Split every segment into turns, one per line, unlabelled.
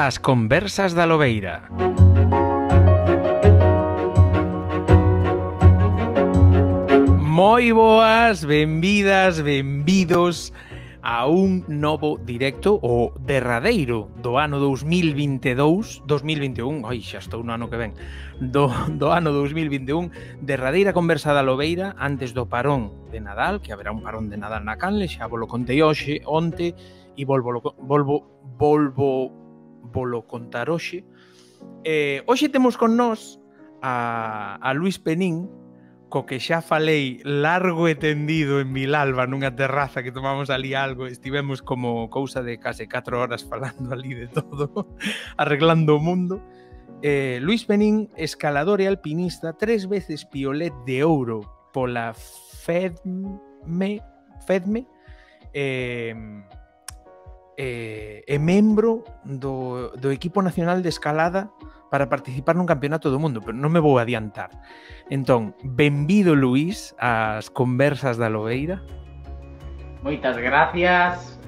As conversas da Lobeira. Moi boas, benvidas, benvidos a un novo directo, o derradeiro do ano 2022, 2021, ai, xa estou no ano que ven, do ano 2021, derradeira conversa da Lobeira antes do parón de Nadal, que haberá un parón de Nadal na canle, xa volo contei hoxe, onte, e volvo contar hoxe. Hoxe temos con nós a Luís Penín, co que xa falei largo e tendido en Vilalba nunha terraza que tomamos ali algo, estivemos como cousa de case 4 horas falando ali de todo, arreglando o mundo. Luís Penín, escalador e alpinista, 3 veces piolet de ouro pola FEDME, é membro do equipo nacional de escalada para participar nun campeonato do mundo, pero non me vou adiantar. Entón, benvido, Luís, ás conversas da Lobeira.
Moitas gracias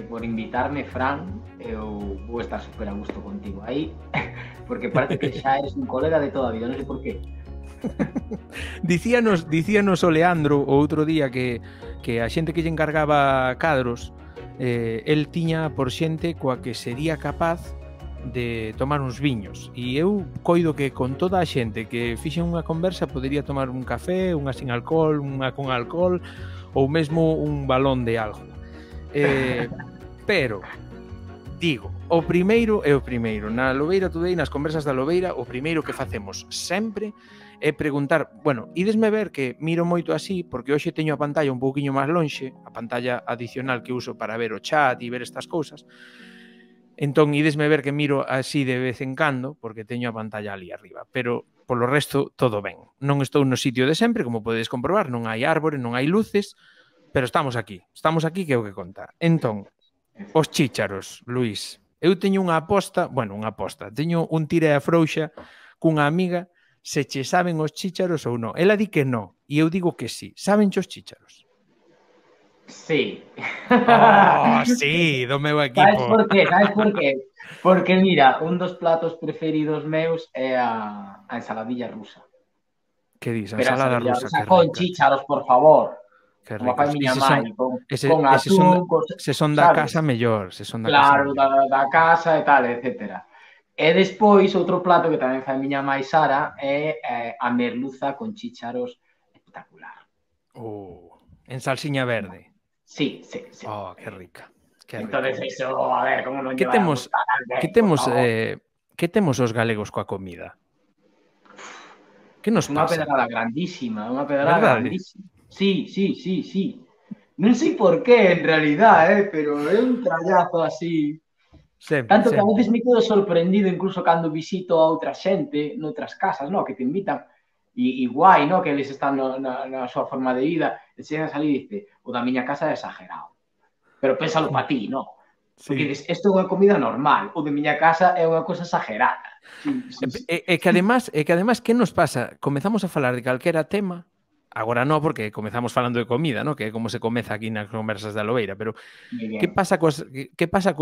por invitarme, Fran. Eu vou estar super a gusto contigo aí, porque parece que xa eres un colega de toda a vida, non sei por qué.
Dicíanos o Leandro o outro día que a xente que lle encargaba cadros, el tiña por xente coa que sería capaz de tomar uns viños, e eu coido que con toda a xente que fixen unha conversa podería tomar un café, unha sin alcohol, unha con alcohol, ou mesmo un balón de algo. Pero digo, o primeiro é o primeiro. Na Lobeira Today, nas conversas da Lobeira, o primeiro que facemos sempre é preguntar, bueno, idesme ver que miro moito así, porque hoxe teño a pantalla un pouquiño máis lonxe, a pantalla adicional que uso para ver o chat e ver estas cousas. Entón, idesme ver que miro así de vez en cando, porque teño a pantalla ali arriba, pero polo resto todo ben. Non estou no sitio de sempre, como podedes comprobar, non hai árbore, non hai luces, pero estamos aquí que é o que conta. Entón, os chícharos, Luís, eu teño unha aposta, teño un tira e afrouxa cunha amiga se che saben os chícharos ou non. Ela di que non, e eu digo que sí. Saben os chícharos?
Sí.
Oh, sí, do meu equipo.
Sabes por qué? Porque, mira, un dos platos preferidos meus é a ensaladilla rusa.
Que dis? A ensalada rusa, que rica.
Con chícharos, por favor.
Que
como fai miña mãe, con
atún,
con,
se son da casa mellor, se son da
claro,
casa
da casa e tal, etcétera. E despois, outro plato que tamén fai miña mãe Sara é a merluza con chícharos espectacular.
En salsiña verde.
Sí.
Oh, que rica.
Entonces, eso, a ver, como non
que temos os galegos coa comida? Que nos pasa?
Unha pedrada grandísima, grandísima. Sí. Non sei por qué, en realidad, pero é un trallazo así. Tanto que a veces me quedo sorprendido, incluso cando visito a outra xente noutras casas, no, que te invitan, e guai, no, que eles están na súa forma de vida, e chegas ali e dices, o da miña casa é exagerado. Pero pénsalo pa ti, no? Porque dices, isto é unha comida normal, o de miña casa é unha cosa exagerada. Sí.
É que además, que nos pasa? Comezamos a falar de calquera tema. Agora non, porque comezamos falando de comida, ¿no? Que é como se comeza aquí nas conversas da Lobeira, pero que pasa cos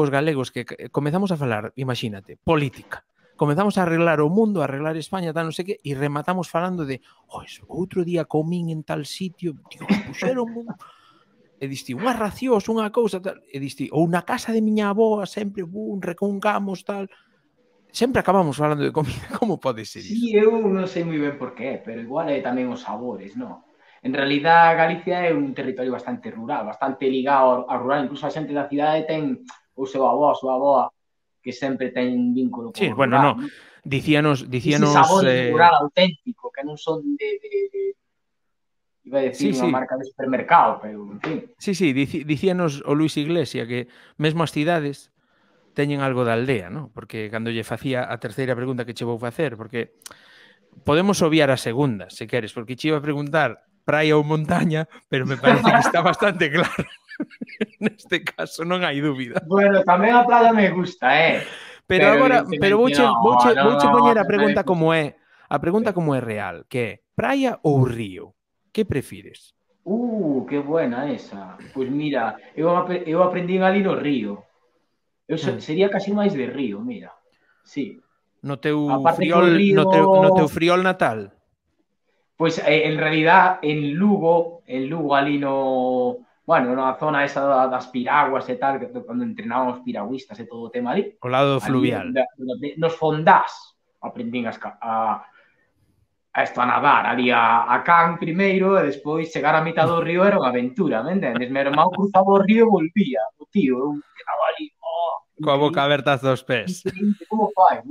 galegos que comezamos a falar, imagínate, política. Comezamos a arreglar o mundo, a arreglar España, tal, non sei que, e rematamos falando de, outro día comín en tal sitio, Dios, puxeron e diste, unhas racións, unha cousa, tal, e diste, ou na casa de miña avoa, sempre, reconcamos, tal. Sempre acabamos falando de comida, como pode ser iso?
Sí, eu non sei moi ben por qué, pero igual é tamén os sabores, non? En realidad, Galicia é un territorio bastante rural, bastante ligado ao rural, incluso a xente da cidade ten o seu avó, a súa avoa, que sempre ten un vínculo con o rural.
Sí, bueno, non, dicíanos...
Ese sabor rural auténtico, que non son de iba a decir unha marca de supermercado, pero, en fin.
Sí, dicíanos o Luis Iglesia que mesmo as cidades teñen algo da aldea, ¿no? Porque cando lle facía a terceira pregunta que che vou facer, porque podemos obviar a segunda, se queres, porque che iba a preguntar praia ou montaña, pero me parece que está bastante claro. Neste caso non hai dúbida.
Bueno, tamén a praia me gusta,
Pero agora, vouche poñer a pregunta como é, real, que é praia ou río? Que prefires?
Que buena esa. Pois mira, eu aprendín ali no río. Eu sería casi máis de río, mira. sí.
No teu
Aparte que o
friol,
río...
no teu friol natal.
Pois, en realidad, en Lugo ali no... Bueno, na zona esa das piraguas e tal, que cando entrenábamos piragüistas e todo o tema ali,
O lado
ali
fluvial.
nos fondás aprendín a esto a nadar ali a can primeiro e despois chegar a mitad do río era unha aventura, me entendes? Meu irmão cruzaba o río e volvía, o tío, eu quedaba ali,
Coa boca
increíble,
aberta dos pés.
increíble, como fai?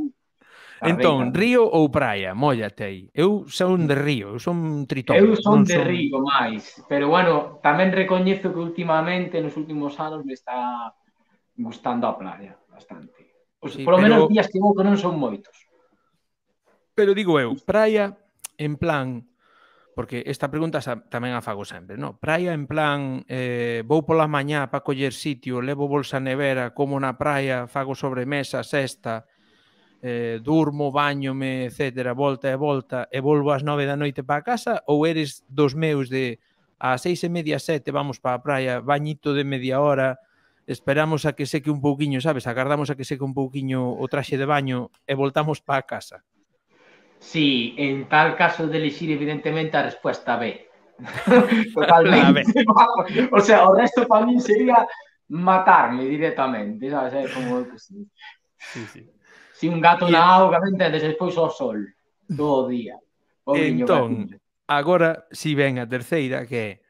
Entón,
Tardei.
río ou praia? Móllate aí. Eu son de río, eu son tritón.
Eu son
Non
de
son...
río máis, pero bueno, tamén recoñezo que últimamente, nos últimos anos, me está gustando a playa bastante.
Sí,
Polo
pero...
menos días que vou que non son moitos.
Pero digo eu, praia en plan... Porque esta pregunta tamén a fago sempre, no? Praia en plan, vou pola mañá para coller sitio, levo bolsa nevera, como na praia, fago sobremesa, sesta, durmo, bañome, etcétera, volta e volta, e volvo ás 9 da noite para casa, ou eres dos meus de ás 6:30, 7, vamos para a praia, bañito de media hora, esperamos a que seque un pouquiño, sabes? Agardamos a que seque un pouquiño o traxe de baño e voltamos para a casa.
Sí, en tal caso de elixir, evidentemente, a resposta B. Totalmente. O sea, o resto para min sería matarme directamente, sabes? Como que sí.
Sí, sí.
Si un gato na auga, me entendes? Despois ao sol, todo o día.
Entón, agora si ven a terceira, que é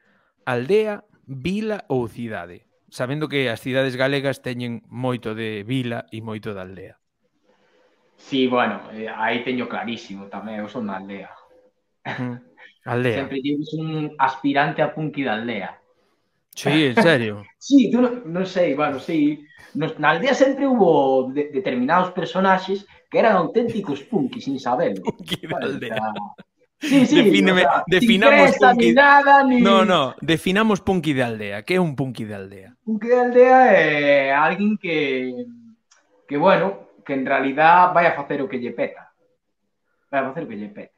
aldea, vila ou cidade. Sabendo que as cidades galegas teñen moito de vila e moito de aldea.
Sí, bueno, aí teño clarísimo tamén, eu son na aldea.
Aldea.
Sempre digo que son un aspirante a punky da aldea.
Sí, en serio?
Sí, tú non sei, bueno, sí. Na aldea sempre hubo determinados personaxes que eran auténticos punky, sin saberlo.
Punky da aldea.
Sí, sí,
defíneme,
o sea,
definamos
sin punky... ni nada, ni...
No, definamos punky de aldea. Que é un punky de aldea?
Punky de aldea é alguén que bueno, que en realidad vai a facer o que lle peta. Vai a facer o que lle peta.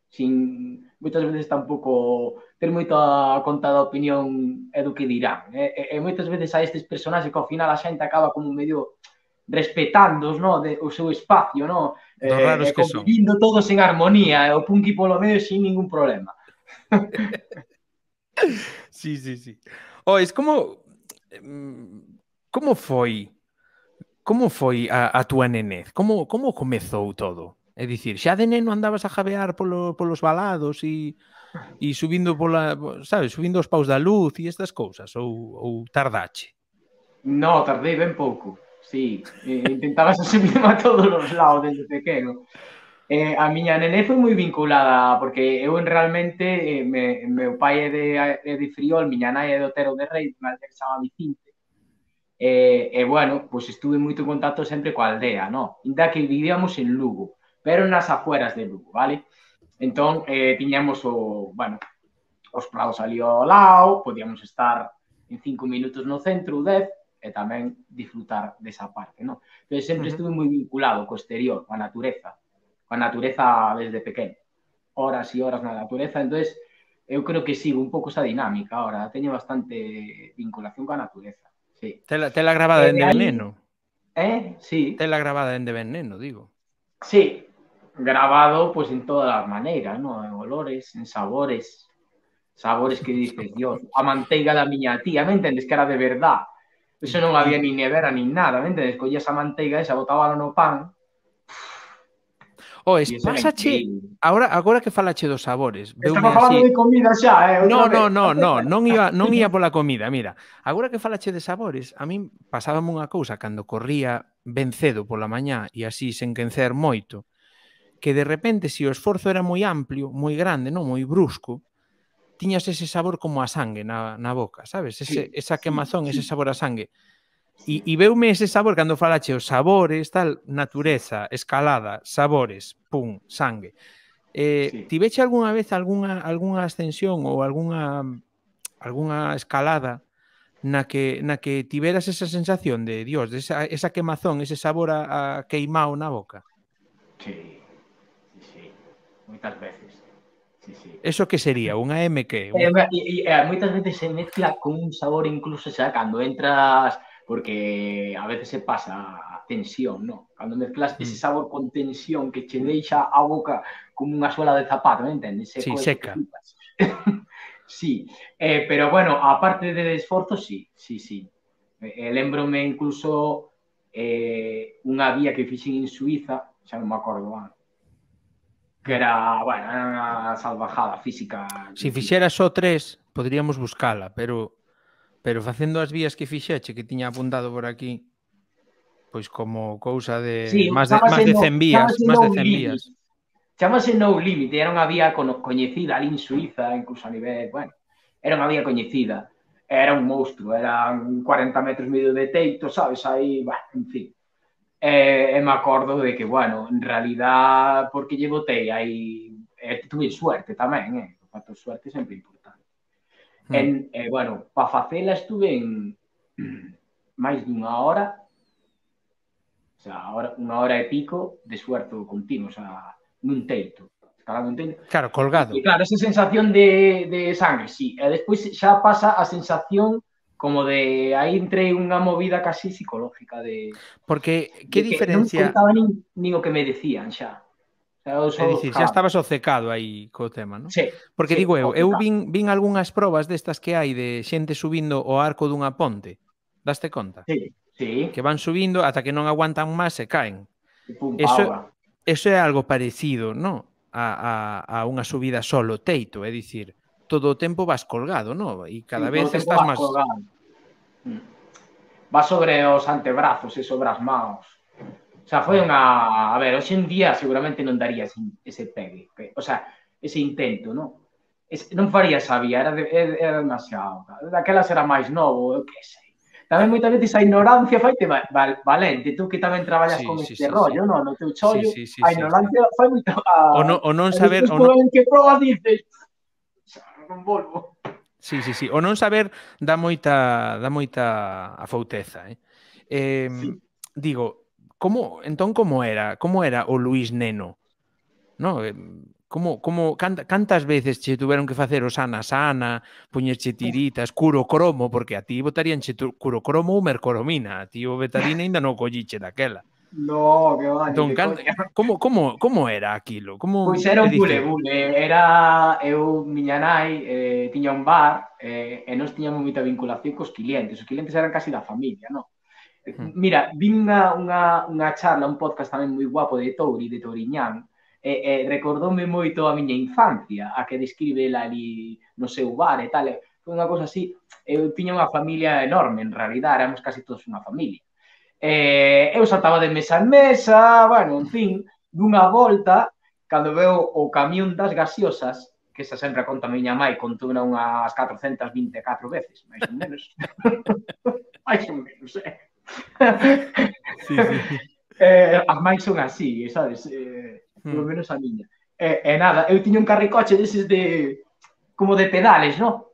Sin moitas veces tampouco ter moita contada opinión é do que dirán. E moitas veces a estes personaxes que ao final a xente acaba como medio respetándoos, no, o seu espacio, no,
e
convivindo todos en armonía, e o punky polo medio sin ningún problema.
Sí. Es como foi a túa nenez? Como comezou todo? É dicir, xa de neno andabas a jabear polos valados e subindo sabes, subindo os paus da luz e estas cousas, ou tardache?
No, tardei ben pouco, sí. Intentabas subirme a todos os lados desde pequeno. A miña nenez foi moi vinculada, porque eu realmente, meu pai é de Friol, miña nai é de Otero de Rei, unha aldea que se chama Vicinte, e bueno, pois estuve moito en contacto sempre coa aldea, no? Inda que vivíamos en Lugo, pero nas afueras de Lugo, vale? Entón, tiñamos os prados ali ao lado, podíamos estar en 5 minutos no centro, 10, e tamén disfrutar desa parte, no? Entón, sempre estuve moi vinculado co exterior, coa natureza desde pequeno. Horas e horas na natureza, entón, eu creo que sigo un pouco esa dinámica ahora, teño bastante vinculación coa natureza, sí.
Tela grabada dende ben neno?
Sí.
Tela grabada dende ben neno, digo.
Sí, grabado pues en todas as maneiras, ¿no? En olores, en sabores que dices, Dios, a manteiga da miña tía, me entendes? Que era de verdad. Eso non había ni nevera ni nada, me entendes? Collías a manteiga esa, botábalo no pan.
Pásache, agora que falache dos sabores.
Estamos falando de comida xa,
Non ia pola comida, mira. Agora que falache de sabores, a min pasábame unha cousa cando corría ben cedo pola mañá e así sen quencer moito, que de repente, se o esforzo era moi amplio, moi grande, non moi brusco, tiñas ese sabor como a sangue na boca, sabes? Esa quemazón, ese sabor a sangue. E veume ese sabor cando falache os sabores, tal, natureza, escalada, sabores, pum, sangue. Tiveche algunha vez algunha ascensión ou algunha escalada na que tiveras esa sensación de, Dios, de esa quemazón, ese sabor a queimao na boca?
Sí, moitas veces. Sí.
Eso que sería? Unha MQ?
Moitas veces se mezcla con un sabor incluso xa cando entras, porque a veces se pasa tensión, non? Cando mezclas ese sabor con tensión que che deixa a boca como unha suela de zapato, non entendes?
Sí, seca.
Sí, pero bueno, a parte de esforzo, sí. Lembrome incluso unha vía que fixen en Suiza, xa non me acordo, que era, bueno, unha salvajada física.
Se fixera só 3, poderíamos buscala, pero facendo as vías que fixeche, que tiña apuntado por aquí, pois como cousa de
sí,
máis de 100 vías, máis de 100 vías.
Chámase No Limit, era unha vía coñecida ali en Suiza, incluso a nivel, bueno, era unha vía coñecida. Era un monstruo, eran 40 metros medio de teito, sabes, aí, bueno, en fin. E me acordo de que, bueno, en realidad, porque lle botei aí, tuve suerte tamén, o factor suerte sempre importante. Bueno, para facela estuve en máis dunha hora, o sea, unha hora e pico de esfuerzo continuo, o sea, nun teito, escalando un teito.
Claro, colgado.
E claro, esa sensación de sangre, sí. E despois xa pasa a sensación como de aí entrei unha movida casi psicológica de...
Porque, que diferencia...
Non contaba nin o que me decían xa.
É dicir, xa estabas obcecado aí co tema, non?
Sí.
Porque digo eu vin algunhas probas destas que hai de xente subindo o arco dunha ponte. Daste conta?
Sí.
Que van subindo ata que non aguantan máis e caen. Eso é algo parecido, non? A unha subida solo teito, é dicir, todo o tempo vas colgado, non? E cada vez estás máis...
Vas sobre os antebrazos e sobre as mãos. O sea, foi unha... A ver, hoxe en día seguramente non daría ese pegue. O sea, ese intento, non? Non faría esa vía, era demasiado. Daquelas era máis novo, eu que sei. Tamén moitas veces a ignorancia faite valente. Tú que tamén traballas con este rollo, non? No teu chollo, a ignorancia fai moito...
O non saber...
En que probas dices... Non volvo.
Sí. O non saber dá moita afouteza, Digo, entón como era o Luís neno? No, cantas veces che tuveron que facer o sana, poñerche tiritas, curocromo, porque a ti botaríanche curocromo ou mercoromina, a ti o betarina ainda non colliche daquela.
No, que va,
entón, como era aquilo?
Pois era un bule. Miña nai tiña un bar e nós tiñamos moita vinculación cos clientes. Os clientes eran casi da familia, non? Mira, vin unha charla, un podcast tamén moi guapo de Touriñán, recordoume moito a miña infancia, a que describe ela ali no seu bar e tal. Foi unha cosa así. Eu tiña unha familia enorme, en realidad, éramos casi todos unha familia. Eu saltaba de mesa en mesa, bueno, en fin, dunha volta, cando veo o camión das gaseosas, que esa sempre a conta a miña mai, contou unhas 424 veces, máis ou menos. Máis ou menos,
Sí.
As máis son así, sabes? Polo menos a miña. Nada, eu tiña un carricoche deses como de pedales, non?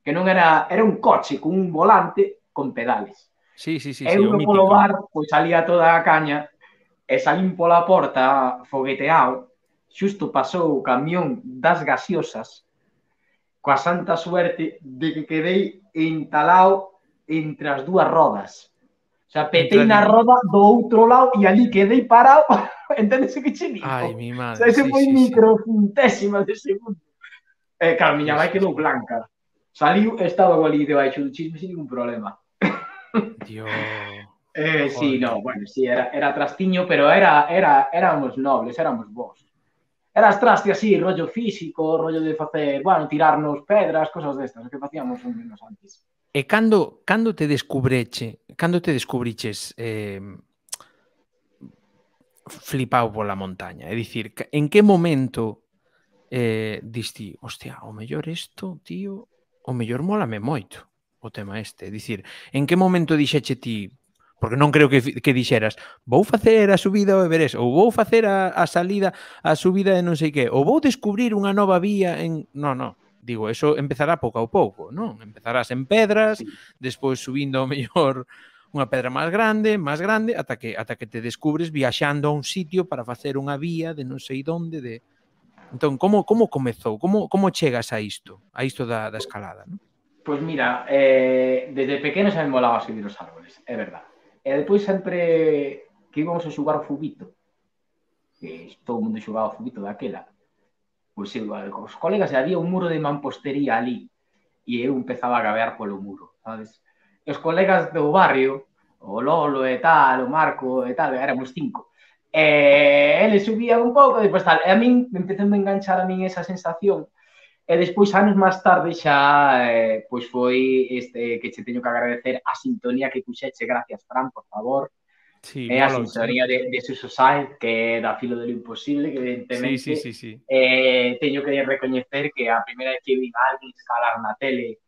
Que non era un coche con un volante con pedales.
Sí,
eu polo bar, pois salía toda a caña e salín pola porta fogueteado, xusto pasou o camión das gaseosas coa santa suerte de que quedei entalado entre as dúas rodas. O sea, petei na roda do outro lado e ali quedei parado. Entendes o que che digo?
Ai, mi madre.
O sea, ese foi microcentésima de segundo. Claro, miña vai quedou blanca. Saliu, estaba ali debaixo do chisme sin ningún problema.
Dios.
Sí, no, bueno, sí, era trastiño, pero éramos nobles, éramos vos. Eras traste así, rollo físico, rollo de facer, bueno, tirarnos pedras, cosas destas, o que facíamos uns menos antes.
E cando te descubriches flipado pola montaña? É dicir, en que momento diste, hostia, o mellor isto, tío, o mellor mólame moito o tema este. É dicir, en que momento dixeche ti, porque non creo que dixeras, vou facer a subida ao Everest, ou vou facer a salida, a subida de non sei que, ou vou descubrir unha nova vía en... Non. Digo, eso empezará pouco a pouco, non? Empezarás en pedras, despois subindo ao mellor unha pedra máis grande, ata que te descubres viaxando a un sitio para facer unha vía de non sei onde, Entón, como comezou? Como chegas a isto da escalada, non?
Pois mira, desde pequeno xa me molaba subir os árboles, é verdad. E depois sempre que íbamos a xogar o fubito, que todo o mundo xogaba o fubito daquela, pois os colegas, había un muro de mampostería ali, e eu empezaba a gabear polo muro, sabes? E os colegas do barrio, o Lolo e tal, o Marco e tal, éramos 5, eles subían un pouco, e depois tal, e a min empecé a enganchar a min esa sensación. E despois, anos máis tarde, xa pois foi que che teño que agradecer a sintonía que puxeche, gracias, Fran, por favor.
Sí,
É a
mola.
sintonía de Suso Sainz, que é da Filo de lo Imposible, que evidentemente
Sí.
teño que recoñecer que a primeira vez que vi a alguén escalar na tele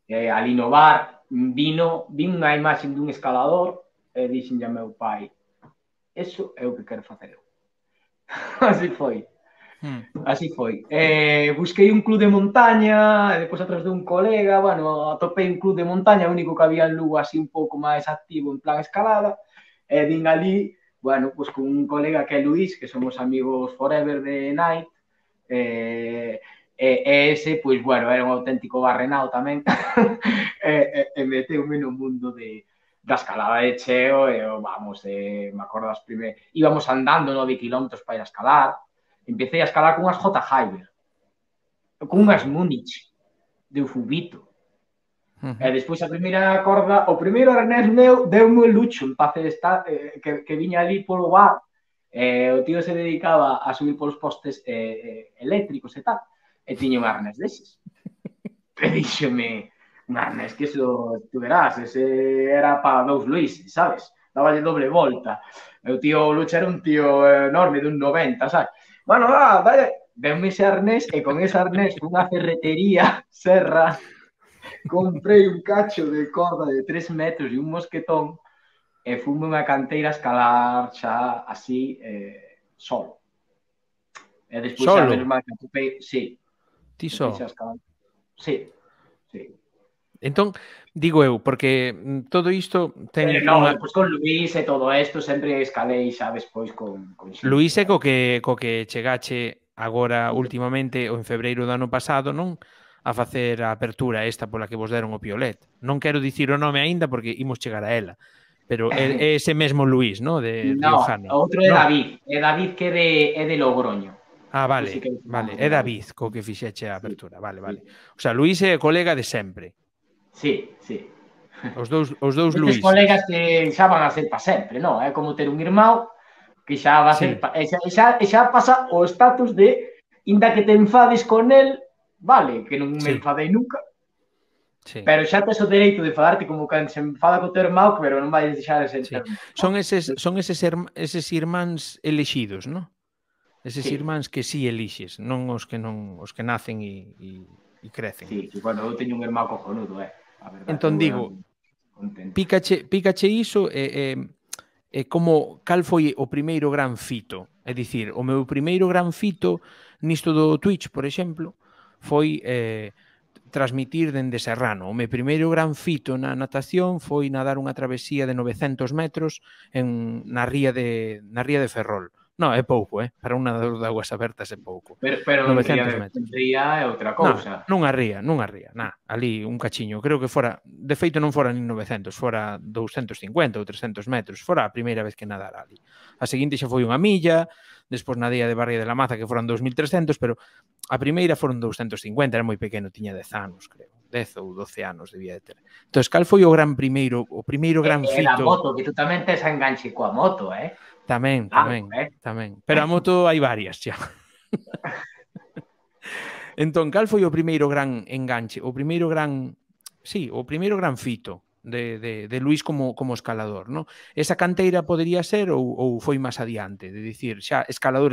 ali no bar, vin unha imaxe dun escalador e dixen a meu pai, eso é o que quero facer eu. Así foi. Así foi. Busquei un club de montaña, e depois a través dun colega, bueno, atopei un club de montaña, o único que había en Lugo así un pouco máis activo en plan escalada, e vin ali, bueno, pues con un colega que é Luís, que somos amigos forever de Night, ese, pois, bueno, era un auténtico barrenao tamén, e meteume no mundo da escalada de cheo, e vamos, me acordo das primeiras, íbamos andando 9 kilómetros para ir a escalar, empecé a escalar con unhas J. Hyber, con unhas Múnich, de fubito. E despois a primeira corda, o primeiro arnés meu deu-me o lucho en paz de estar, que viña ali polo bar, o tío se dedicaba a subir polos postes eléctricos e tal, e tiña un arnés deses. E díxome, un arnés que eso, tú verás, ese era para 2 Luís, sabes? Dáballe doble volta. E o tío Lucho era un tío enorme, dun 90, sabes? Bueno, dale, deu-me ese arnés, e con ese arnés, unha ferretería, serra, comprei un cacho de corda de 3 metros e un mosquetón e fume unha canteira a escalar xa así solo. E despois xa menos mal que atopei, sí.
Ti só?
Sí.
Entón, digo eu, porque todo isto ten...
Non, despois con Luís e todo isto sempre escalei xa despois con
Luís é co que chegache agora últimamente ou en febreiro do ano pasado, non? A facer a apertura esta pola que vos deron o piolet. Non quero dicir o nome aínda porque imos chegar a ela. Pero é ese mesmo Luís, non? De Riojano.
No, outro é David. É David que é de Logroño.
Vale. É David co que fixeche a apertura. Vale. O sea, Luís é colega de sempre.
Sí.
Os dous Luís.
Colegas que xa van a ser para sempre, non? É como ter un irmão que xa va a ser... Xa pasa o estatus de inda que te enfades con el, vale, que non me enfadei nunca, pero xa tes o dereito de enfadarte como cando se enfada co teu irmão, pero non vai deixar de ser...
Son eses irmáns elexidos, non? Eses irmáns que si elixes, non os que nacen e crecen.
Sí, bueno, eu teño un irmão cojonudo,
Entón digo, pícache iso e como cal foi o primeiro gran fito? É dicir, o meu primeiro gran fito nisto do Twitch, por exemplo, foi transmitir dende Serrano. O meu primeiro gran fito na natación foi nadar unha travesía de 900 metros na ría de Ferrol. Non, é pouco, para un nadador de aguas abertas é pouco.
Pero 900 metros. Ría é outra cousa.
Nunha ría, ali un cachiño. Creo que fora, de feito non fora nin 900, fora 250 ou 300 metros. Fora a primeira vez que nadara ali. A seguinte xa foi unha milla, despois nadía de Barria de la Maza que foran 2300, pero a primeira foron 250, era moi pequeno, tiña 10 anos, creo. 10 ou 12 anos debía de ter. Entón, cal foi o primeiro gran fito?
A moto, que tú tamén tes a enganche coa moto,
Tamén. Pero a moto hai varias xa. Entón, cal foi o primeiro gran enganche? O primeiro gran fito de Luís como escalador, non? Esa canteira podería ser ou foi máis adiante? De dicir, xa, escalador.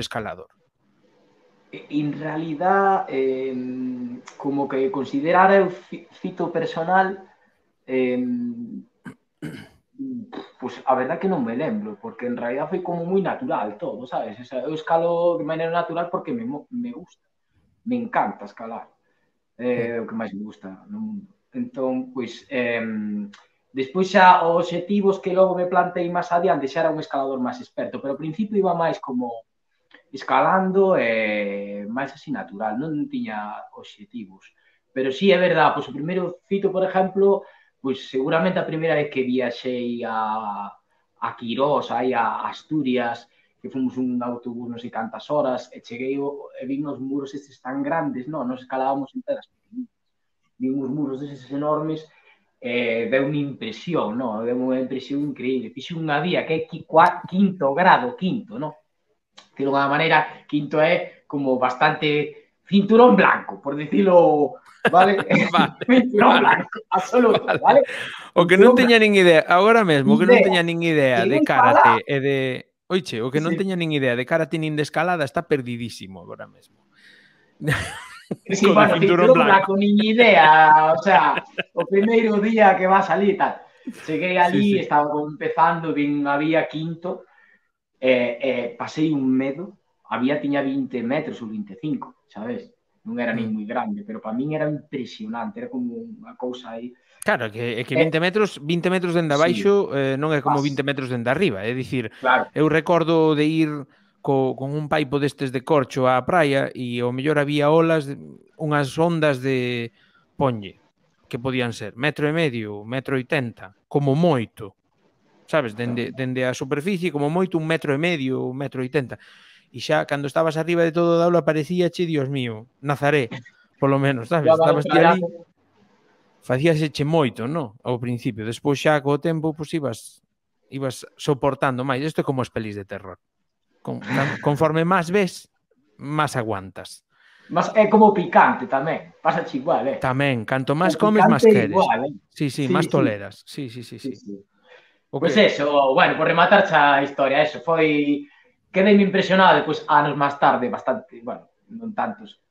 En realidad, como que considerar o fito personal... Pois a verdad que non me lembro, porque en realidad foi como moi natural todo, sabes? O sea, eu escalo de maneira natural porque me gusta. Me encanta escalar. É o que máis me gusta no mundo. Entón, pois, despois xa os obxectivos que logo me plantei máis adiante xa era un escalador máis experto, pero ao principio iba máis como escalando e máis así natural, non tiña obxectivos. Pero sí, é verdad, pois o primeiro fito, por exemplo... Pois seguramente a primeira vez que viaxei a a Quirós, aí a Asturias, que fomos un autobús non sei cantas horas, e cheguei e vin os muros estes tan grandes, non, nos escalábamos en pedras pequeninas. Vin uns muros destes enormes, deu unha impresión, non? Deu unha impresión increíble. Fixe unha vía que é quinto grado, non? Que de unha maneira, quinto é como bastante cinturón blanco, por decirlo, vale? Cinturón blanco, absoluto, vale?
O que non teña nin idea, agora mesmo, o que non teña nin idea de karate e de... Oiche, o que non teña nin idea de karate nin de escalada está perdidísimo agora mesmo.
Sí, bueno, cinturón blanco, nin idea, o sea, o primeiro día que va a salir e tal. Cheguei ali, estaba empezando, había quinto, pasei un medo, tiña 20 metros ou 25, sabes? Non era nin moi grande, pero para min era impresionante, era como unha cousa aí.
Claro, que 20 metros dende abaixo non é como 20 metros dende arriba, é dicir, eu recordo de ir con un paipo destes de corcho á praia e ao mellor había olas, unhas ondas de ponlle, que podían ser 1,5 metro, 1,80 m, como moito, sabes, dende a superficie, como moito 1,5 m, 1,80 m. E xa, cando estabas arriba de todo o aula, parecíache, Dios mío, Nazaré, polo menos, sabes? Estabas ti ali... Facíaseche moito, non? Ao principio. Despois xa, co tempo, pois ibas soportando máis. Isto é como as pelis de terror. Conforme máis ves, máis aguantas.
Mas é como picante tamén. Pasa igual,
Tamén. Canto máis comes, máis queres. Igual, Sí, máis toleras. Sí.
Pois eso, bueno, por rematar xa a historia, eso foi... Quedei impresionado, depois, anos máis tarde, bastante, bueno, non tantos,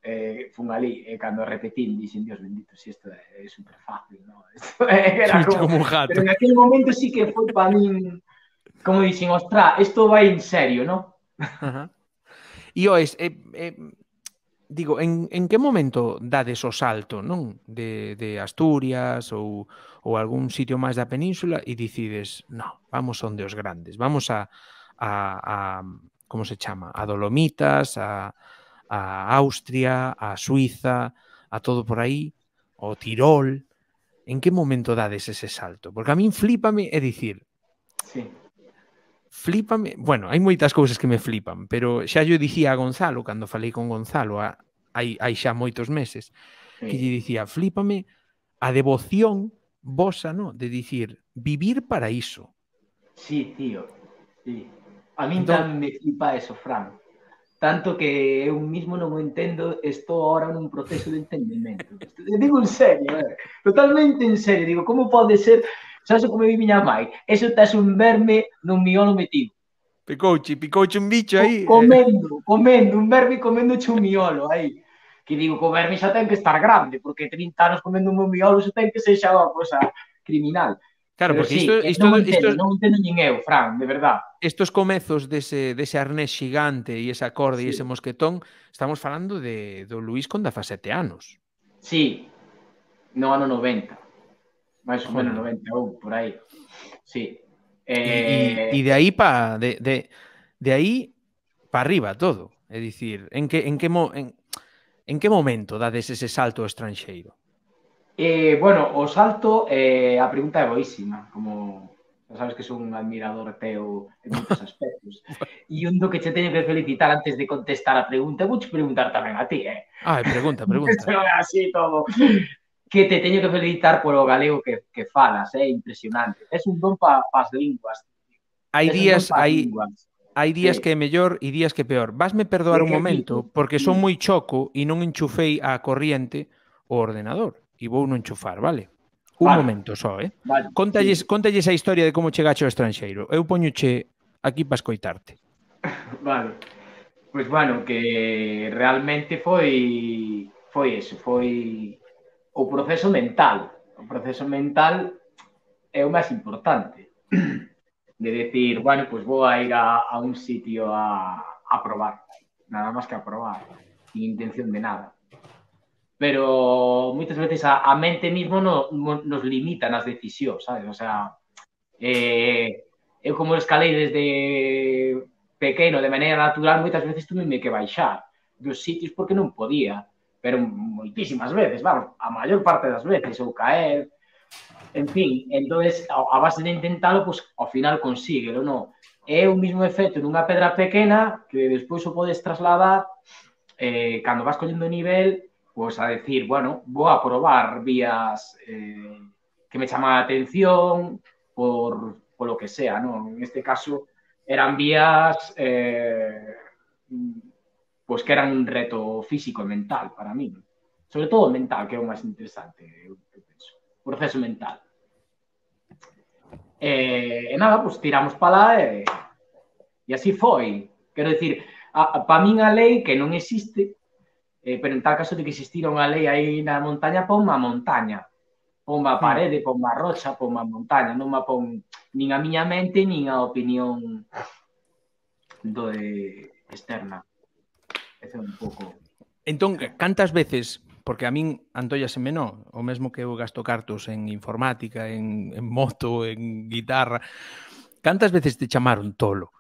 fun ali, cando repetín, dixen, Dios bendito, si isto é super fácil, non? Era
como un gato.
Pero en aquel momento sí que foi para min, como dixen, ostra, isto vai en serio, non?
E oes, digo, en que momento dades o salto, non? De Asturias ou algún sitio máis da península e decides, no, vamos onde os grandes, vamos a como se chama? A Dolomitas, a Austria, a Suiza, a todo por aí, o Tirol. En que momento dades ese salto? Porque a min flípame, é dicir, flípame, bueno, hai moitas cousas que me flipan, pero xa yo dicía a Gonzalo, cando falei con Gonzalo hai xa moitos meses, que lle dicía, flípame a devoción vosa, no? De dicir, vivir para iso.
Sí, tío, sí. A min tamén me flipa eso, Fran. Tanto que eu mismo non o entendo, estou ahora nun proceso de entendimento. Digo en serio, totalmente en serio. Digo, como pode ser, sabes como vi miña mãe? Eso tes un verme nun miolo metido.
Picouche un bicho aí.
Comendo, un verme coméndoche un miolo aí. Que digo, que o verme xa ten que estar grande, porque 30 anos comendo un miolo xa ten que ser xa unha cosa criminal.
Claro,
pero
porque
sí, non entendo nin eu, Fran, de verdad.
Estos comezos dese arnés xigante e esa corda e ese mosquetón, estamos falando do Luís con 17 anos.
Sí, no ano 90. máis ou menos 91, por aí. Sí.
E de aí de aí para arriba todo. É dicir, en que momento dades ese salto ao estranxeiro?
Bueno, o salto, a pregunta é boísima, como sabes que son un admirador teu en moitos aspectos. E un do que che teño que felicitar antes de contestar a pregunta, vou preguntar tamén a ti,
Pregunta.
Así todo. Que te teño que felicitar polo galego que falas, é impresionante. Es un don para as linguas.
Hai días que é mellor e días que é peor. Vasme perdoar un momento, porque son moi choco e non enchufei a corriente o ordenador. E vou non enchufar, vale? Un momento só,
Vale,
Contalles a historia de como chegache ao estranxeiro. Eu poñoche aquí para escoitarte.
Vale. Pois, bueno, que realmente foi eso, foi o proceso mental. O proceso mental é o máis importante. De decir, bueno, pois vou a ir a un sitio a probar. Nada máis que a probar. Sin intención de nada. Pero moitas veces a mente mismo nos limita nas decisións, sabes? O sea, eu como escalei desde pequeno de maneira natural, moitas veces tuve que baixar dos sitios porque non podía, pero moitísimas veces, vamos, a maior parte das veces, ou caer, En fin, entonces, a base de intentalo, pues, ao final consíguelo, non? É o mismo efecto nunha pedra pequena que despois o podes trasladar cando vas collendo nivel, pues a decir, bueno, vou a probar vías que me chaman a atención por lo que sea, ¿no? En este caso eran vías pues que eran un reto físico e mental para mí. Sobre todo mental, que é o máis interesante, eu penso. O proceso mental. E nada, pues tiramos para lá e así foi. Quero dicir, para min a lei que non existe, pero en tal caso de que existira unha lei aí na montaña, ponme a montaña. Ponme a parede, ponme a rocha, ponme a montaña. Non me pon nin a miña mente, nin a opinión externa. Ese é un pouco...
Entón, cantas veces, porque a min antollaseme non, o mesmo que eu gasto cartos en informática, en moto, en guitarra, cantas veces te chamaron tolo?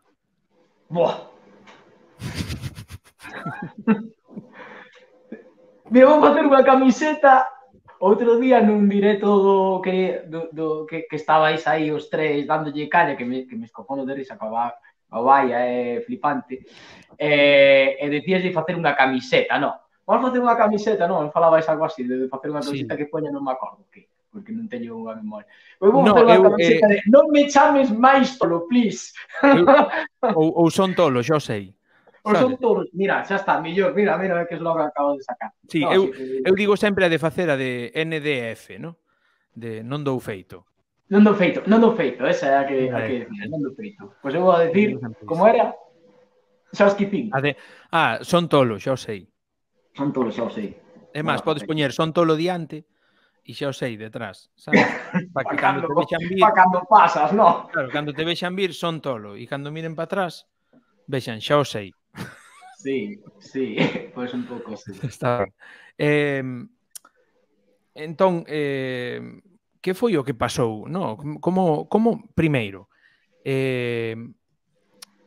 Buah! Me vou facer unha camiseta outro día nun directo que estabais aí os tres dándolle calla, que me escofono de risa, a vaia é flipante, e decías de facer unha camiseta, non? Vamos facer unha camiseta, non? Falabais algo así, de facer unha camiseta que poña, non me acordo, porque non teño unha memoria. Pois vou facer unha camiseta de non me chames máis tolo, please.
Ou son tolo, xa sei.
Ou son todos, mira, xa está, millor, mira que es logo acabo de sacar.
Sí, no, eu digo sempre a de facer a de NDF, non? De non dou feito.
Non dou feito, esa é a que non dou feito. Pois eu vou a decir, como era? Xa os quipín.
Son tolo, xa o sei.
Son tolo, xa o sei.
É máis, podes poñer son tolo diante e xa o sei detrás, sabes?
Para que cando te vexan vir... Para cando pasas, non?
Claro, cando te vexan vir son tolo e cando miren para atrás vexan, xa o sei.
Sí, pois un pouco así.
Está ben. Entón, que foi o que pasou? No? Como primeiro,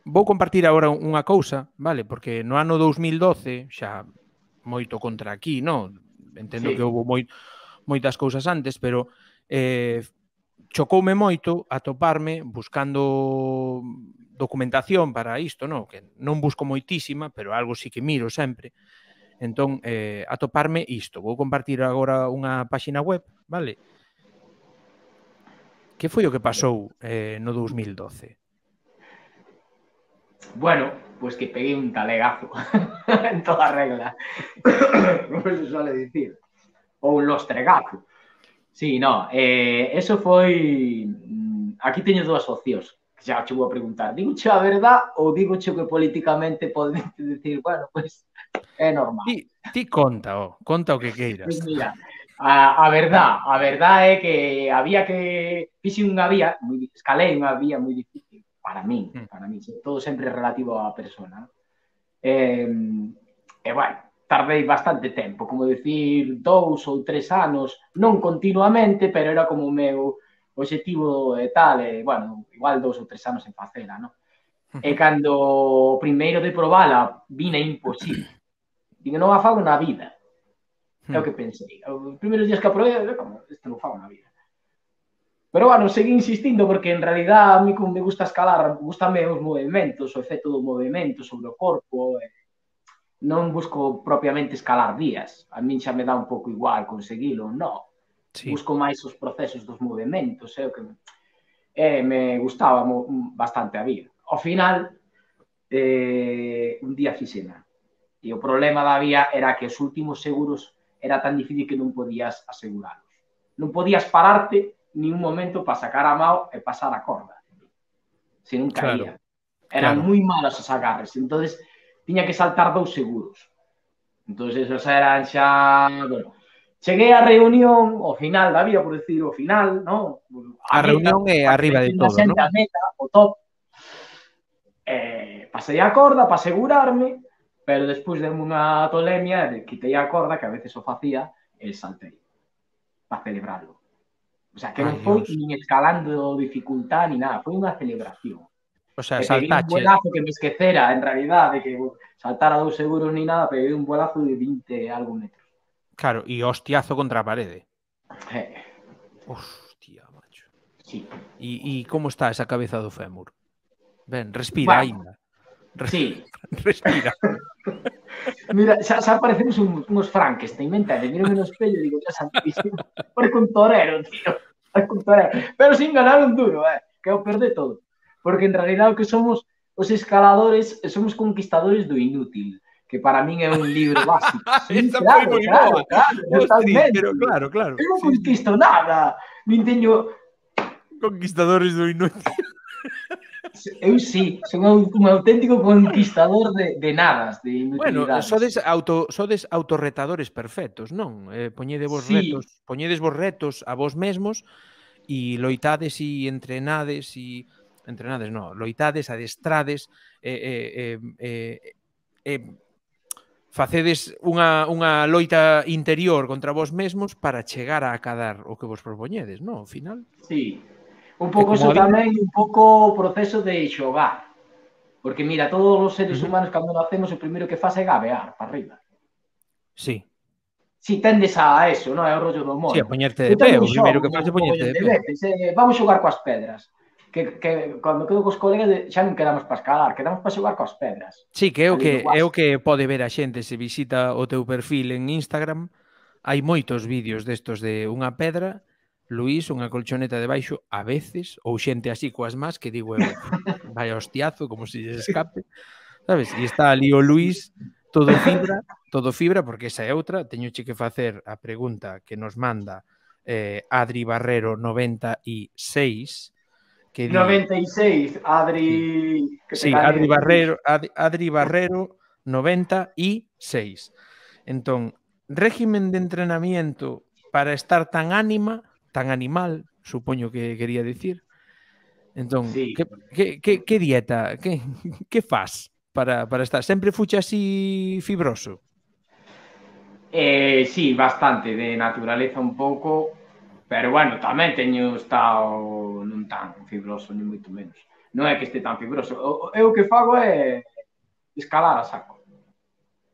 vou compartir agora unha cousa, vale? Porque no ano 2012, xa moito contra aquí, non? Entendo que houve moitas cousas antes, pero chocoume moito atoparme buscando documentación para isto, non? Que non busco moitísima, pero algo sí que miro sempre. Entón, atoparme isto. Vou compartir agora unha páxina web, vale? Que foi o que pasou no 2012?
Bueno, pois que peguei un talegazo en toda regla. Como se suele dicir. Ou un lostregazo. Sí, no, eso foi... Aquí teño dúas opcións. Xa che vou a preguntar. Digo che a verdad ou digo che que políticamente podes decir, bueno, pois é normal.
Ti conta o que queiras.
Pois mira, a verdad é que había que... Fixe unha vía, escalei unha vía moi difícil para min, todo sempre relativo á persona. E, bueno, tardei bastante tempo, como decir 2 ou 3 anos, non continuamente, pero era como o meu objetivo e tal, e, bueno, igual 2 ou 3 anos en facela, non? E cando o primeiro de probala vina imposible, digo, non a fago na vida, é o que pensei. Os primeiros días que aprobei, como, isto non fago na vida. Pero, bueno, seguí insistindo porque, en realidad, a mí como me gusta escalar, gustame os movimentos, o efecto do movimento sobre o corpo, non busco propiamente escalar vías. A min xa me dá un pouco igual conseguilo, non. Sí. Busco máis os procesos dos movimentos, o que me gustaba bastante a vía. Ao final, un día fixena. E o problema da vía era que os últimos seguros era tan difícil que non podías aseguralos. Non podías pararte ni un momento para sacar a mao e pasar a corda. Se non caía. Eran moi malos os agarres. Entonces, tiña que saltar 2 seguros. Entonces, esos eran xa... Bueno, cheguei á reunión, ao final da vía, por decir, ao final, non?
A reunión é arriba de todo, non?
A meta, o top. Pasei a corda para asegurarme, pero despois de unha tolemia, quitei a corda, que a veces o facía, e saltei. Para celebrarlo. O sea, que non foi nin escalando dificultad ni nada, foi unha celebración.
O sea, saltache.
Peguei un vuelazo que me esquecera, en realidad, de que saltara 2 seguros ni nada, peguei un vuelazo de 20 algo metros.
Claro, e hostiazo contra a parede. Hostia, macho.
Sí.
E como está esa cabeza do fémur? Ben, respira aínda.
Sí.
Respira.
Mira, xa parecemos uns Frankenstein, me entendes? Mírame no espello e digo, ya santísimo. Parece un torero, tío. Parece un torero. Pero sin ganar un duro, que o perde todo. Porque en realidad o que somos os escaladores, somos conquistadores do inútil, que para min é un libro básico. Sí,
Esa foi
claro,
moi
claro,
boa.
claro,
Ostras,
totalmente.
pero claro.
Eu non conquisto nada. Nin teño...
Conquistadores do inútil.
Eu sí, son un auténtico conquistador de nadas, de
Bueno,
inutilidades.
sodes autorretadores perfectos, non?
Sí,
Poñedes vos retos a vos mesmos e loitades e entrenades, non, loitades, adestrades, facedes unha loita interior contra vos mesmos para chegar a acadar o que vos propoñedes, non? Ao final.
sí. Un
É
pouco
como
eso
a vida.
tamén, un pouco o proceso de xogar. Porque mira, todos os seres
Ujú.
humanos cando nacemos o primeiro que faz é gabear para arriba.
Sí.
Si tendes a eso, non é o rollo do
Sí, a
mono.
poñerte
Eu
de pé,
tamén
o primeiro
xogo
que faz é
un
poñerte
mogollón
de
de
pé.
veces. Vamos xogar coas pedras. Que cando quedo cos colegas xa non quedamos para escalar, quedamos para xogar coas pedras.
Sí, que
Ali do
é o
básico.
que pode ver a xente se visita o teu perfil en Instagram. Hai moitos vídeos destos de unha pedra, Luís, unha colchoneta debaixo, a veces, ou xente así coas más, que digo eu, vaya hostiazo, como se lles escape, sabes? E está ali o Luís, todo fibra, porque esa é outra, teñoche que facer a pregunta que nos manda Adri Barrero 96, que di...
96,
Sí,
Adri, que te
sí,
cague.
Adri Barrero 96. Entón, régimen de entrenamiento para estar tan animal, supoño que quería dicir. Entón,
Sí.
que dieta, que faz para estar? Sempre fuche así fibroso?
Sí, bastante, de naturaleza un pouco, pero bueno, tamén teño estado non tan fibroso, ni moito menos. Non é que este tan fibroso. Eu o que fago é escalar a saco,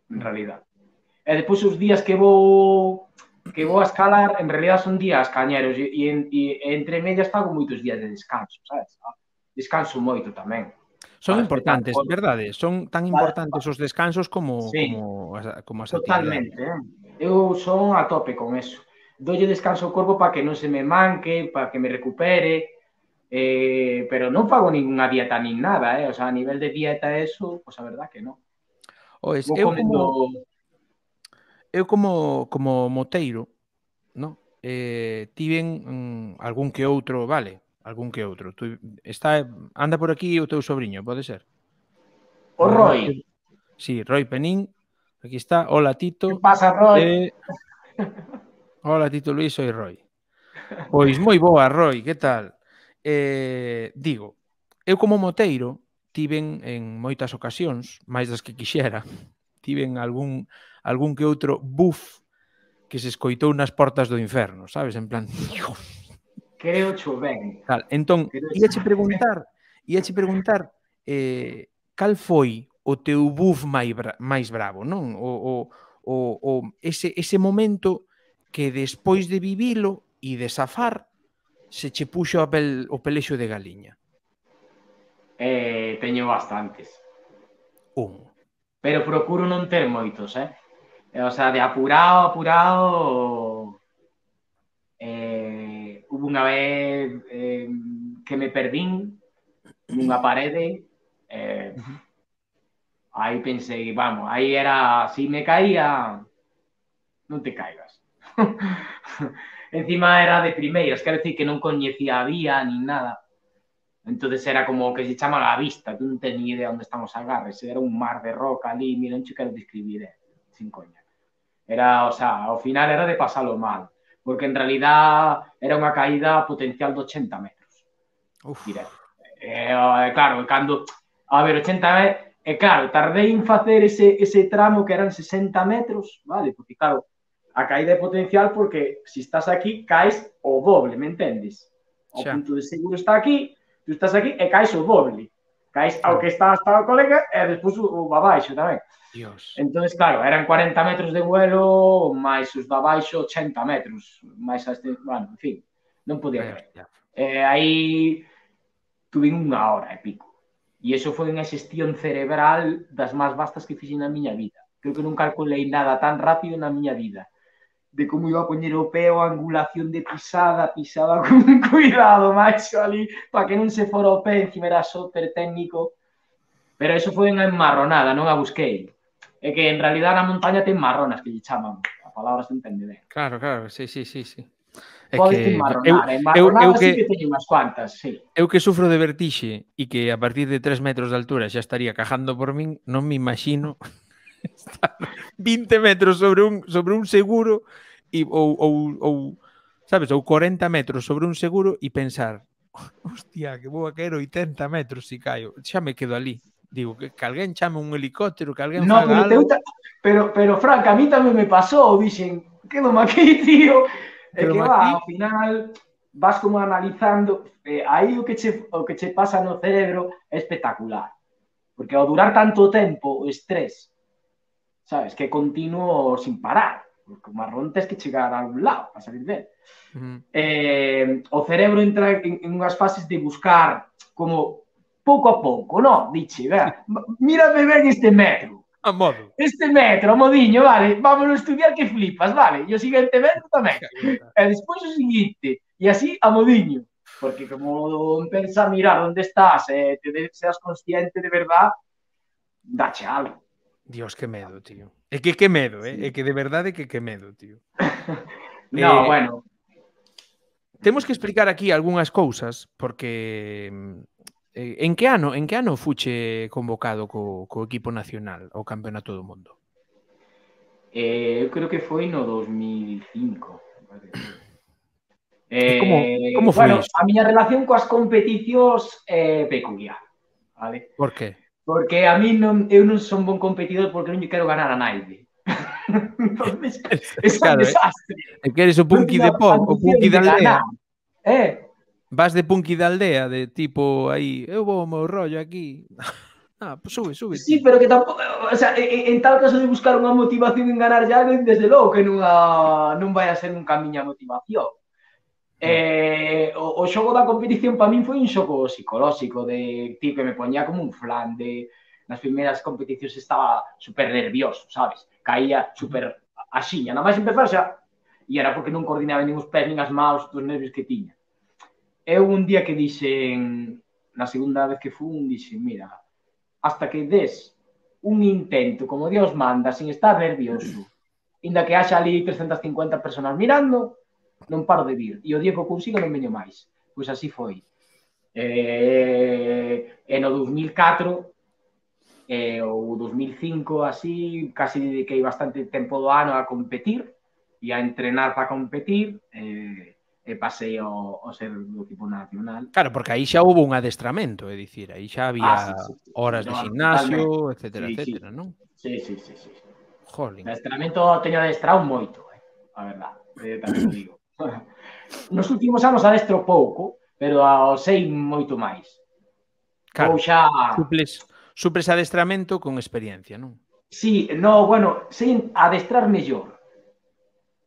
en realidad. E depois os días que vou a escalar, en realidad son días cañeros e entre medias fago moitos días de descanso, sabes? Descanso moito tamén.
Son
Para respectar o
importantes,
corpo.
verdade? Son tan importantes os descansos como
Sí,
as actividades.
totalmente. Eu son a tope con eso. Dolle descanso ao corpo para que non se me manque, para que me recupere, pero non fago ninguna dieta nin nada, O sea, a nivel de dieta eso, pues a verdad que non.
Ois,
Vou comendo...
eu como moteiro, no? Tiven algún que outro, vale, algún que outro. Anda por aquí o teu sobrinho, pode ser?
O Roy.
Sí, Roy Penín. Aquí está. Hola, Tito.
Que pasa, Roy?
Hola, Tito Luís, soy Roy. Pois moi boa, Roy, que tal? Digo, eu como moteiro tiven en moitas ocasións, máis das que quixera, tiven algún que outro buff que se escoitou nas portas do inferno, sabes? En plan,
creo cho ben.
Entón, íache preguntar cal foi o teu buff máis bravo, non? Ese momento que despois de vivilo e de safar se che puxo o pelexo de galiña.
Teño bastantes.
Un.
Pero procuro non ter moitos, O sea, de apurado, hubo unha vez que me perdín nunha parede, aí pensei, vamos, aí era, si me caía, non te caigas. Encima era de primeiras, quero decir que non coñecía a vía, nin nada. Entonces era como que se chama a vista, tú non tens ni idea onde están os agarres, era un mar de roca ali, mira, non che quero describir, sin coña. Era, o sea, ao final era de pasalo mal, porque en realidad era unha caída potencial de 80 metros. Directo. Claro, cando, a ver, 80 metros, claro, tardei en facer ese tramo que eran 60 metros, vale, porque claro, a caída é potencial porque se estás aquí, caes o doble, me entendes? O punto de seguro está aquí, tú estás aquí e caes o doble. Caes ao que está hasta o colega e despois o abaixo tamén.
Dios.
Entón, claro, eran 40 metros de vuelo máis os de abaixo 80 metros. Máis este, bueno, en fin. Non podía creer. Aí tuve unha hora e pico. E iso foi unha xestión cerebral das máis vastas que fixen na miña vida. Creo que non calculei nada tan rápido na miña vida. De como iba a poñer o pé, a angulación de pisada con cuidado, macho, ali, para que non se fora o pé, encima era super técnico. Pero eso foi unha enmarronada, non a busquei. É que en realidad na montaña ten marronas, que lle chaman. A palabra se entende ben.
Claro, sí.
Podes enmarronar. Enmarronadas sí que teño unhas cuantas, sí.
Eu que sufro de vertixe e que a partir de 3 metros de altura xa estaría cajando por min, non me imagino estar 20 metros sobre un seguro ou sabes, ou 40 metros sobre un seguro e pensar, hostia, que vou a caer 80 metros se caio. Xa me quedo ali. Digo, que alguén chame un helicóptero, que alguén faga algo.
Pero Frank, a mí tamén me pasou, dixen, quedo aquí, tío. É que va, ao final vas como analizando, aí o que che pasa no cerebro é espectacular. Porque ao durar tanto tempo, o estrés, sabes, que continuo sin parar. Porque o marrón tens que chegar a algún lado para salir dele. O cerebro entra en unhas fases de buscar como pouco a pouco, non? Diche, mírame ben este metro.
A modo.
Este metro, a modiño, vale, vámonos a estudiar que flipas, vale, e o seguinte metro tamén. E despois o seguinte, e así a modiño. Porque como pensa mirar onde estás e seas consciente de verdad, dache algo.
Dios, que medo, tío. É que medo, é que de verdade que medo, tío.
No, bueno.
Temos que explicar aquí algunhas cousas, porque en que ano fuche convocado co equipo nacional ao Campeonato do Mundo?
Eu creo que foi no 2005.
Como foi iso?
A miña relación coas competicións é peculiar, vale?
Por que?
Porque a mí eu non son bon competidor porque non lle quero ganar a naide. Entonces, é un desastre.
E que eres o punky de pop, o punky da aldea.
Vas
de punky da aldea, de tipo aí, eu vou o meu rollo aquí. Pues sube.
Sí, pero que tampouco, o sea, en tal caso de buscar unha motivación en ganar ya, desde logo que non vai a ser nunca a miña motivación. O xogo da competición para min foi un xogo psicolóxico de tipo que me poñía como un flan de nas primeiras competicións estaba super nervioso, sabes? Caía super axiña, nada máis empezar xa e era porque non coordinaba nin os pés nin as maus dos nervios que tiña. Eu un día que dixen, na segunda vez que fun, dixen, mira, hasta que des un intento como Dios manda, sin estar nervioso, inda que haxa ali 350 personas mirando, non paro de vir. E o día que o consigo non veño máis. Pois así foi. E no 2004 ou 2005, así, casi dediquei bastante tempo do ano a competir e a entrenar para competir e pasei ao ser do equipo nacional.
Claro, porque aí xa houve un adestramento, é dicir, aí xa había horas de gimnasio, etcétera, non?
Sí.
Jolín.
Adestramento teño adestrado moito, a verdade, tamén o digo. Nos últimos anos adestro pouco, pero sei moito máis.
Claro, suples adestramento con experiencia, non?
Sí, no, bueno, sei adestrar mellor.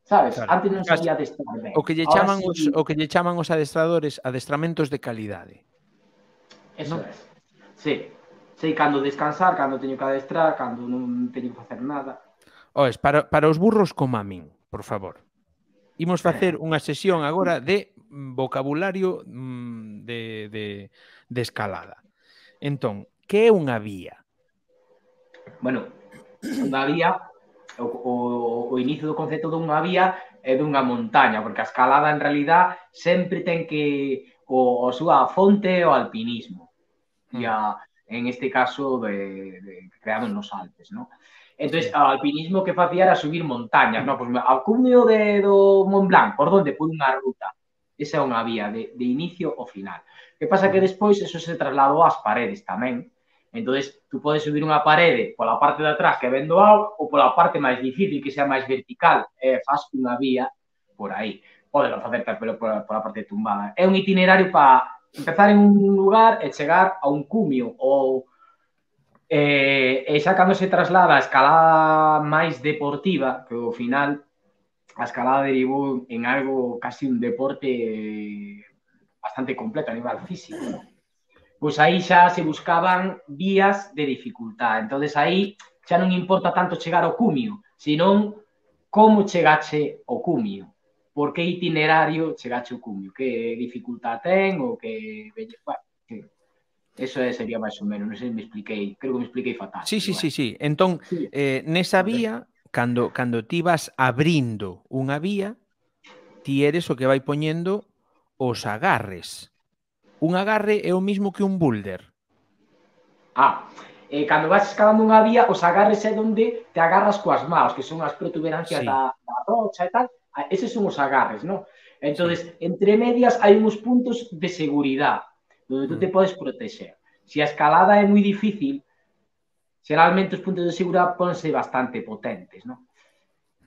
Sabes? Claro. Antes non sabía adestrar ben.
O que lle chaman os adestradores adestramentos de calidade.
Eso é. Sí. Sei cando descansar, cando teño que adestrar, cando non teño que facer nada.
Oes, para os burros como a min, por favor. Imos facer unha sesión agora de vocabulario de escalada. Entón, que é unha vía?
Bueno, unha vía, o inicio do concepto dunha vía é dunha montaña, porque a escalada en realidad sempre ten que a súa fonte o alpinismo. E en este caso creado nos Alpes, non? Entón, o alpinismo que facía era subir montañas, non? Pois ao cumio do Mont Blanc, por donde? Por unha ruta. Esa é unha vía de inicio ao final. Que pasa que despois eso se trasladou ás paredes tamén. Entón, tú podes subir unha parede pola parte de atrás que ven do alto ou pola parte máis difícil, que sea máis vertical, e faz unha vía por aí. Podelo facer pero pola parte tumbada. É un itinerario para empezar en un lugar e chegar a un cumio ou e xa cando se traslada a escalada máis deportiva, que ao final a escalada derivou en algo casi un deporte bastante completo a nivel físico, ¿no? Pois aí xa se buscaban vías de dificultad. Entonces aí xa non importa tanto chegar ao cumio, senón como chegache ao cumio, por que itinerario chegache ao cumio, que dificultad ten ou que... Bueno, sí. Eso sería máis ou menos, non sei se me expliquei, creo que me expliquei fatal.
Sí, sí, sí, sí. Entón,
sí.
Nesa vía, cando ti vas abrindo unha vía, ti eres o que vai poñendo os agarres. Un agarre é o mismo que un boulder.
Cando vas escalando unha vía, os agarres é onde te agarras coas maus, que son as protuberancias da rocha e tal. Eses son os agarres, non? Entonces, entre medias hai uns puntos de seguridade onde tú te podes protexer. Se a escalada é moi difícil, xeralmente os puntos de seguridade ponse bastante potentes, non?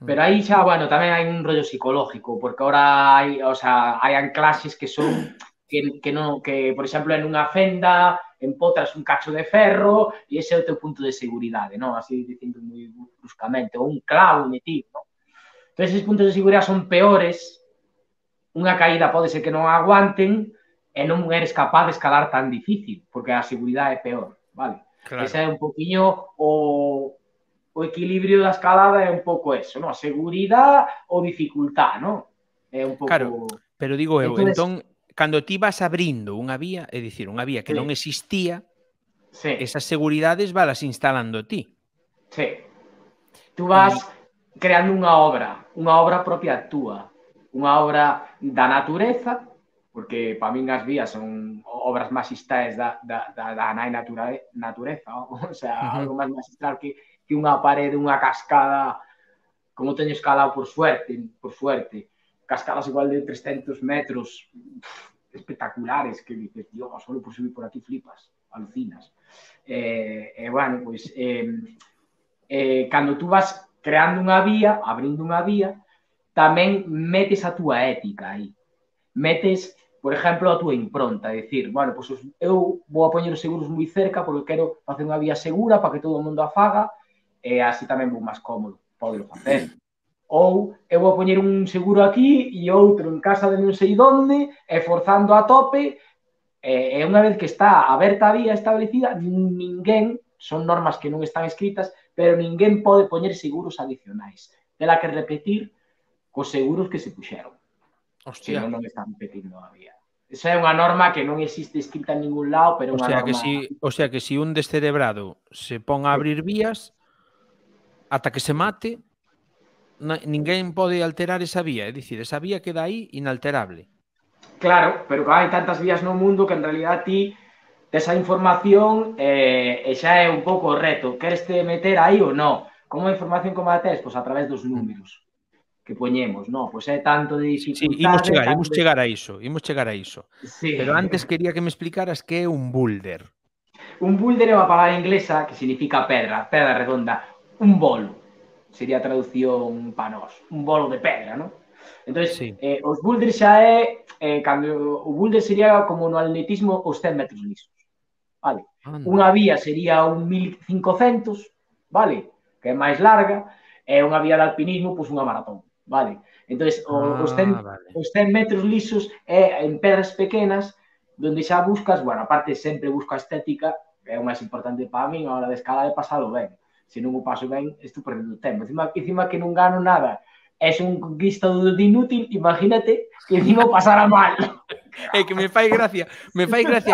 Pero aí xa, bueno, tamén hai un rollo psicológico, porque ahora hai, o sea, hai anclaxes que son que, por exemplo, en unha fenda empotras un cacho de ferro e ese é o teu punto de seguridade, non? Así dicindo moi bruscamente, ou un clavo metido, non? Entón, esos puntos de seguridade son peores, unha caída pode ser que non aguanten e non eres capaz de escalar tan difícil, porque a seguridade é peor, vale? Claro. Ese é un poquinho o equilibrio da escalada é un pouco eso, non? A seguridade ou dificultad, non? É un pouco...
Claro, pero digo eu, entón, cando ti vas abrindo unha vía, é dicir, unha vía que non existía, esas seguridades valas instalando ti.
Sí. Tú vas creando unha obra propia túa, unha obra da natureza, porque para min as vías son obras magistrais da nai natureza, o sea, algo máis magistral que unha parede, unha cascada, como teño escalado por suerte, cascadas igual de 300 metros, espectaculares, que dices, Dios, solo por subir por aquí flipas, alucinas. Bueno, pois, cando tú vas creando unha vía, abrindo unha vía, tamén metes a túa ética aí. Metes, por exemplo, a túa impronta, dicir, bueno, pois eu vou a poñer os seguros moi cerca porque quero facer unha vía segura para que todo o mundo a faga e así tamén vou máis cómodo, podo facer. Ou eu vou poñer un seguro aquí e outro en casa de non sei onde e forzando a tope e unha vez que está aberta a vía establecida, ninguén, son normas que non están escritas, pero ninguén pode poñer seguros adicionais. Tela que repetir cos seguros que se puxeron. Hostia. Se non están repetindo a vía. Esa é unha norma que non existe escrita en ningún lado, pero unha norma...
O sea que si un descerebrado se pon a abrir vías, ata que se mate, ninguén pode alterar esa vía. É dicir, esa vía queda aí inalterable.
Claro, pero que hai tantas vías no mundo que en realidad ti esa información e xa é un pouco o reto. Queres te meter aí ou non? Como a información como a tes? Pois a través dos números que poñemos, non? Pois é tanto de dificultade...
Sí, imos chegar a iso. Sí. Pero antes quería que me explicaras que é un boulder.
Un boulder é unha palabra inglesa que significa pedra redonda. Un bolo. Sería a traducción para nós. Un bolo de pedra, non? Entón, os boulders xa é... cando o boulder sería como no atletismo os 100 metros lisos. Vale? Unha vía sería un 1500, vale? Que é máis larga, e unha vía de alpinismo, pois unha maratón, vale? Entón, os 100 metros lisos é en pedras pequenas, donde xa buscas, bueno, aparte sempre busco a estética, que é o máis importante para min, a hora de escalar é pasalo ben. Se non o paso ben, estou perdendo tempo. Encima que non gano nada, és un conquistador de inútil, imagínate que encima pasara mal.
É que me fai gracia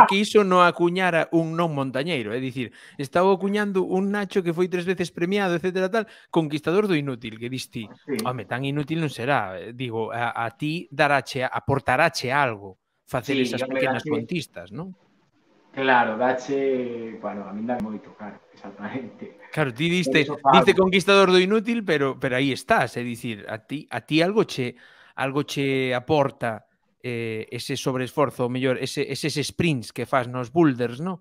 que iso non acuñara un non montañeiro, é dicir, estaba acuñando un Nacho que foi 3 veces premiado, etcétera, tal, conquistador do inútil, que diste, home, tan inútil non será, digo, a ti aportarache algo facer esas pequenas conquistas, non?
Claro, dache, bueno, a min dá moito, claro, exactamente.
Claro, ti diste conquistador do inútil, pero aí estás, é dicir, a ti algo che aporta ese sobreesforzo, ou mellor, eses sprints que fas nos boulders, non?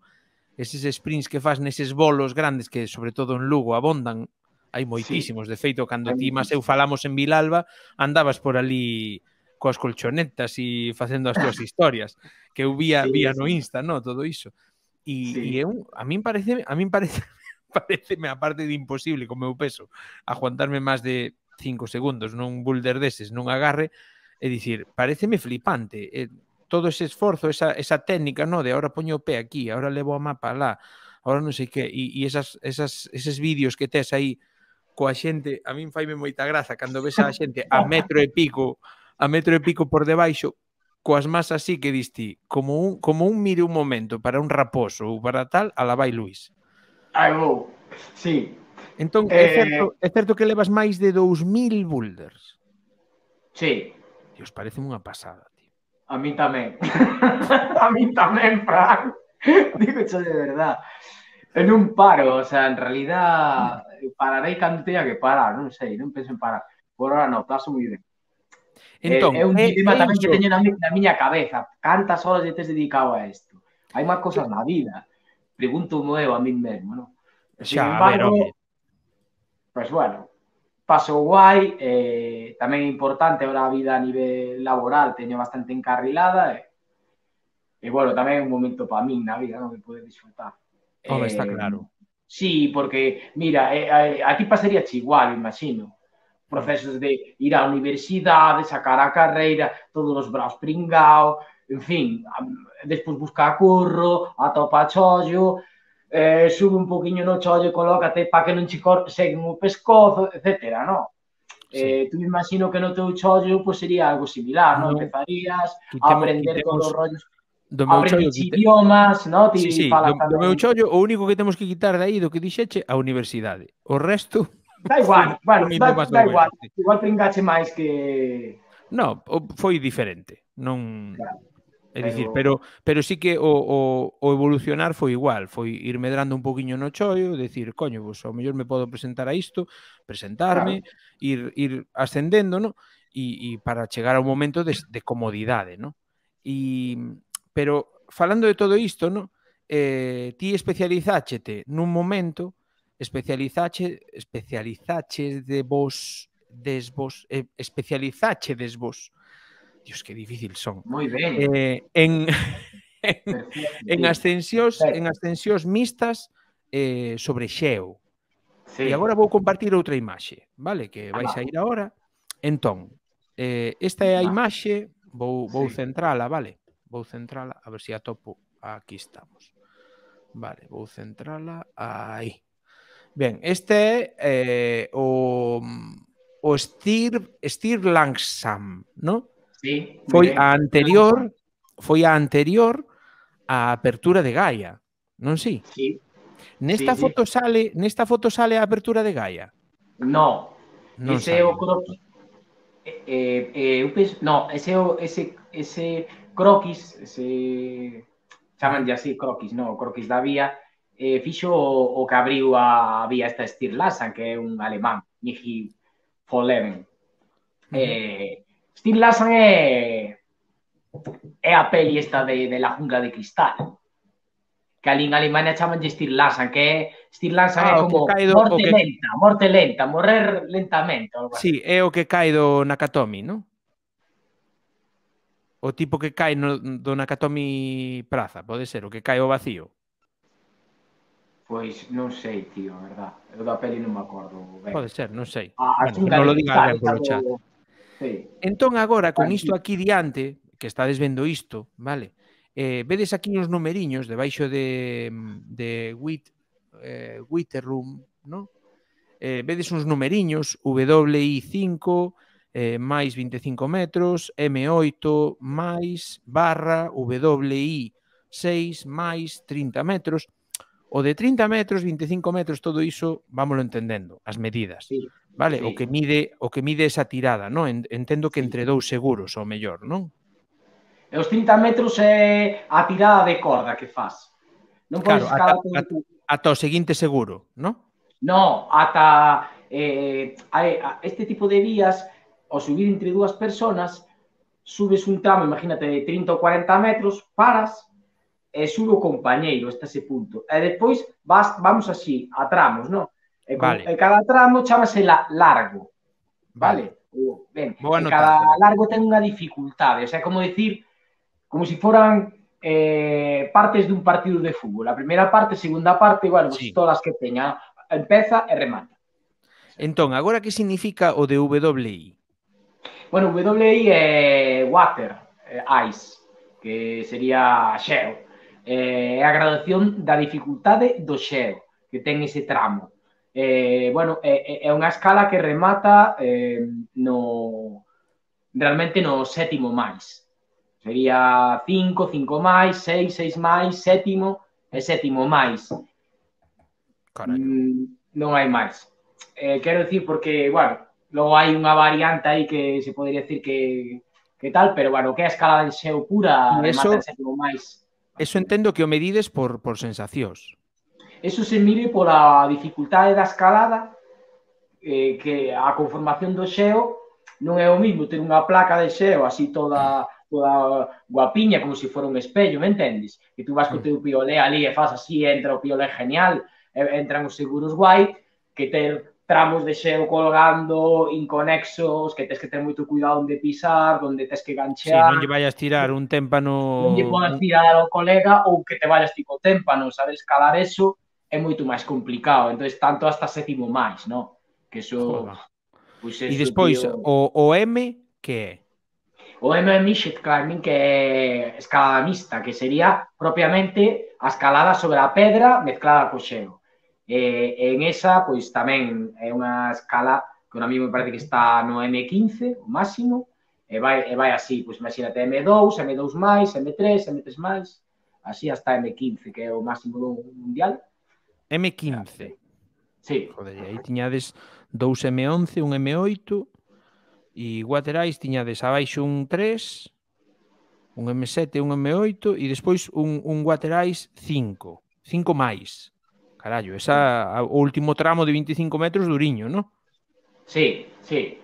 Eses sprints que fas neses bolos grandes que, sobre todo en Lugo, abondan, hai moitísimos. De feito, cando ti mas eu falamos en Vilalba, andabas por ali coas colchonetas e facendo as túas historias, que eu vía no Insta, non? Todo iso. E a min pareceme, aparte de imposible, con meu peso, aguantarme máis de 5 segundos nun boulder deses, nun agarre, e dicir, pareceme flipante, todo ese esforzo, esa técnica, no, de ahora poño o pé aquí, ahora levo a mapa lá, ahora non sei que, e eses vídeos que tes aí coa xente, a min faime moita graza cando ves a xente a metro e pico por debaixo, coas más así que diste, como un mire un momento para un raposo ou para tal, alá vai Luís.
Ai, vou, sí.
Entón, é certo que levas máis de 2000 boulders.
Sí.
Dios, parece unha pasada, tío.
A mí tamén. A mí tamén, Fran. Digo xo de verdad. En un paro, o sea, en realidad pararei cando teña que parar, non sei, non penso en parar. Por ahora non, paso moi ben.
Entón,
é un dilema tamén que teño na miña cabeza. Cantas horas tes dedicado a isto? Hai máis cosas na vida. Pregunto eu a min mesmo, non? Sin embargo, pues bueno, paso guai, tamén é importante ahora a vida a nivel laboral, teño bastante encarrilada, e bueno, tamén é un momento para min na vida, non? De poder disfrutar.
Home, está claro.
Sí, porque, mira, a ti pasaría igual, imagino. Procesos de ir á universidade, sacar a carreira, todos os braos pringao, en fin, despois buscar curro, atopa chollo, sube un poquinho no chollo, colócate para que non che seguen o pescozo, etc. No? Sí. Tú me imagino que no teu chollo pues, sería algo similar, no? Empezarías a aprender todos os rollos, aprendes idiomas, no?
Sí, sí, do meu chollo o único que temos que quitar de aí do que dixeche, a universidade. O resto...
Da igual, bueno, da igual. Igual pringache máis que...
No, foi diferente. Non... Claro. É dicir, pero sí que o evolucionar foi igual, foi ir medrando un poquinho no chollo, decir, coño, pues, ao mellor me podo presentar a isto, presentarme, claro. ir ascendendo, no? E para chegar ao momento de comodidade, no? Pero falando de todo isto, no? Ti especializáchete nun momento, especializáchedes vos, Dios, que difícil son.
Moi ben.
En ascensións mixtas sobre xeo. Sí. E agora vou compartir outra imaxe, vale? Que vai sair agora. Entón, esta é a imaxe, vou centrala, vale? Vou centrala, a ver se atopo. Aquí estamos. Vale, vou centrala aí. Ben, este é o Stirlangsham, non?
Sí,
foi a anterior á apertura de Gaia, non si?
Sí.
Nesta foto sale a apertura de Gaia?
No. Ese é o croquis. No, ese croquis, chamanlle así croquis, no, o croquis da vía, fixo o que abriu a vía esta Stirlangsham, que é un alemán, Michi von Leven. Stirlangsham é a peli esta de La jungla de cristal, que ali en Alemania chamanlle Stirlangsham, que Stirlangsham é como morte lenta, morrer lentamente.
Sí, é o que cae do Nakatomi, non? O tipo que cae do Nakatomi Praza, pode ser, o que cae ao vacío.
Pois non sei, tío, a verdad. Eu da peli non me acordo ben.
Pode ser, non sei.
Bueno,
non lo diga alguén polo chat. Sí. Entón agora, con isto aquí diante, que estades vendo isto, vale? Vedes aquí uns numeriños debaixo de Witterroom, non? Vedes uns numeriños, WI5 máis 25 metros, M8 máis barra WI6 máis 30 metros. O de 30 metros, 25 metros, todo iso, vámoslo entendendo, as medidas. Sí. Vale? Sí. O que mide esa tirada, non? Entendo que entre dous seguros, ao mellor, non?
E os 30 metros é a tirada de corda que faz. Non podes
escalar ata o seguinte seguro, non?
Non, ata este tipo de vías, ao subir entre dúas personas, subes un tramo, imagínate, de 30 ou 40 metros, paras, e sube o compañeiro hasta ese punto. E despois vamos así, a tramos, non? E cada tramo chamase largo. Vale? Ben, e cada largo ten unha dificultade. O sea, como dicir, como se foran partes dun partido de fútbol. A primeira parte, segunda parte, bueno, pues todas as que teña, empeza e remata.
Entón, agora que significa o de WI?
Bueno, WI é water, ice, que sería xeo. É a graduación da dificultade do xeo, que ten ese tramo. Bueno, é unha escala que remata realmente no sétimo máis. Sería 5, 5 máis, 6, 6 máis, sétimo e sétimo máis. Non hai máis. Quero dicir porque, bueno, logo hai unha variante aí que se podería decir que tal, pero, bueno, que é a escala de xeo pura remata en sétimo máis.
Eso entendo que o medides por sensacións.
Eso se mide pola dificultade da escalada, que a conformación do xeo non é o mismo ter unha placa de xeo así toda guapiña, como se fora un espello, me entendes? Que tú vas co teu piolé ali e faz así, entra o piolé genial, entran os seguros guai, que ter tramos de xeo colgando, inconexos, que tens que ter moito cuidado onde pisar, onde tens que ganchear.
Sí, non lle vayas tirar un témpano...
Non lle podas tirar ao colega ou que te vayas tipo témpano, sabes? Escalar eso é moito máis complicado. Entón, tanto hasta sétimo máis, non? Que eso...
Pues eso, e despois, tío... o M, que é?
O M é Mixed Climbing, que é escalada mixta, que sería propiamente a escalada sobre a pedra mezclada co xeo. En esa, pois tamén é unha escala que a mí me parece que está no M15, o máximo, e vai así, pois imagínate M2, M2 máis, M3, M3 máis, así hasta M15, que é o máximo do mundial.
M15?
Sí.
Joder, aí tiñades 2 M11, un M8, e Water Ice tiñades abaixo un 3, un M7, un M8, e despois un Water Ice 5, 5 máis. Carallo, o último tramo de 25 metros duriño, non?
Sí, sí.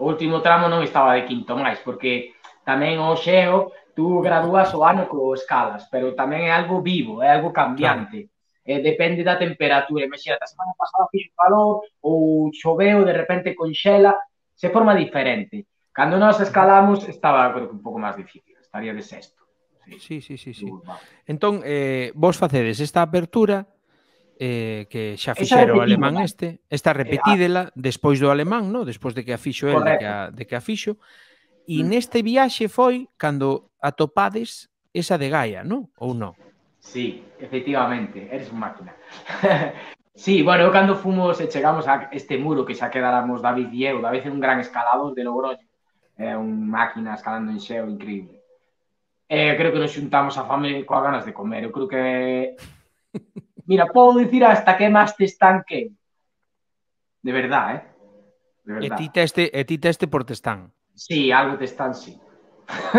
O último tramo non estaba de quinto máis, porque tamén o xeo tú gradúas o ano co escalas, pero tamén é algo vivo, é algo cambiante. Claro. Depende da temperatura. Imagínate, a semana pasada fixo calor ou choveu, de repente conxela, se forma diferente. Cando nós escalamos estaba, creo que un pouco máis difícil, estaría de sexto.
Sí. Entón, vos facedes esta apertura que xa fixera o alemán esta repetídela despois do alemán, no? Despois de que a fixo el, de que a fixo, e neste viaxe foi cando atopades esa de Gaia, non? Ou non?
Sí, efectivamente, eres un máquina. Sí, bueno, cando fomos e chegamos a este muro que xa quedáramos David e eu, David é un gran escalador de Logroño, é un máquina escalando en xeo increíble. Creo que nos xuntamos a fame coas ganas de comer, eu creo que... Mira, podo dicir hasta que máis te estanque. De verdad, De verdad.
E ti teste por testán?
Sí, algo testán, sí.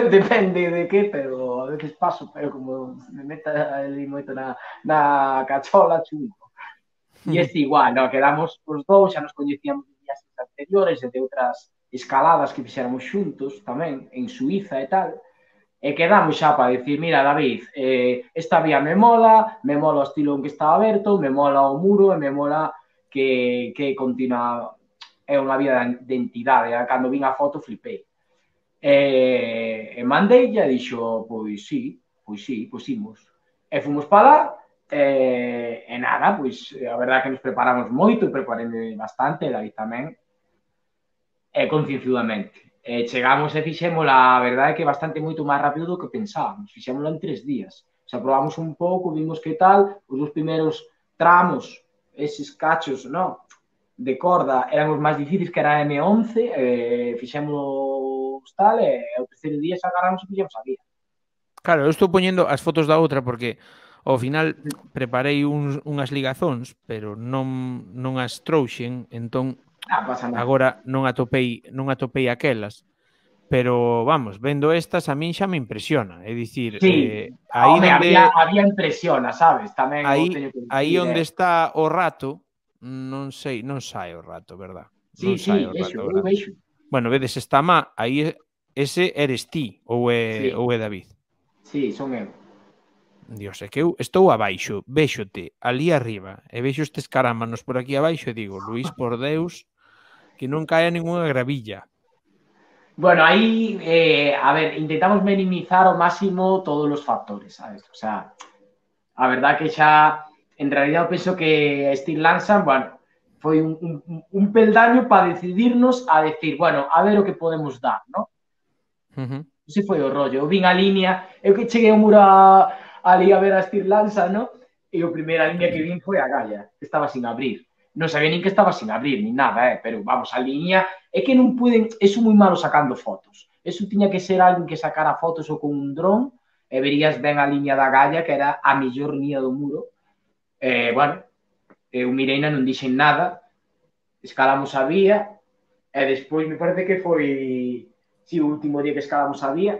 Depende de que, pero a veces paso, pero como me meta ali moito na cachola, chungo. E este igual, no, quedamos os dous, xa nos coñecíamos de días anteriores e de outras escaladas que fixéramos xuntos tamén, en Suiza e tal. E quedamos xa para decir, mira, David, esta vía me mola o estilo en que está aberto, me mola o muro e me mola que continua, é unha vía de identidade. Cando vin a foto flipei. E mandei e dixo, pois sí, pois imos. E fomos para lá, e nada, pois a verdade que nos preparamos moito, preparei bastante, David tamén, e concienciadamente. Chegamos e fixémola, a verdade é que bastante moito máis rápido do que pensábamos. Fixémola en 3 días. O sea, probamos un pouco, vimos que tal, os dos primeiros tramos, eses cachos, no, de corda, eran os máis difíciles, que era M11, fixémolos tal, e o terceiro día xa agarramos e fixemos a vía.
Claro, eu estou poñendo as fotos da outra porque ao final preparei unhas ligazóns, pero non as trouxen, entón agora non atopei aquelas, pero vamos, vendo estas a min xa me impresiona, é dicir,
sí, había impresiona, sabes? Tamén
aí onde está o rato, non sei, non sae o rato, verdad?
Sí, vexo.
Bueno, vedes esta má, aí ese eres ti ou é David?
Sí, son eu.
Dios, é que eu estou abaixo, véxote ali arriba e vexo estes carámanos por aquí abaixo e digo, Luís, por Deus, que non caia ninguna gravilla.
Bueno, aí, a ver, intentamos minimizar ao máximo todos os factores, sabes? O sea, a verdad que xa, en realidad, eu penso que Steve Lansan, bueno, foi un peldaño para decidirnos a decir, bueno, a ver o que podemos dar, non? Ese foi o rollo. Eu vin a línea, eu que cheguei ao muro ali a ver a estirlanza, non? E a primeira línea que vin foi a Gaia, que estaba sin abrir. Non sabía nin que estaba sin abrir, nin nada, pero vamos, a línea... É que non puden... Eso moi malo sacando fotos. Eso tiña que ser alguén que sacara fotos ou con un dron e verías ben a línea da Gaia, que era a mellor línea do muro. Bueno, eu mireina, non dixen nada, escalamos a vía, e despois me parece que foi o último día que escalamos a vía,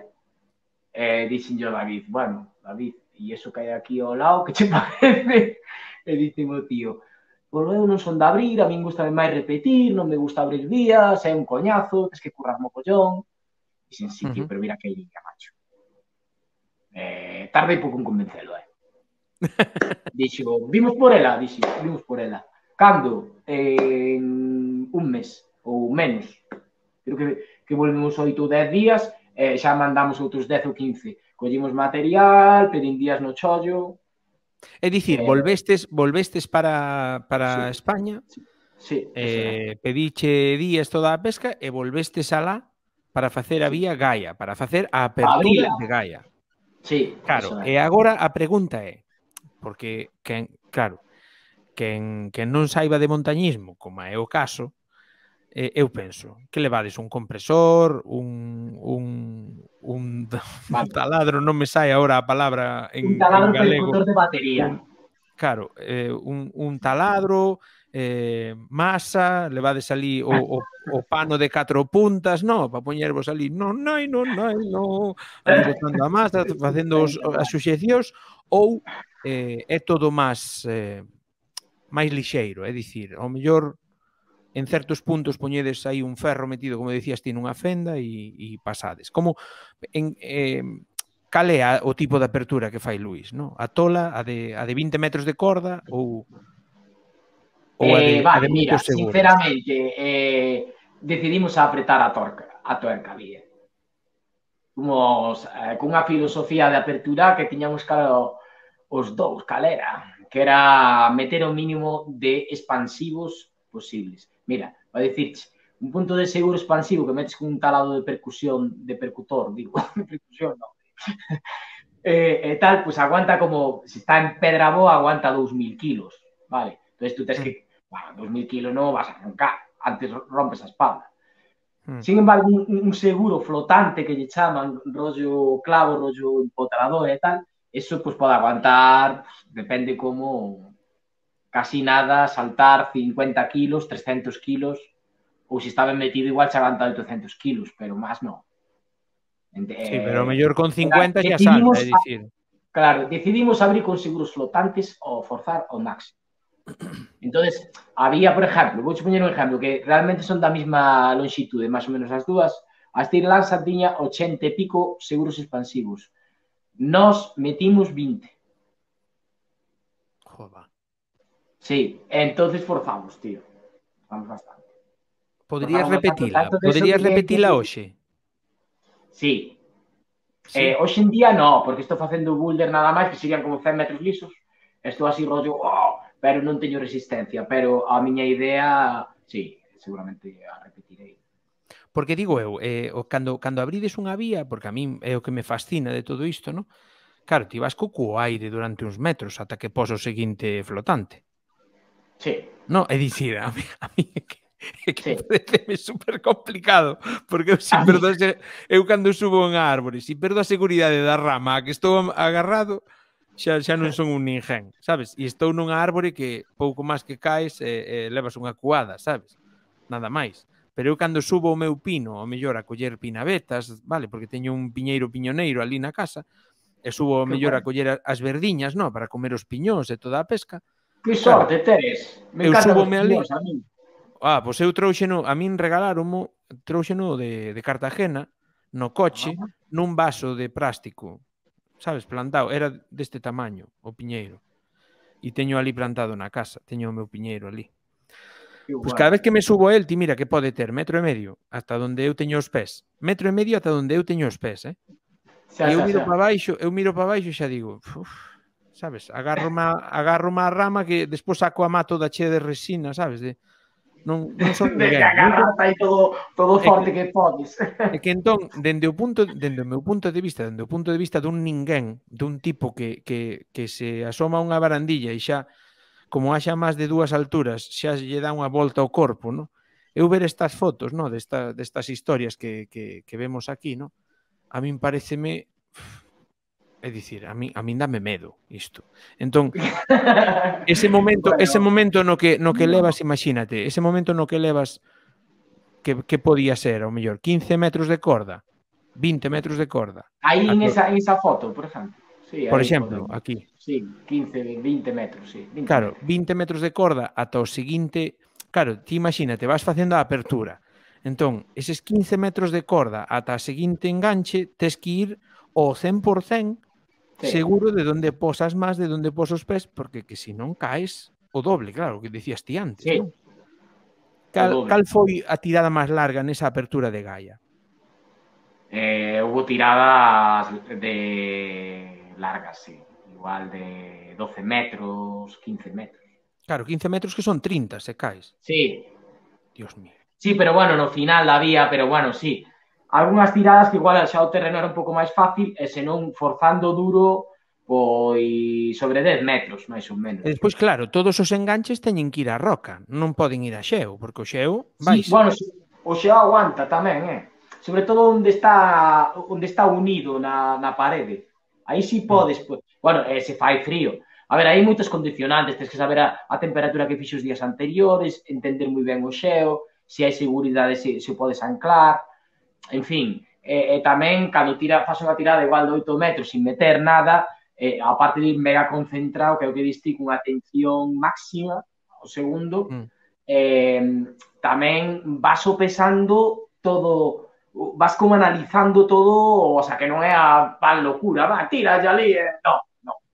dixen yo a David, bueno, David, e iso que hai aquí ao lado, que che parece? E dixen o tío, pois eu non son de abrir, a min gusta máis repetir, non me gusta abrir vías, é un coñazo, tens que currar mogollón. Dixen, sí, tío, pero mira que línea, macho. Tardei pouco en convencelo, Dixo, vimos por ela, vimos por ela. Cando? En un mes, ou menos. Creo que volvemos 8 ou 10 días, xa mandamos outros 10 ou 15. Collimos material, pedín días no chollo.
É dicir, volvestes para España, pediche días toda a pesca e volvestes alá para facer a vía Gaia, para facer a apertura de Gaia.
Sí,
claro, e agora a pregunta é, porque, claro, quen non saiba de montañismo, como é o caso, eu penso, que levades un compresor, un taladro, non me sai agora a palabra en galego.
Un taladro percutor de batería.
Claro, un taladro, masa, levades ali o pano de 4 puntas, no, para poñervos ali, non, ali botando a masa, facendo as suxeccións, ou é todo máis lixeiro, é dicir, ao mellor en certos puntos poñedes aí un ferro metido, como decías ti, nunha fenda e pasades. Como cal é o tipo de apertura que fai Luís, no? A tola, a de 20 metros de corda ou a de
mira,
seguros?
Sinceramente, decidimos apretar a tuerca, bien. Fomos cunha filosofía de apertura que tiñamos claro os dous, calera, que era meter o mínimo de expansivos posibles. Mira, vai dicirche, un punto de seguro expansivo que metes con un talado de percutor, digo, de percusión, non. Tal, pues aguanta como, se está en pedra boa, aguanta 2000 kilos, vale? Entonces tú tienes que, bueno, 2000 kilos no vas a arrancar, antes rompes a espalda. Sin embargo, un seguro flotante que lle chaman, rollo clavo, rollo empotrador e tal, eso pues pode aguantar, depende como, casi nada, saltar 50 kilos, 300 kilos, ou se está ben metido igual se aguanta 800 kilos, pero máis non.
Sí, pero mellor con 50 xa salta, é dicir.
Claro, decidimos abrir con seguros flotantes ou forzar ao máximo. Entonces, había, por exemplo, vou poñer un exemplo, que realmente son da mesma longitude, máis ou menos as dúas, a Stirlanza tiña 80 e pico seguros expansivos. Nos metimos 20.
Joder.
Sí, entonces forzamos, tío. Forzamos bastante.
Poderías repetila hoxe?
Sí. Hoxe en día no, porque estou facendo boulder nada máis, que serían como 100 metros lisos. Estou así rollo, pero non teño resistencia. Pero a miña idea, sí, seguramente a repetirei.
Porque digo eu, cando abrides unha vía, porque a min é o que me fascina de todo isto, non? Claro, ti vas co aire durante uns metros ata que pos o seguinte flotante.
Sí.
Non, é dicir, a mí é que pareceme super complicado, porque eu cando subo en árbore, se perdo a seguridade da rama a que estou agarrado, xa non son un ninguén, sabes? E estou nunha árbore que pouco máis que caes levas unha cuada, sabes? Nada máis. Pero eu cando subo o meu pino, ao mellor a coller pinabetas, vale, porque teño un piñeiro piñoneiro ali na casa, e subo ao mellor a coller as verdiñas, no, para comer os piñóns e toda a pesca.
Que sorte teres. Me encantan os piñóns a mí.
Pois eu trouxeno, a min regalaronmo, trouxeno de Cartagena, no coche, nun vaso de plástico, sabes, plantado, era deste tamaño, o piñeiro. E teño ali plantado na casa, teño o meu piñeiro ali. Pois cada vez que me subo a el, ti mira que pode ter 1,5 metros hasta onde eu teño os pés. 1,5 metros ata onde eu teño os pés, E eu miro para baixo e xa digo, sabes? Agarro má rama que despois saco a má toda chea de resina, sabes? Non son
De que
ninguén.
agarras aí todo forte que podes.
É que entón, dende o meu punto de vista, dende o punto de vista dun ninguén, dun tipo que se asoma a unha barandilla e xa, como haxa máis de 2 alturas, xa lle dá unha volta ao corpo, no? Eu ver estas fotos, no? Destas historias que vemos aquí, no? A min pareceme... É dicir, a min dame medo isto. Entón, ese momento no que levas, imagínate, ese momento no que levas que podía ser, ao mellor, 15 metros de corda, 20 metros de corda.
Aí en esa foto, por exemplo. Sí,
por
aí
exemplo, aquí.
Sí, 15, 20 metros, sí. 20
claro,
metros.
20 metros de corda ata o seguinte... Claro, ti imagínate, vas facendo a apertura. Entón, eses 15 metros de corda ata a seguinte enganche, tes que ir ao 100% seguro de onde posas máis, de onde pos os pés, porque que se non caes o doble, claro, o que dicías ti antes,
sí.
non? Cal foi a tirada máis larga nesa apertura de Gaia?
Hubo tiradas de largas, sí. Igual de 12 metros, 15 metros.
Claro, 15 metros que son 30, se caes.
Sí.
Dios mío.
Sí, pero bueno, no final había, pero bueno, sí. Algunhas tiradas que igual xa o terreno era un pouco máis fácil e senón forzando duro pois sobre 10 metros, máis ou menos.
E despois, claro, todos os enganches teñen que ir á roca, non poden ir a xeo, porque o xeo
vai. Sí, bueno, o xeo aguanta tamén, sobre todo onde está unido na parede. Aí sí podes, bueno, se fai frío. A ver, hai moitos condicionantes, tens que saber a temperatura que fixo os días anteriores, entender moi ben o xeo, se hai seguridade, se o podes anclar, en fin. E tamén, cando faz unha tirada igual de 8 metros sin meter nada, aparte de ir mega concentrado, que é o que diste, cunha atención máxima ao segundo, tamén vas sopesando todo, vas como analizando todo, o sea, que non é a pan locura, va, tira ya ali, no,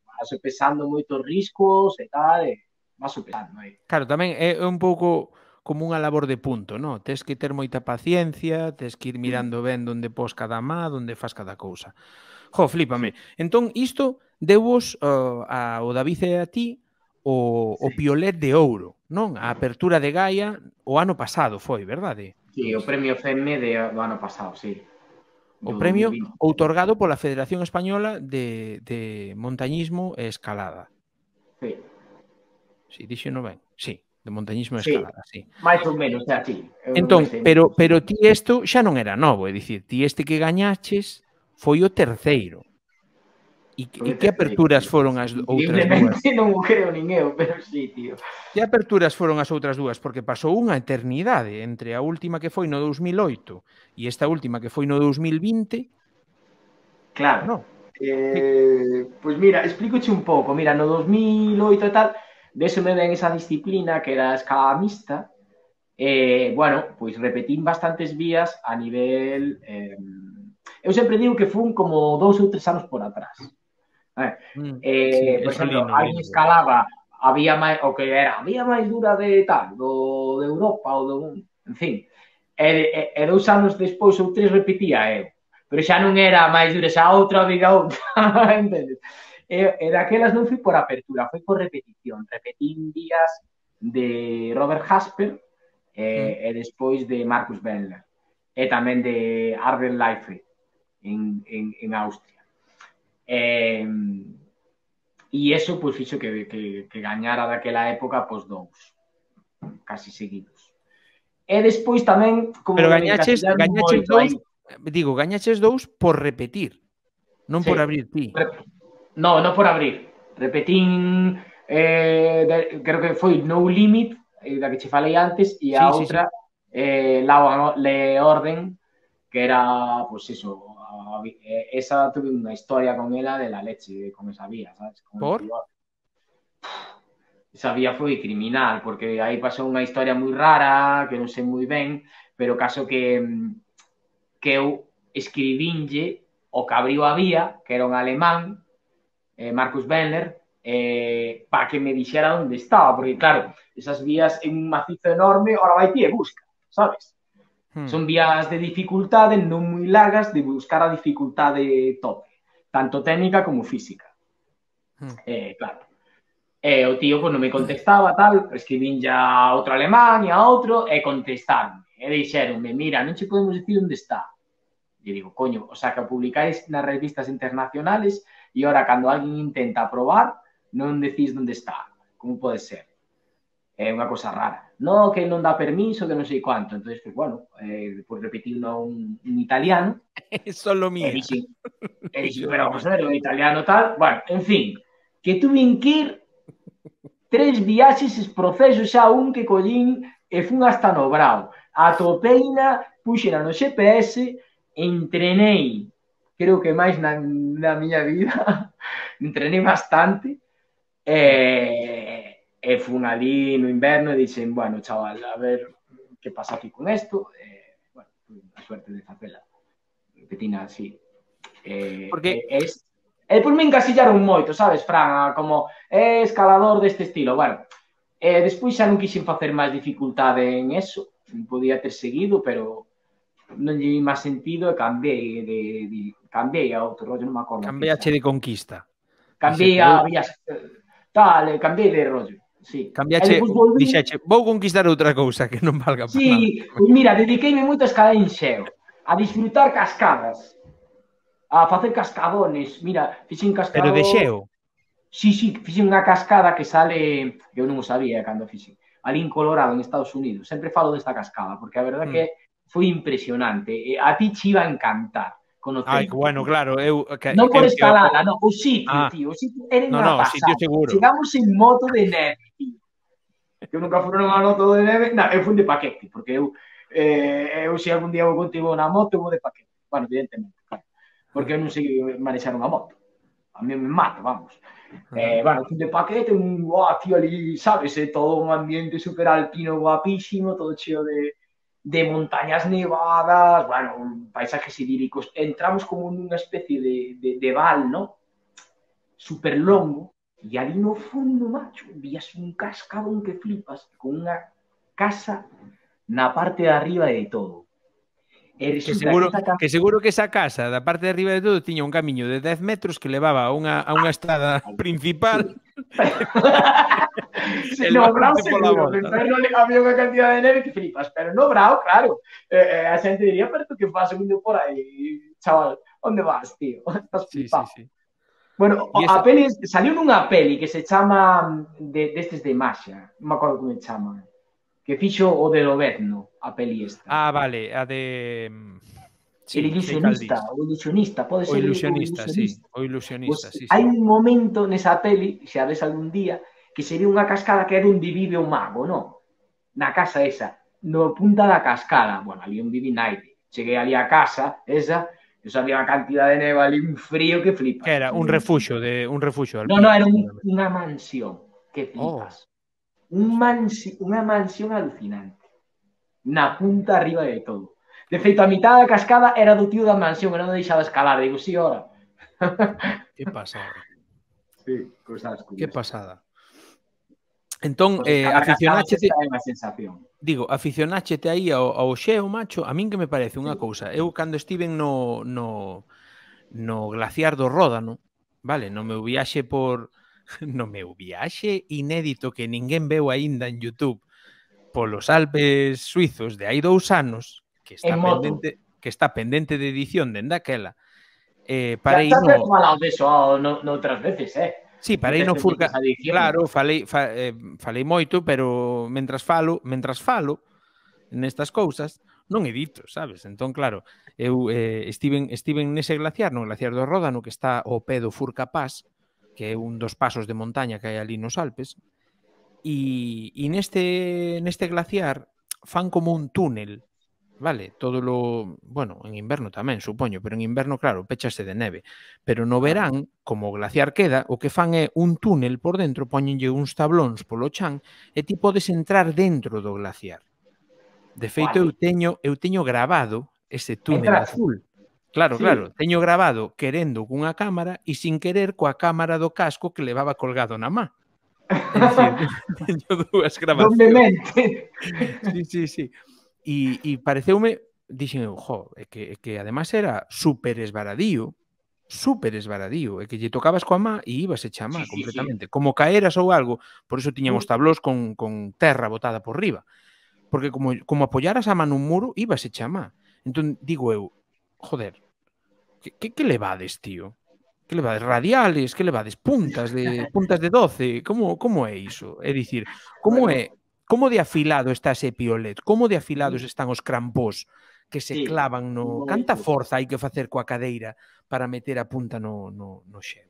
vas sopesando moitos riscos e tal, vas sopesando aí.
Claro, tamén é un pouco como unha labor de punto, non? Tes que ter moita paciencia, tes que ir mirando ben onde pos cada má, onde fas cada cousa. Jo, flípame. Sí. Entón, isto deuvos ao David e a ti o piolet de ouro, non? A apertura de Gaia o ano pasado foi, verdade?
Sí, o premio FEME do ano pasado, sí.
O premio outorgado pola Federación Española de Montañismo e Escalada.
Sí.
Si, dixeno ben. Sí, de montañismo e escalada, sí.
Máis ou menos, é así.
Entón, pero ti isto xa non era novo, é dicir, ti este que gañaches foi o terceiro. E que aperturas foron as outras dúas?
Non o creo nin eu, pero sí, tío.
Que aperturas foron as outras dúas? Porque pasou unha eternidade entre a última que foi no 2008 e esta última que foi no 2020.
Claro. No. Pois mira, explícoche un pouco. Mira, no 2008 e tal, desome ben esa disciplina que era a escalada mixta. Bueno, pois repetín bastantes vías a nivel... eu sempre digo que fun como 2 ou 3 anos por atrás. Por exemplo, alguén escalaba, había máis dura de tal, de Europa ou do... En fin, e 2 anos despois ou 3 repetía eu. Pero xa non era máis dura, xa outra, viga outra, entendes? E daquelas non fui por apertura, foi por repetición. Repetín días de Robert Hasper e despois de Marcus Bendler. E tamén de Arden Leifert en Austria. E eso pois fixo que gañara daquela época pois 2 casi seguidos. E despois tamén como
pero gañaches 2, digo, gañaches 2 por repetir, non por abrir ti.
Non por abrir. Repetín creo que foi No Limit, da que che falei antes, e a outra Le Orden, que era, pois eso, esa tuve unha historia con ela de la leche, con esa vía, sabes?
Por?
Esa vía foi criminal, porque aí pasou unha historia moi rara, que non sei moi ben, pero caso que eu escribínlle o que abriu a vía, que era un alemán, Marcus Bendler, para que me dixera onde estaba, porque claro, esas vías en un macizo enorme, ahora vai ti e busca, sabes? Son vías de dificultade non moi largas, de buscar a dificultade tope, tanto técnica como física. Claro. E o tío non me contestaba, tal, escribín ya a outro alemán e a outro, e contestaron. E dixeronme, mira, non che podemos dicir onde está. E digo, coño, o sea, que o publicáis nas revistas internacionales e ahora, cando alguén intenta probar, non decís onde está. Como pode ser? É unha cosa rara. No, que non dá permiso, que non sei quanto. Entón, pues, bueno, depois repetindo un italiano.
É solo mía.
E dixen, pero vamos a ver, un italiano tal. Bueno, en fin, que tuve que ir 3 viaxes es proceso xa un que collín e fun hasta no Brao. Atopeina, puxera no GPS, entrenei, creo que máis na miña vida, entrenei bastante, e fun ali no inverno e dixen, bueno, chaval, a ver que pasa aquí con esto, bueno, a suerte de facela, petina así. Porque... E depois me encasillaron moito, sabes, Fran, como escalador deste estilo. Bueno, despois xa non quixen facer máis dificultade en eso, podía ter seguido, pero non lle vi máis sentido e cambiei a outro rollo, non me acordo.
Cambiache de conquista.
Cambiei a vías, tal, cambiei de rollo, sí.
Cambiache, dixeche, vou conquistar outra cousa que non valga para nada.
Sí, pois mira, dediqueime moito a escalar en xeo, a disfrutar cascadas, a facer cascadones. Mira, fixen cascadón...
Pero de xeo?
Sí, fixen unha cascada que sale... Eu non o sabía cando fixen. Ali en Colorado, en Estados Unidos. Sempre falo desta cascada, porque a verdade que foi impresionante. A ti che iba a encantar.
Ai, bueno, claro.
Non por escalada, non. O sitio, tío. O sitio era unha pasada. Chegamos en moto de neve, tío. Eu nunca fui nunha moto de neve. Non, eu fui de paquete, porque eu se algún día vou contigo na moto, vou de paquete. Bueno, evidentemente, claro. Porque eu non sei manexar unha moto. A mí me mata, vamos. Bueno, fui de paquete, tío, ali, sabes, todo un ambiente super alpino guapísimo, todo cheo de montañas nevadas, bueno, paisajes idílicos. Entramos como nunha especie de val, ¿no? Super longo, e ali no fondo, macho, vías un cascadón que flipas, con unha casa na parte de arriba de todo.
Que seguro que esa casa da parte de arriba de todo tiña un camiño de 10 metros que levaba a unha estrada principal.
No Brao seguro, había unha cantidad de neve que flipas, pero no Brao, claro, a xente diría, pero tú que vas indo por aí, chaval, onde vas, tío? Estás flipado. Sí. Bueno, a peli, saliu nunha peli que se chama destes de Maxia, non me acordo como se chama, que fixo o de Lobezno, a peli esta.
Ah, vale, a de...
Sí, el ilusionista, pode ser.
O ilusionista, sí. O ilusionista,
sí. Hai un momento nesa peli, se a ves algún día, que sería unha cascada que é onde vive o mago, non? Na casa esa, no punta da cascada. Bueno, ali onde vive naide. Cheguei ali a casa, esa, eu sabía unha cantidad de neva ali, un frío que flipas.
Que era un refuxo
No, era unha mansión que flipas. Unha mansión alucinante. Na punta arriba de todo. De feito, a mitad da cascada era do tío da mansión, que non deixaba escalar. Digo, sí, ora.
Que pasada.
Sí, cosas curiosas.
Que pasada. Entón, aficionáchete... Digo, aficionáchete aí ao xeo, macho. A min que me parece unha cousa. Eu, cando estiven no glaciar do Ródano, vale, no meu viaxe inédito que ninguén veu aínda en YouTube polos Alpes suizos de hai 2 anos, que está pendente de edición dende aquela.
Parei no... Xa falado deso noutras veces,
Sí, parei no Furca... Claro, falei moito, pero mentras falo nestas cousas, non edito, sabes? Entón, claro, eu estiven nese glaciar, no glaciar do Ródano, que está ao pé do Furca Pass, que é un dos pasos de montaña que hai ali nos Alpes, e neste glaciar fan como un túnel, vale? Bueno, en inverno tamén, supoño, pero en inverno, claro, péchase de neve. Pero no verán, como o glaciar queda, o que fan é un túnel por dentro, poñenlle uns tablóns polo chan, e ti podes entrar dentro do glaciar. De feito, eu teño grabado ese túnel azul. Claro, teño grabado querendo cunha cámara e sin querer coa cámara do casco que levaba colgado na má. É dicir, teño 2 grabacións. Sí. E pareceume, dixen eu, é que además era super esvaradío, súper esvaradío, e que lle tocabas coa má e ibas echa a má completamente. Como caeras ou algo, por eso tiñan os tablós con terra botada por riba. Porque como apoyaras a má nun muro, ibas echa a má. Entón, digo eu, joder, que levades, tío? Que levades? Radiales? Que levades? Puntas de 12? Como é iso? É dicir, como de afilado está ese piolet? Como de afilados están os crampós que se clavan no... Canta forza hai que facer coa cadeira para meter a punta no xeo?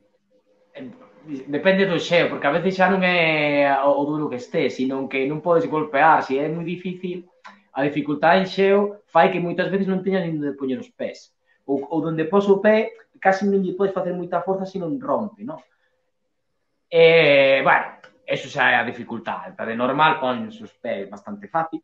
Depende do xeo, porque a veces xa non é o duro que este, sino que non podes golpear, se é moi difícil, a dificultade en xeo fai que moitas veces non teñas nin onde poñer os pés. Ou donde pos o pé, casi non lle podes facer moita forza se non rompe, non? Bueno, eso xa é a dificultade. De normal, pones os pés bastante fácil,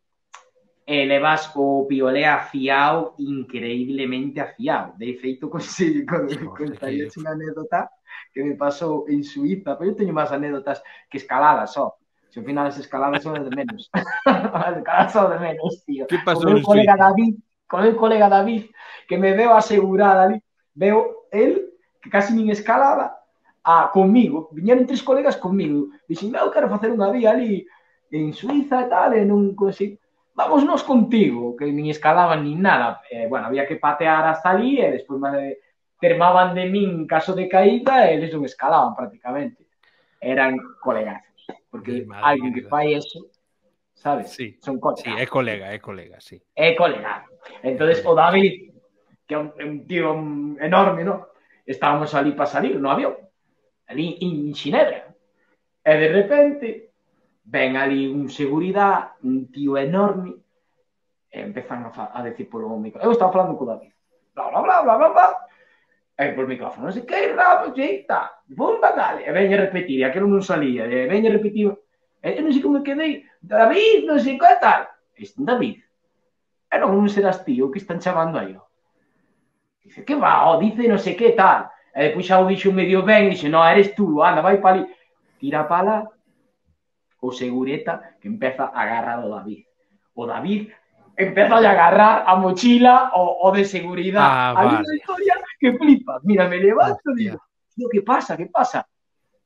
e levas o piolé afiado, increíblemente afiado. De feito, contaría unha anécdota que me pasou en Suiza, pero eu teño máis anécdotas que escaladas, só. Se ao final as escaladas son de menos. As escaladas son de menos, tío.
Que pasou en Suiza?
Con o colega David, que me veo asegurada ali, veo el, que casi nin escalaba, conmigo. Viñeron 3 colegas conmigo. Dixen, eu quero facer unha vía ali en Suiza e tal, e non consigo. Vámonos contigo, que nin escalaban nin nada. Bueno, había que patear hasta ali e despois termaban de min en caso de caída e eles non escalaban prácticamente. Eran colegazos. Porque alguén que fai eso, sabes?
Sí,
son colegas.
Sí, é colega, sí.
É colega. Entonces, o David, que é un tío enorme, ¿no? Estábamos ali para salir no avión, ali en Xinebra. E de repente, ven ali un seguridade, un tío enorme, e empezan a decir polo micrófono. Eu estaba falando co David. Bla, bla, bla, bla, bla, bla. E por micrófono, non sei que, rabo, xeita, bomba, dale. E veña a repetir, e aquilo non salía. E veña a repetir, e non sei como me quedei, David, non sei que tal. David, e non serás tío que están chamando aí. Dice, que va, dice non sei que tal. E depois xa o dixo medio ben, dixe, no, eres tú, anda, vai para ali. Tira para lá, o segureta que empeza a agarrar o David. O David empeza a agarrar a mochila o de seguridade. Hay unha historia que flipa. Mira, me levanto e digo, tío, que pasa, que pasa?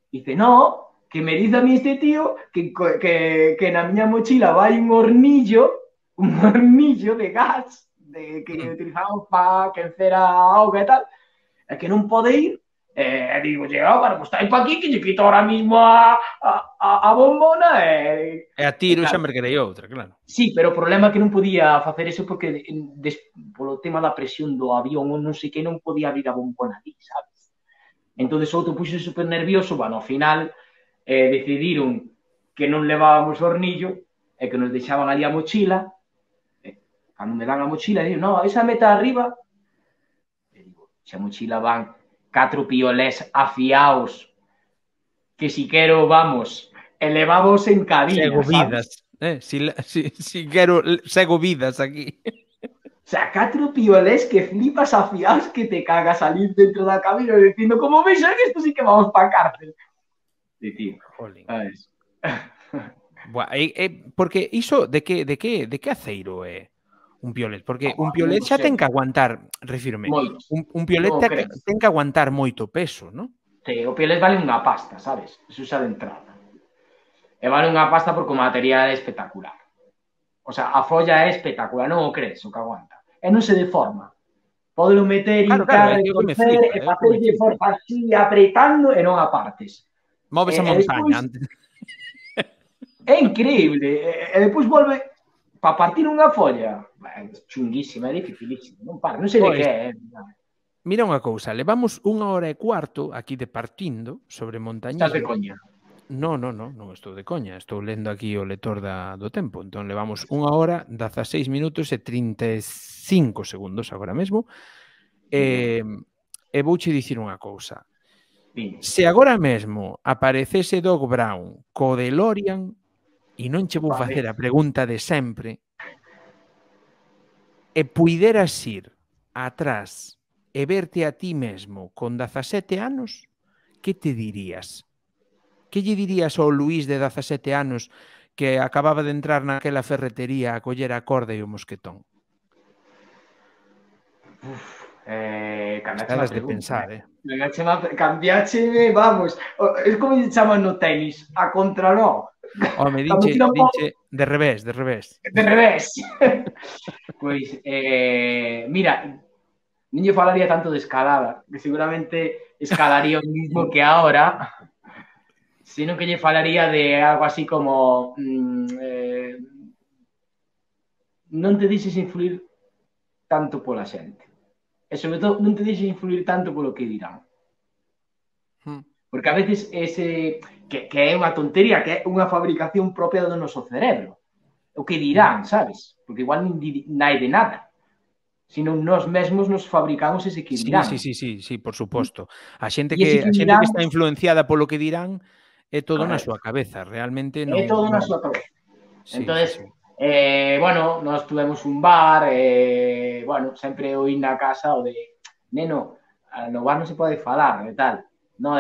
Dice, no, que me dice a mí este tío que na miña mochila vai un hornillo de gas que utilizamos para quencer a auga e tal, e que non pode ir. E digo, bueno, pues está aí para aquí que lle quito ahora mismo a bombona e
a tiro xa merquerei outra, claro.
Sí, pero o problema é que non podía facer eso porque polo tema da presión do avión ou non sei que non podía abrir a bombona ali, sabes? Entón, outro puxo super nervioso, bueno, ao final decidiron que non levábamos hornillo e que nos deixaban ali a mochila. Cando me dan a mochila, digo, no, esa meta arriba. E digo, xa mochila van 4 piolés afiaos que si quero, vamos, elevamos en cabina,
sego vidas, si quero, sego vidas aquí.
O sea, 4 piolés que flipas afiaos que te cagas salir dentro da cabina dicindo, como veis, que esto sí que vamos pa cárcel. E tío, sabes?
Porque iso, de que aceiro é un piolet? Porque un piolet xa ten que aguantar, refírome, un piolet ten que aguantar moito peso, non?
Sí, o piolet vale unha pasta, sabes? Eso xa de entrada. E vale unha pasta porque o material é espectacular. O sea, a folla é espectacular, non o crees o que aguanta. E non se deforma. Podelo meter, hincar, retorcer, e facerlle forza así, apretando, e non apartes.
Moves a montaña antes.
É increíble. E depois volve para partir unha folla. Chunguísima, é dificilísima. Non para, non sei de que é.
Mira unha cousa, levamos 1 hora e cuarto aquí de partindo sobre montañismo.
Estás de coña?
Non estou de coña, estou lendo aquí o lector do tempo, entón levamos 1 hora, 16 minutos e 35 segundos agora mesmo, e vouche dicir unha cousa. Se agora mesmo aparecese Doc Brown co DeLorean, e non che vou facer a pregunta de sempre, e puideras ir atrás e verte a ti mesmo con 17 anos, que te dirías? Que lle dirías ao Luís de 17 anos que acababa de entrar naquela ferretería a coller a corda e o mosquetón?
Cambiache
Elas
má
de
pregunta,
pensar,
cambiácheme, vamos. Es como se chaman no tenis, a contraló.
Home,
Cando tiran
dinche de revés, de revés.
de revés. Pois, mira, non lle falaría tanto de escalada, que seguramente escalaría o mismo que ahora, sino que lle falaría de algo así como non te deixes influir tanto pola xente. E sobre todo, non te deixes influir tanto polo que dirán. Porque a veces que é unha tontería, que é unha fabricación propia do noso cerebro. O que dirán, sabes? Porque igual non hai de nada. Sino nós mesmos nos fabricamos ese que dirán.
Sí, por suposto. A xente
que
está influenciada polo que dirán é todo na súa cabeza, realmente non...
É todo na súa cabeza. Entonces,
sí.
bueno, nós tuvemos un bar, bueno, sempre oí na casa o de, neno, no bar non se pode falar, e tal. No,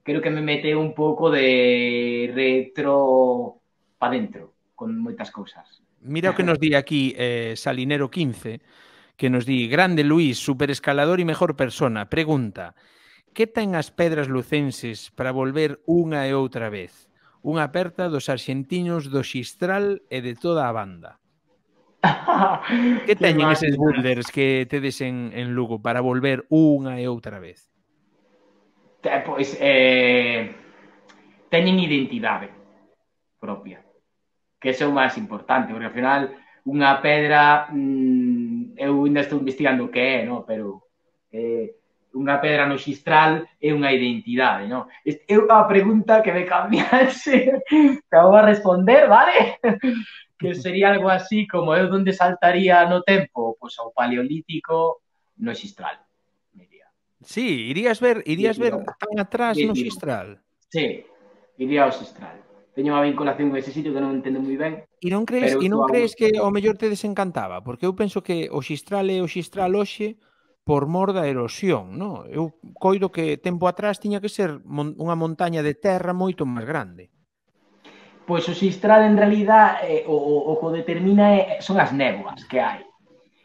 creo que me meteu un pouco de retro pa dentro, con moitas cousas.
Mira o que nos di aquí Salinero 15, que nos di, grande Luís, superescalador e mejor persona, pregunta, que ten as pedras lucenses para volver unha e outra vez? Unha aperta dos arxentinos do Xistral e de toda a banda. Que teñen eses boulders que tedes en Lugo para volver unha e outra vez?
Pois, teñen identidade propia, que é o máis importante, porque ao final unha pedra, eu ainda estou investigando o que é, no? Pero unha pedra no Xistral é unha identidade, no? É unha pregunta que me cambiase, que vou a responder, vale? Que sería algo así como eu onde saltaría no tempo, pois ao Paleolítico no Xistral.
Sí, irías ver tan atrás no Xistral.
Sí, iría ao Xistral. Teño unha vinculación con ese sitio que non entendo moi ben.
E non crees que ao mellor te desencantaba? Porque eu penso que o Xistral é o Xistral hoxe por mor da erosión, non? Eu coido que tempo atrás tiña que ser unha montaña de terra moito máis grande.
Pois o Xistral, en realidad, o que o determina son as néboas que hai.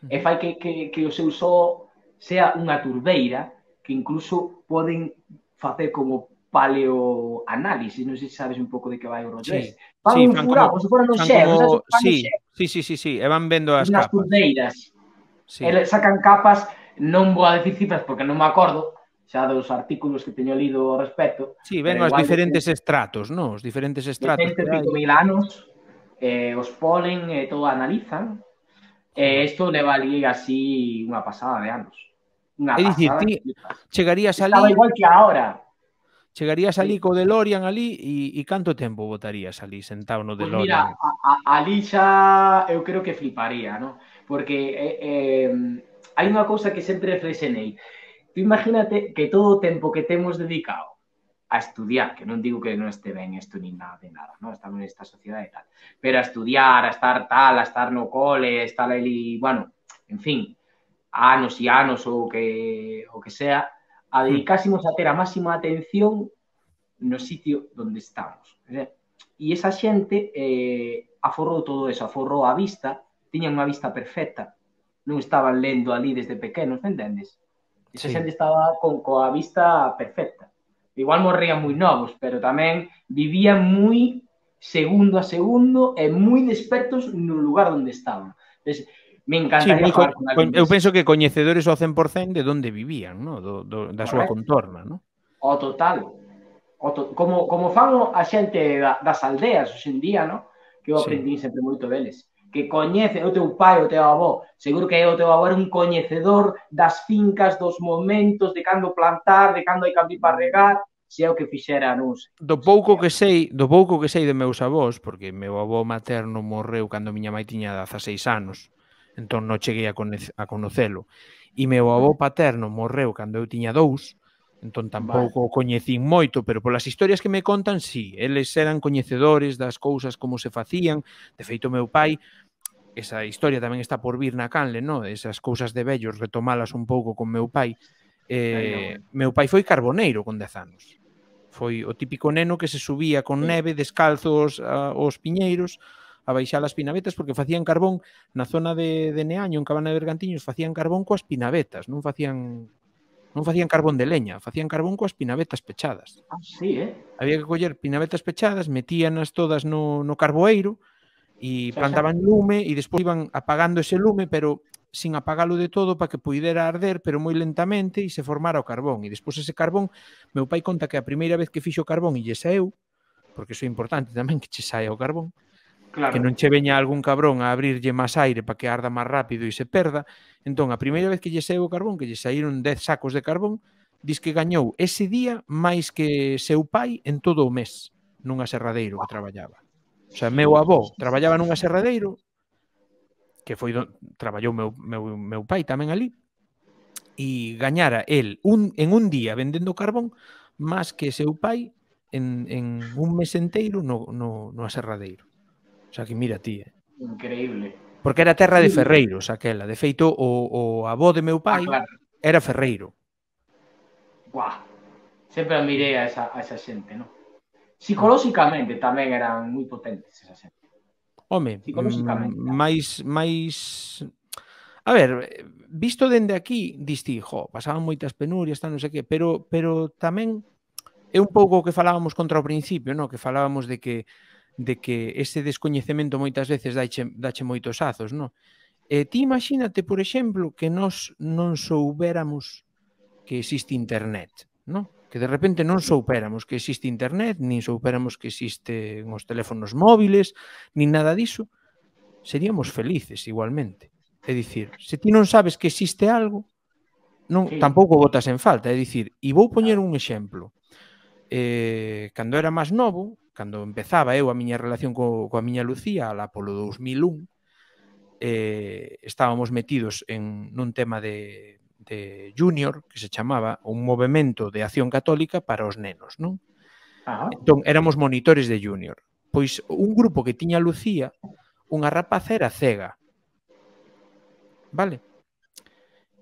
E fai que o seu só sea unha turbeira que incluso poden facer como paleoanálisis, non sei se sabes un pouco de que vai o rollo ese. Fan un furado, como se fora no xeo,
Sí, e van vendo as capas.
Nas turbeiras. Sacan capas, non vou a decir cifras porque non me acordo, xa dos artículos que teño lido ao respecto.
Sí, ven os diferentes estratos, non? Os diferentes estratos
que hai. 100 anos, os polen e todo analizan, e isto leva ali así unha pasada de anos.
É dicir, ti chegarías ali...
Estaba igual que ahora.
Chegarías ali co DeLorean ali e canto tempo botarías ali sentado no DeLorean?
Pois mira, ali xa eu creo que fliparía, non? Porque hai unha cousa que sempre reflexionei. Tú imagínate que todo o tempo que temos dedicado a estudiar, que non digo que non este ben isto ni nada de nada, non? Estamos nesta sociedade e tal, pero a estudiar, a estar tal, a estar no cole, a estar ali, bueno, en fin, anos e anos ou que sea, a dedicásemos a ter a máxima atención no sitio onde estamos. E esa xente aforrou todo eso, aforrou a vista, tiñan unha vista perfecta, non estaban lendo ali desde pequenos, entendes? Esa xente estaba coa vista perfecta. Igual morrían moi novos, pero tamén vivían moi segundo a segundo e moi despertos no lugar onde estaban. Entonces, me encantaría falar con alguén.
Eu penso que coñecedores ao 100% de onde vivían, ¿no? Da súa contorna, ¿no?
O total. Como fan a xente das aldeas hoxe en día, ¿no? Que eu aprendi sempre moito deles. Que coñece o teu pai, o teu avó. Seguro que o teu avó era un coñecedor das fincas, dos momentos, de cando plantar, de cando hai que abrir para regar, se é o que fixera, non sei.
Do pouco que sei de meus avós, porque meu avó materno morreu cando miña mãe tiña 16 anos, entón non cheguei a conocelo. E meu avó paterno morreu cando eu tiña 2, entón tampouco o coñecín moito, pero polas historias que me contan, sí, eles eran coñecedores das cousas como se facían. De feito, meu pai, esa historia tamén está por vir na canle, no? Esas cousas de vellos, retomalas un pouco con meu pai. Meu pai foi carboneiro con 10 anos. Foi o típico neno que se subía con neve descalzos aos piñeiros a baixar as pinavetas porque facían carbón na zona de Neaño, en Cabana de Bergantiños, facían carbón coas pinavetas, non facían carbón de leña, facían carbón coas pinavetas pechadas.
Ah, sí,
Había que coller pinavetas pechadas, metíanas todas no carboeiro e plantaban lume e despois iban apagando ese lume, pero sin apagalo de todo para que puidera arder, pero moi lentamente e se formara o carbón. E despois ese carbón, meu pai conta que a primeira vez que fixo carbón e lle saeu, porque iso é importante tamén que che saia o carbón, que non che veña algún cabrón a abrirlle máis aire para que arda máis rápido e se perda. Entón, a primeira vez que lle saeu o carbón, que lle saíron 10 sacos de carbón, dis que gañou ese día máis que seu pai en todo o mes nunha serradeiro que traballaba. O sea, meu avó traballaba nunha serradeiro, que foi traballou meu pai tamén ali, e gañara el en un día vendendo carbón máis que seu pai en un mes enteiro no aserradeiro. O sea, que mira ti,
Increíble.
Porque era terra de ferreiros aquela. De feito, o avó de meu pai era ferreiro.
Buah. Sempre admirei a esa xente, non? Psicolóxicamente tamén eran moi potentes esa xente.
Home, máis... A ver, visto dende aquí, diste, pasaban moitas penurias, non sei que, pero tamén é un pouco o que falábamos contra o principio, non? Que falábamos de que ese descoñecemento moitas veces dache moitos azos, non? Ti imagínate, por exemplo, que nós non soubéramos que existe internet, non? Que de repente non soupéramos que existe internet, nin soupéramos que existen os teléfonos móviles, nin nada diso, seríamos felices igualmente. É dicir, se ti non sabes que existe algo, tampouco botas en falta. É dicir, e vou poñer un exemplo. Cando era máis novo, cando empezaba eu a miña relación coa miña Lucía, alá polo 2001, estábamos metidos nun tema de Junior, que se chamaba un movemento de acción católica para os nenos, non? Entón, éramos monitores de Junior. Pois un grupo que tiña Lucía, unha rapaza era cega. Vale?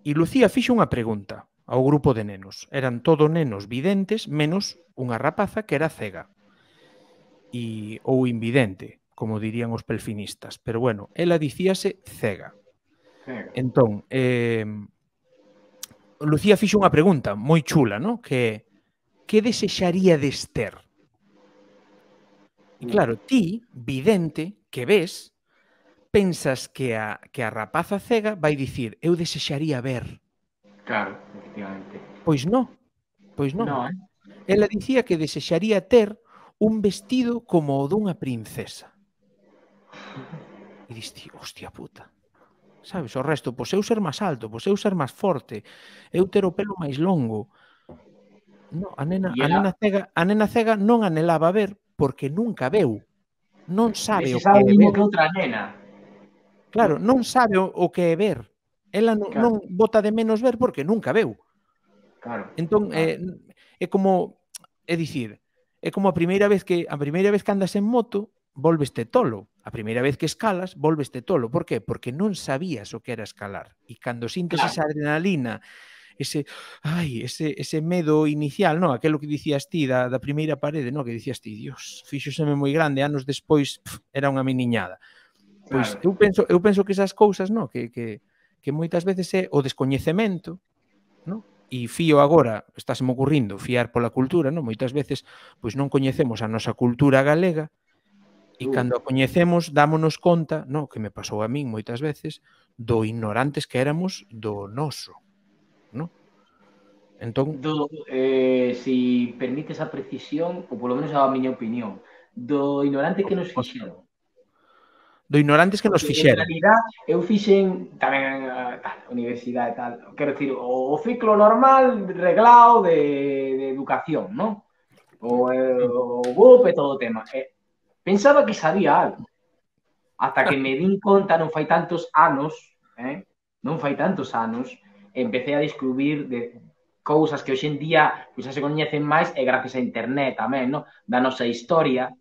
E Lucía fixo unha pregunta ao grupo de nenos. Eran todo nenos videntes, menos unha rapaza que era cega. Ou invidente, como dirían os pelfinistas. Pero bueno, ela dicíase cega. Entón, Lucía fixo unha pregunta moi chula, non? Que desexaríades ter? E claro, ti, vidente, que ves, pensas que a rapaza cega vai dicir, eu desexaría ver.
Claro, efectivamente.
Pois non. Ela dicía que desexaría ter un vestido como o dunha princesa. E diste, hostia puta. Sabes, o resto, pois eu ser máis alto, pois eu ser máis forte, eu ter o pelo máis longo. No, a nena cega non anhelaba ver porque nunca veu. Non sabe o que é ver.
Que outra nena.
Claro, non sabe o que é ver. Ela non bota de menos ver porque nunca veu.
Claro.
Entón, é como, é dicir, é como a primeira vez que andas en moto, volveste tolo. A primeira vez que escalas, volveste tolo. Por qué? Porque non sabías o que era escalar. E cando sintes esa adrenalina, ese medo inicial, non? Aquelo que dicías ti da primeira parede, non? Que dicías ti, Dios, fíxoseme moi grande, anos despois era unha meniñada. Pois eu penso que esas cousas, non? Que moitas veces é o descoñecemento, non? E fío agora, estáseme ocurrindo, fiar pola cultura, non? Moitas veces pois non coñecemos a nosa cultura galega e cando a coñecemos dámonos conta, non? Que me pasou a min moitas veces, do ignorantes que éramos do noso, non? Entón,
si permites a precisión, ou polo menos a miña opinión, do ignorante que nos fixeron.
Do ignorantes que nos fixeron.
En realidad, eu fixen tamén a universidade e tal. Quero dicir, o ciclo normal reglado de educación, non? O BUP e todo o tema. Pensaba que sabía algo. Hasta que me din conta, non fai tantos anos, empecé a descubrir de cousas que hoxe en día xa se coñecen máis e gracias a internet tamén, non? Da nosa historia,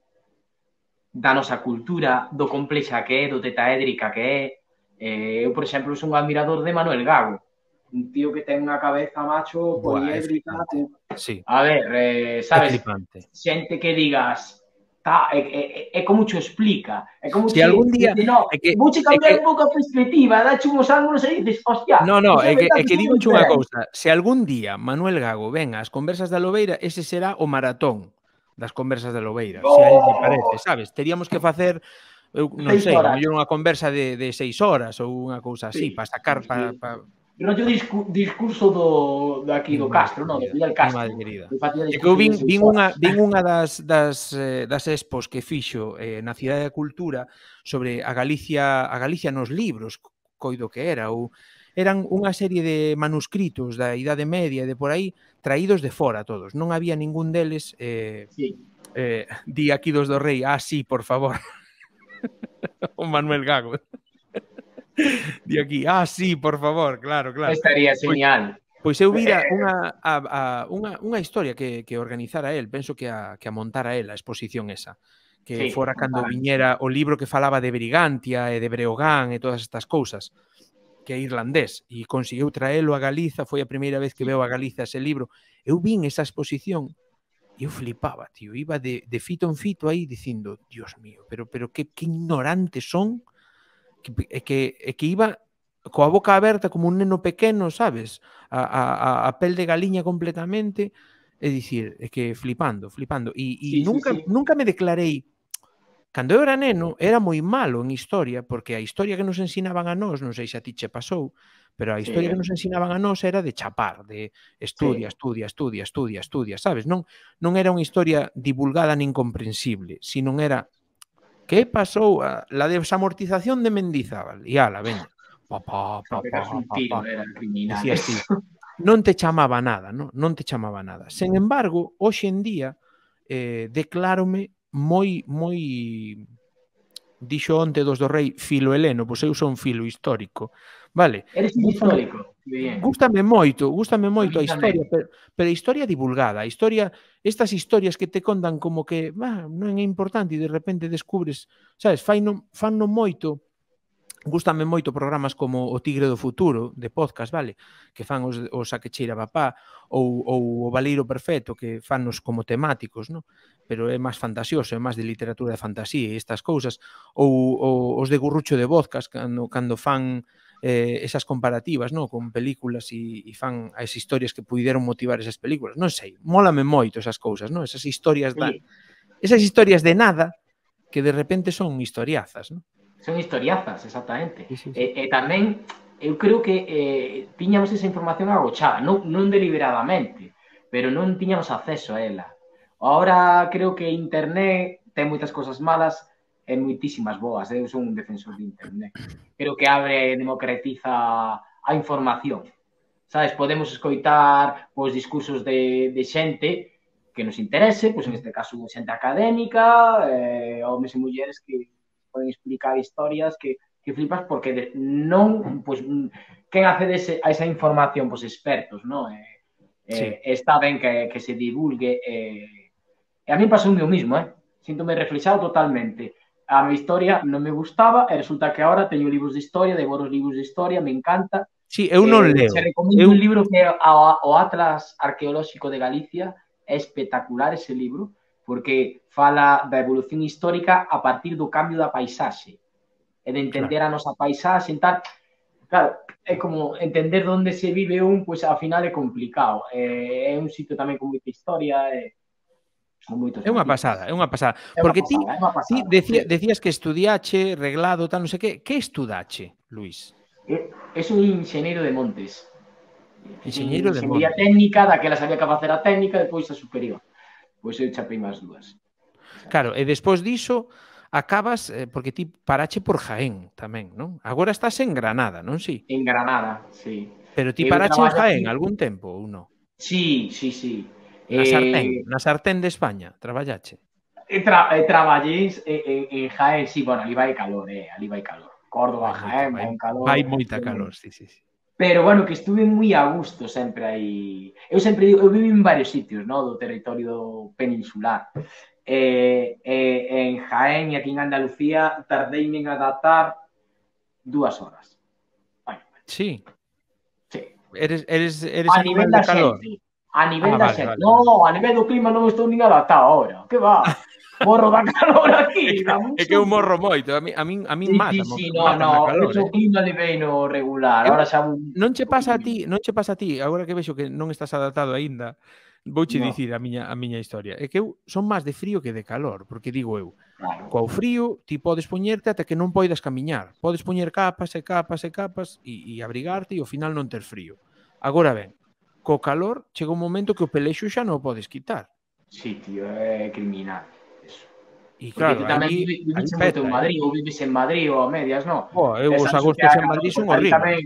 da nosa cultura, do complexa que é, do tetaédrica que é. Eu, por exemplo, son un admirador de Manuel Gago, un tío que ten unha cabeza macho poliédrica.
Sí.
A ver, sabes, xente que digas é como che explica, é como
se algún día
vouche cambiar un pouco a perspectiva, dache uns ángulos e dices, hostia,
no, é que digoche unha cousa, se algún día Manuel Gago venga ás conversas da Lobeira, ese será o maratón das conversas da Lobeira, se a él lle parece, sabes? Teríamos que facer, eu non sei, a mellor unha conversa de 6 horas ou unha cousa así, para sacar
rollo discurso do aquí do Castro, non? Do Fidel Castro.
É que eu vin unha das expos que fixo na Cidade da Cultura sobre a Galicia nos libros, coido que era, ou eran unha serie de manuscritos da Idade Media e de por aí traídos de fora todos. Non había ningún deles di aquí dos do Rei, sí, por favor. O Manuel Gago. Di aquí, sí, por favor, claro.
Estaría genial.
Pois eu vira unha historia que organizara el, penso que a montara el, a exposición esa, que fora cando viñera o libro que falaba de Brigantia e de Breogán e todas estas cousas, que é irlandés, e conseguiu traelo a Galiza, foi a primeira vez que veo a Galiza ese libro. Eu vin esa exposición e eu flipaba, tío, iba de fito en fito aí dicindo, Dios mío, pero que ignorantes son, que iba coa boca aberta como un neno pequeno, sabes? A pel de galiña completamente, é dicir, é que flipando. E nunca me declarei. Cando eu era neno, era moi malo en historia, porque a historia que nos ensinaban a nós, non sei se a ti che pasou, pero a historia que nos ensinaban a nós era de chapar, de estudia, sabes? Non era unha historia divulgada nin comprensible, sino era que pasou la desamortización de Mendizábal. E ala, veña. Decías ti, non te chamaba nada, non te chamaba nada. Sen embargo, hoxe en día declárome moi dixo onte dos do Rei filo heleno, pois eu son filo histórico, vale?
Eres histórico.
Gústame moito a historia, pero a historia divulgada, a historia, estas historias que te contan como que non é importante e de repente descubres, sabes, fanno moito. Gústame moito programas como O Tigre do Futuro, de podcast, vale? Que fan os A que cheira papá, ou O Valeiro Perfecto, que fannos como temáticos, non? Pero é máis fantasioso, é máis de literatura de fantasía e estas cousas, ou os de Gurrucho de Podcast, cando fan esas comparativas, non? Con películas e fan as historias que puideron motivar esas películas. Non sei, mólame moito esas cousas, non? Esas historias de nada que de repente son historiazas, non?
Son historiazas, exactamente. E tamén, eu creo que tiñamos esa información agochada, non deliberadamente, pero non tiñamos acceso a ela. Ahora creo que internet ten moitas cosas malas e moitísimas boas. Eu son un defensor de internet. Creo que abre e democratiza a información. Sabes, podemos escoitar os discursos de xente que nos interese, pois en este caso xente académica, homes e mulleres que poden explicar historias que flipas porque non, pois, quen accede a esa información? Pois expertos, non? Está ben que se divulgue. E a mí pasoume o mismo, Síntome reflexado totalmente. A mi historia non me gustaba e resulta que agora teño libros de historia, devoro os libros de historia, me encanta.
Sí, eu non leo.
Se recomendo un libro que é o Atlas Arqueolóxico de Galicia, é espectacular ese libro, porque fala da evolución histórica a partir do cambio da paisaxe e de entender a nosa paisaxe e tal. Claro, é como entender onde se vive pois ao final é complicado. É un sitio tamén con moita historia e
É unha pasada. Porque ti decías que estudiache, reglado, tal, non sei que. Que estudache, Luís?
Es un enxeñeiro de montes.
Enxeñeiro de montes.
Enxeñería técnica, daquela sabía que facer a técnica, depois a superior. Pois eu chapei máis dúas.
Claro, e despois diso acabas, porque ti parache por Jaén tamén, non? Agora estás en Granada, non si?
En Granada, sí.
Pero ti parache en Jaén algún tempo ou non?
Sí.
Na sartén de España, traballache?
Traballei en Jaén, sí, bueno, ali vai calor, Córdoba, Jaén, vai un calor.
Vai moita calor, sí.
Pero, bueno, que estuve moi a gusto sempre aí. Eu sempre digo, eu vivo en varios sitios, no, do territorio peninsular. En Jaén e aquí en Andalucía tardeime en adaptar 2 horas.
Sí.
Sí.
Eres
a nivel da calor. A nivel da xente. No, a nivel do clima non estou nin adaptado ahora. Que va? Morro da calor aquí.
É que eu morro moito. A min mata.
Sí, no, o clima de veino regular. Ahora xa...
Non che pasa a ti, agora que vexo que non estás adaptado aínda, vouche dicir a miña historia. É que eu son máis de frío que de calor, porque digo eu, coa frío ti podes poñerte ata que non poidas camiñar. Podes poñer capas e capas e capas e abrigarte e ao final non ter frío. Agora ben, co calor chega un momento que o pelexo xa non o podes quitar.
Sí, tío, é criminal.
E claro,
tamén vives moito en Madrid, ou vives en Madrid ou a medias, non?
Os agostos en Madrid son horribles.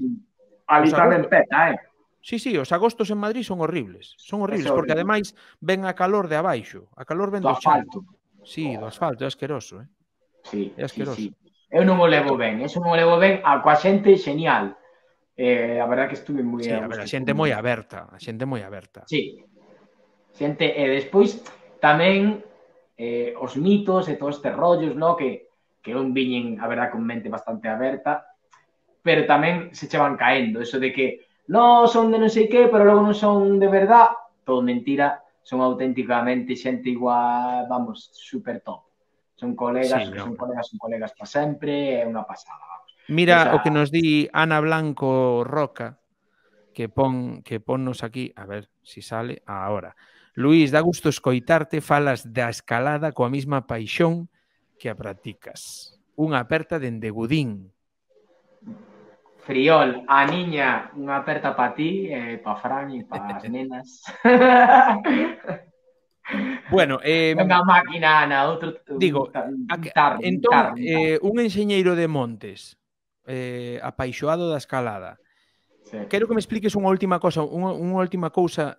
Ali tamén peta,
Sí, os agostos en Madrid son horribles. Son horribles, porque ademais ven a calor de abaixo. A calor ven do asfalto. Sí, do asfalto, é asqueroso,
Sí, sí. Eu non o levo ben, coa xente xenial. A verdade que estuve moi...
Sí, a ver, a xente moi aberta.
Sí. Xente, e despois tamén os mitos e todos estes rollos, no? Que non viñen, a verdade, con mente bastante aberta, pero tamén se che van caendo. Eso de que non son de non sei que, pero logo non son de verdad. Todo mentira. Son auténticamente xente igual, vamos, super top. Son colegas, son colegas para sempre, é unha pasada, vamos.
Mira o que nos di Ana Blanco Roca, que ponnos aquí, a ver si sale ahora. Luís, dá gusto escoitarte, falas da escalada coa mesma paixón que a practicas. Unha aperta dende Gudín.
Friol, a niña, unha aperta para ti, para Fran e para as nenas.
Bueno,
unha máquina, Ana, outro...
Digo, entón, un enxeñeiro de montes apaixoado da escalada. Quero que me expliques unha última cousa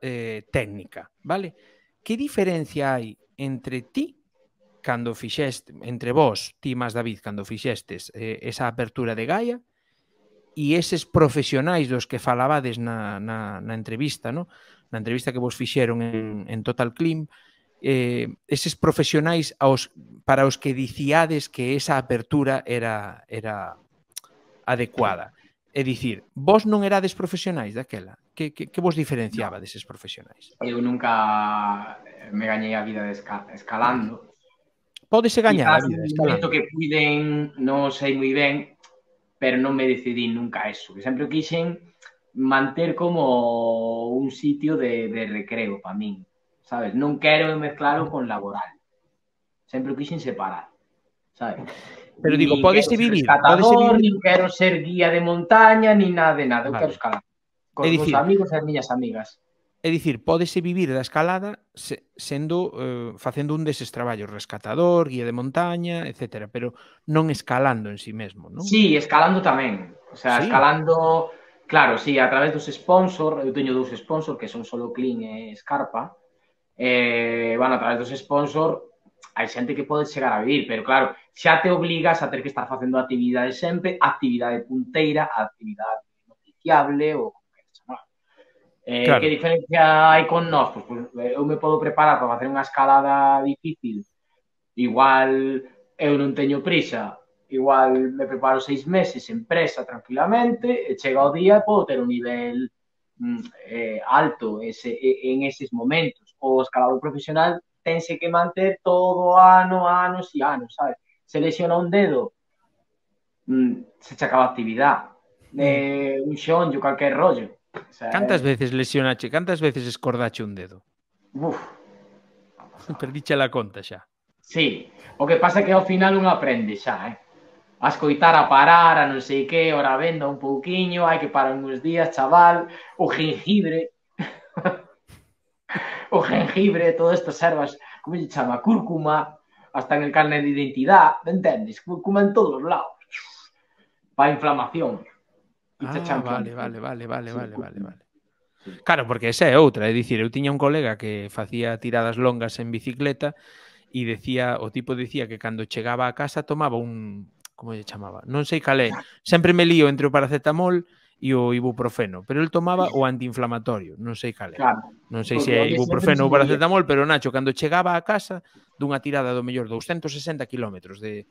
técnica, vale? Que diferencia hai entre ti cando fixeste, entre vos, ti máis David, cando fixestes esa apertura de Gaia e eses profesionais dos que falabades na entrevista, no? Na entrevista que vos fixeron en Total Climb, eses profesionais para os que dicíades que esa apertura era adecuada. É dicir, vos non erades profesionais daquela? Que vos diferenciaba deses profesionais?
Eu nunca me gañei a vida escalando.
Pódese gañar a vida
Quizás
escalando.
que puiden, non sei moi ben, pero non me decidí nunca a eso. Que sempre quixen manter como un sitio de recreo para min, sabes? Non quero mezclalo con laboral. Sempre quixen separar, sabes?
Pero digo, pódese vivir.
Nin quero ser guía de montaña, nin nada de nada. Eu quero escalar. Con os meus amigos e as miñas amigas.
É dicir, pódese vivir da escalada facendo un deses traballos, rescatador, guía de montaña, etcétera, pero non escalando en sí mesmo, non?
Sí, escalando tamén. O sea, escalando, claro, sí, a través dos sponsors. Eu teño 2 sponsors que son Solo Clean e Scarpa. Bueno, a través dos sponsors hai xente que pode chegar a vivir, pero claro, xa te obligas a ter que estar facendo actividade sempre, actividade punteira, actividade noticiable ou como que chamar. Que diferencia hai con nós? Pois eu me podo preparar para facer unha escalada difícil. Igual eu non teño prisa, igual me preparo 6 meses en presa tranquilamente e chega o día e podo ter un nivel alto en eses momentos. O escalador profesional tense que manter todo anos e anos, sabes? Se lesiona un dedo, se che acaba a actividade. Un xonllo, calquer rollo.
O sea, cantas veces lesionache, cantas veces escordache un dedo? Perdiche la conta xa.
Sí, o que pasa é que ao final un aprende xa, a escoitar, a parar, a non sei que, ora venda un pouquiño, hai que parar uns días, chaval, o jengibre, todas estas ervas, como se chama, cúrcuma, hasta en el carnet de identidade, entendes? Cúrcuma en todos os lados, para inflamación.
Vale. Claro, porque esa é outra, é dicir, eu tiña un colega que facía tiradas longas en bicicleta e o tipo dicía que cando chegaba a casa tomaba un, como se chamaba? Non sei cal é, sempre me lío entre o paracetamol e o ibuprofeno, pero el tomaba o antiinflamatorio, non sei cal é. Non sei se é ibuprofeno ou paracetamol, pero Nacho, cando chegaba a casa dunha tirada do mellor 260 kilómetros de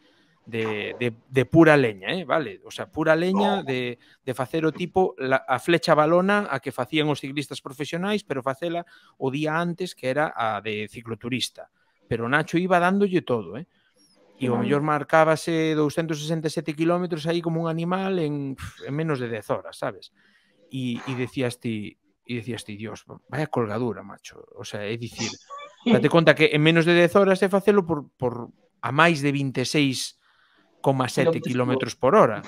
de pura leña, vale? O sea, pura leña de facer o tipo a flecha balona a que facían os ciclistas profesionais, pero facela o día antes, que era a de cicloturista. Pero Nacho iba dándolle todo, E o mellor marcábase 267 kilómetros aí como un animal en menos de 10 horas, sabes? E decías ti, Dios, vaya colgadura, macho. O sea, é dicir, date conta que en menos de 10 horas é facelo por a máis de 26,7 kilómetros por hora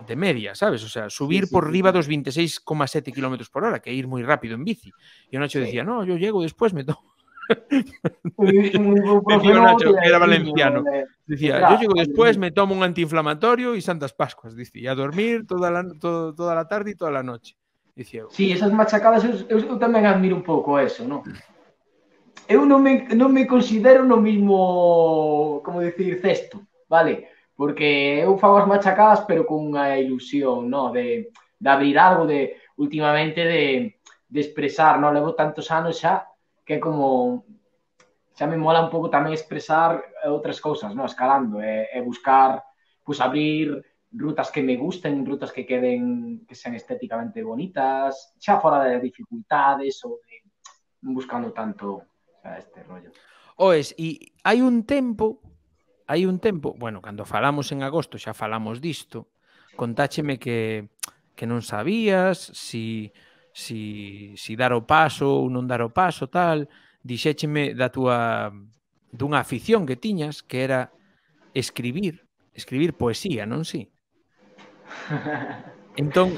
de media, sabes? O sea, subir por riba dos 26,7 kilómetros por hora, que é ir moi rápido en bici. E o Nacho decía, no, yo llego después, me tomo... Decía Nacho, que era valenciano. Decía, yo llego después, me tomo un antiinflamatorio y Santas Pascuas, dice, y a dormir toda la tarde y toda la noche. Dicía,
sí, esas machacadas, eu tamén admiro un pouco eso, non? Eu non me considero no mismo, como decir, cesto, vale? Porque eu fago as machacadas, pero con unha ilusión, non? De abrir algo, últimamente, de expresar, non? Levo tantos anos xa, que é como... Xa me mola un pouco tamén expresar outras cousas, non? Escalando, e buscar, pois, abrir rutas que me gusten, rutas que queden, que sean estéticamente bonitas, xa fora de dificultades ou de buscando tanto, o sea, este rollo.
Oes, e hai un tempo, bueno, cando falamos en agosto xa falamos disto, contácheme que non sabías si dar o paso ou non dar o paso, tal, dixécheme dunha afición que tiñas, que era escribir poesía, non si? Entón,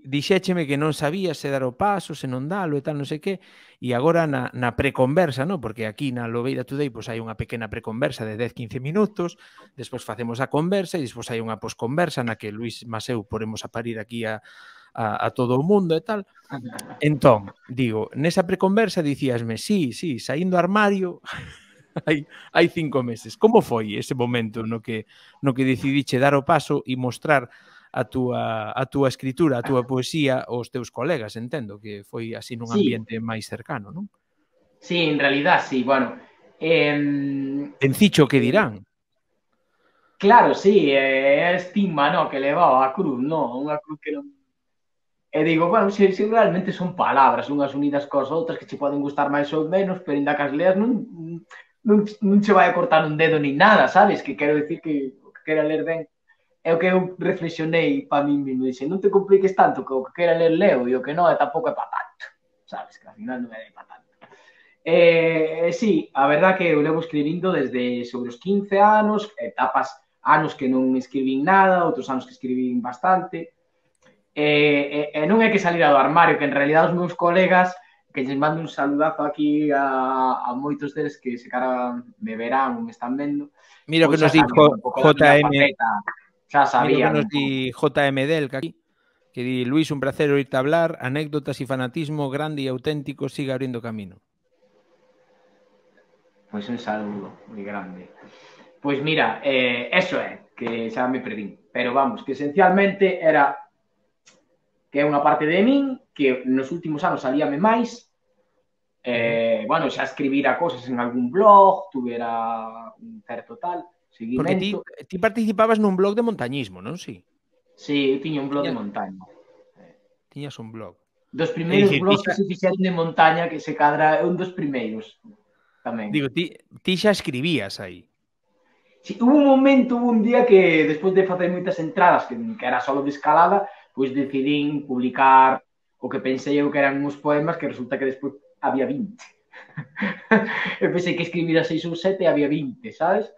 dixécheme que non sabía se dar o paso, se non dalo e tal, non sei que, e agora na preconversa, non? Porque aquí na Lobeira Today pois hai unha pequena preconversa de 10-15 minutos, despois facemos a conversa e despois hai unha posconversa na que Luis Maseu poremos a parir aquí a todo o mundo e tal. Entón, digo, nesa preconversa dicíasme, sí, saindo do armario hai 5 meses. Como foi ese momento no que decidiche dar o paso e mostrar a túa escritura, a túa poesía aos teus colegas, entendo, que foi así nun ambiente máis cercano, non?
Sí, en realidad, sí, bueno.
Encicho que dirán.
Claro, sí, é estigma, no, que levaba a cruz, no, unha cruz que non... E digo, bueno, se realmente son palabras, unhas unidas cos outras que che poden gustar máis ou menos, pero ainda que as leas non che vai a cortar un dedo ni nada, sabes? Que quero decir que o que quera ler ben é o que eu reflexionei para mí mesmo. Dixe, non te compliques tanto, que o que quera ler leo e o que non, tampouco é para tanto. Sabes, que ao final non é para tanto. Sí, a verdad que eu levo escribindo desde sobre os 15 anos, etapas, anos que non escribín nada, outros anos que escribín bastante. E non é que salira do armario, que en realidad os meus colegas, que lles mando un saludazo aquí a moitos deles que se cara me verán ou me están vendo.
Mira que nos dijo JM.
Xa sabía.
Mira que nos di JM Del, que di, Luis, un placer oírte hablar, anécdotas e fanatismo grande e auténtico, siga abrindo camino.
Pois un saludo moi grande. Pois mira, eso é, que xa me perdín. Pero vamos, que esencialmente era que é unha parte de min que nos últimos anos salíame máis. Bueno, xa escribira cosas en algún blog, tuvera un certo tal seguimento.
Porque ti participabas nun blog de montañismo, non si?
Sí, eu tiña un blog de montaña.
Tiñas un blog.
Dos primeiros blogs que se fixeron de montaña, que se cadra un dos primeiros tamén.
Digo, ti xa escribías aí.
Sí, hubo un día que, despois de facer moitas entradas, que era solo de escalada, pois decidín publicar o que pensei eu que eran uns poemas, que resulta que despois había 20. Eu pensei que escribira 6 ou 7 e había 20, sabes?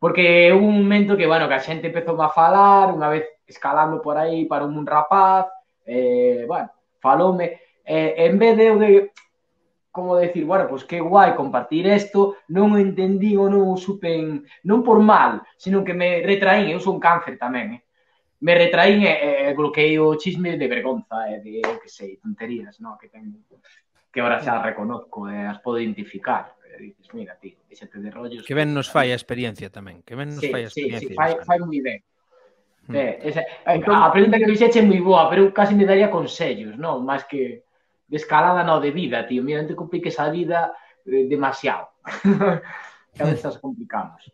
Porque hubo un momento que, bueno, que a xente empezou a falar, unha vez escalando por aí para un rapaz, bueno, faloume, en vez de eu de, como decir, bueno, pues que guai compartir isto, non o entendí ou non o supen, non por mal, sino que me retraín, eu sou un cáncer tamén, me retraín e bloqueei o chisme de vergonza, de, que sei, tonterías, no? Que ten, que ahora xa reconozco, as podo identificar. Dices, mira, tío, déxate de rollos.
Que ben nos fai a experiencia tamén, que ben nos fai a experiencia.
Sí, fai moi ben. A pregunta que fixeche é moi boa, pero eu casi me daría consellos, non? Máis que de escalada, non, de vida, tío. Mira, non te compliques a vida demasiado. que a veces as complicamos.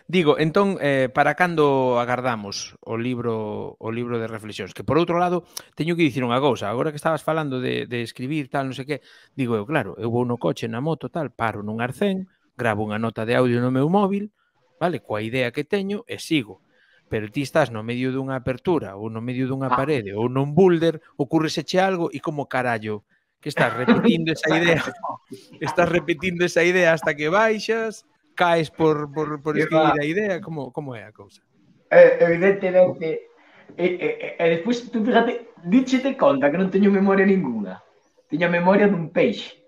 Digo, entón, para cando agardamos o libro de reflexións? Que, por outro lado, teño que dicir unha cousa. Agora que estabas falando de escribir, tal, non sei que, digo eu, claro, eu vou no coche, na moto, tal, paro nun arcén, gravo unha nota de audio no meu móvil, vale, coa idea que teño, e sigo. Pero ti estás no medio dunha apertura ou no medio dunha parede ou nun boulder, ocurreseche algo e como carallo que estás repetindo esa idea, hasta que baixas, caes por escribir a idea, como é a cousa?
Evidentemente, e despois, tú fíjate, díchete conta que non teño memoria ninguna. Teño a memoria dun peixe,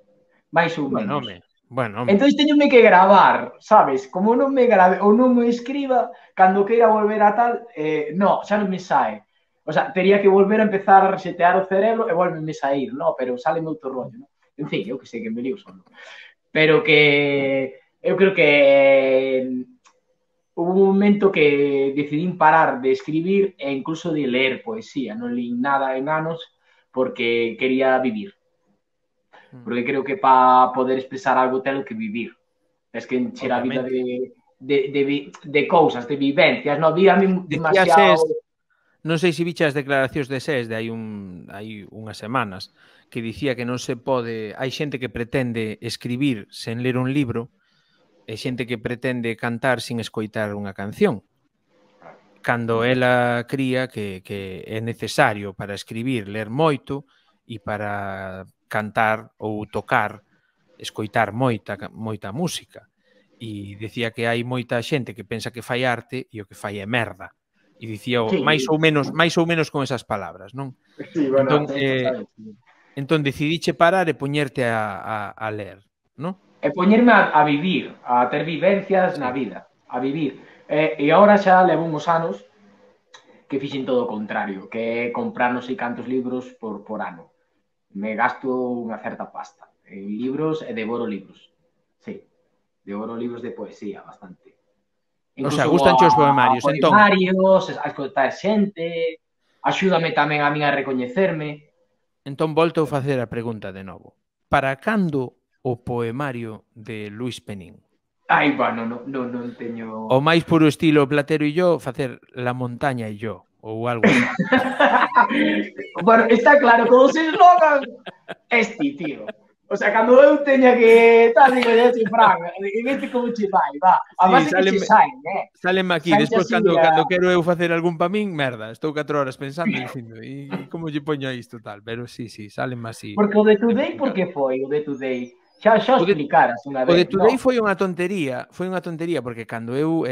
máis ou menos.
Bueno,
entón teñome que gravar, sabes? Como non me grave ou non me escriba, cando queira volver a tal, no, xa non me sae. O sea, tería que volver a empezar a resetear o cerebro e volveme sair, no? Pero sale outro rollo, no? En fin, eu que sei que me lío solo. Pero que eu creo que hubo un momento que decidí parar de escribir e incluso de ler poesía. Non li nada en anos porque quería vivir. Porque creo que para poder expresar algo telo que vivir. Es que encher a vida de cousas, de vivencias. Non había demasiado...
Non sei se biche as declaracións de SES de hai unhas semanas que dicía que non se pode... Hai xente que pretende escribir sen ler un libro e xente que pretende cantar sin escoitar unha canción. Cando ela cría que é necesario para escribir ler moito e para cantar ou tocar escoitar moita música. E dicía que hai moita xente que pensa que fai arte e o que fai é merda. E dicía máis ou menos con esas palabras, non?
Sí, bueno,
entón decidiche parar e poñerte a ler, non?
E poñerme a vivir, a ter vivencias na vida, a vivir. E agora xa levo uns anos que fixen todo o contrario, que é comprar non sei cantos libros por ano. Me gasto unha certa pasta en libros e devoro libros. Sí, devoro libros de poesía bastante.
Incluso, o sea, gustanche os poemarios, entón.
Poemarios, a escoitar xente, axúdame tamén a min a recoñecerme.
Entón, volto a facer a pregunta de novo. Para cando o poemario de Luis Penín?
Ai, bueno, non teño...
O máis puro estilo Platero e yo, facer La montaña e yo, ou algo así.
Bueno, está claro, con os eslogan, tío. O sea, cando eu teña que tal, digo, ya che Fran, en este como che vai, va. Además, sí, é que che saen,
Sálenme aquí, despois cando quero eu facer algún pa min, merda, estou 4 horas pensando dicindo, e como lle poño isto tal, pero sí, sálenme así.
Porque o de Today, por que foi o de Today? Xa explicaras unha vez.
O de Today foi unha tontería, porque cando eu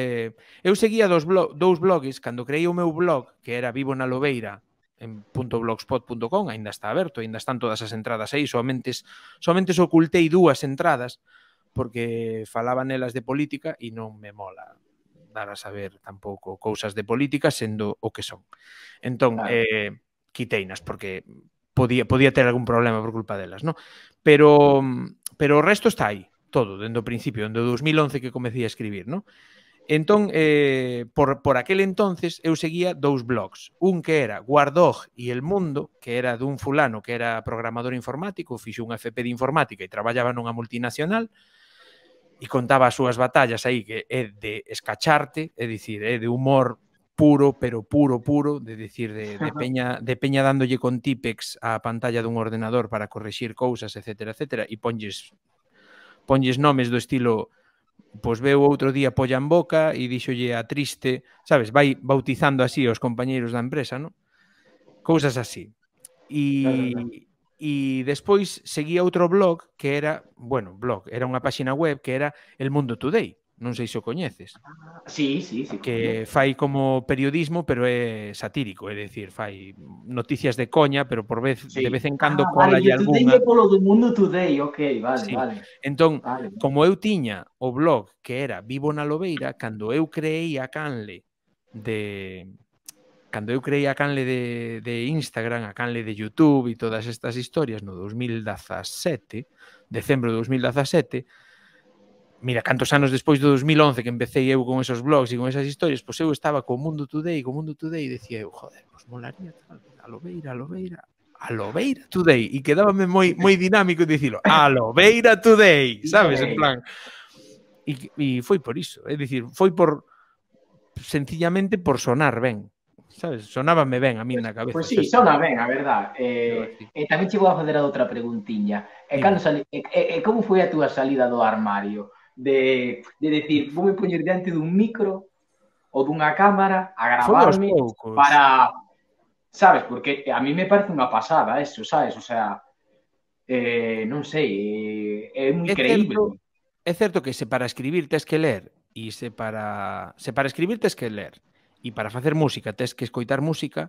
seguía dous blogs, cando creei o meu blog, que era Vivo na Lobeira, en .blogspot.com, ainda está aberto, ainda están todas as entradas aí, somente ocultei 2 entradas porque falaban elas de política e non me mola dar a saber tampouco cousas de política sendo o que son. Entón, quiteinas porque podía ter algún problema por culpa delas, non? Pero o resto está aí, todo, dende o principio, dende o 2011 que comecei a escribir, non? Entón, por aquel entonces, eu seguía 2 blogs. Un que era Guardog e El Mundo, que era dun fulano que era programador informático, fixo un FP de informática e traballaba nunha multinacional e contaba as súas batallas aí, que é de escacharte, é dicir, é de humor puro, pero puro, de dicir, de peña dándolle con típex á pantalla dun ordenador para correxir cousas, etcétera, e ponlles nomes do estilo... Pois veu outro día polla en boca e díxolle a triste, sabes, vai bautizando así os compañeiros da empresa, non? Cousas así. E despois seguía outro blog que era, era unha páxina web que era El Mundo Today. Non sei se o coñeces.
Sí.
Que fai como periodismo, pero é satírico, é dicir, fai noticias de coña, pero de vez en cando cola e algunha.
Vale, polo do Mundo Today, ok, vale.
Entón, como eu tiña o blog que era Vivo na Lobeira, cando eu creei a canle de Instagram, a canle de YouTube e todas estas historias no 2017, decembro de 2017, mira, cantos anos despois do 2011 que empecé eu con esos blogs e con esas historias, pois eu estaba co Mundo Today e decía eu, joder, pois molaría tal, a Lobeira Today, e quedábame moi dinámico dicilo, a Lobeira Today, sabes, en plan. E foi por iso, é dicir, foi por sencillamente por sonar ben, sabes? Sonábame ben a min na cabeza.
Pois sí, sona ben, a verdad. Tamén che vou a fazer a outra preguntiña. Como foi a túa salida do armario? De decir, vou me poñer diante dun micro ou dunha cámara a gravarme para... Sabes, porque a mí me parece unha pasada eso, sabes? O sea, non sei, é moi creíble.
É certo que se para escribir tes que ler e se para escribir tes que ler e para facer música tes que escoitar música,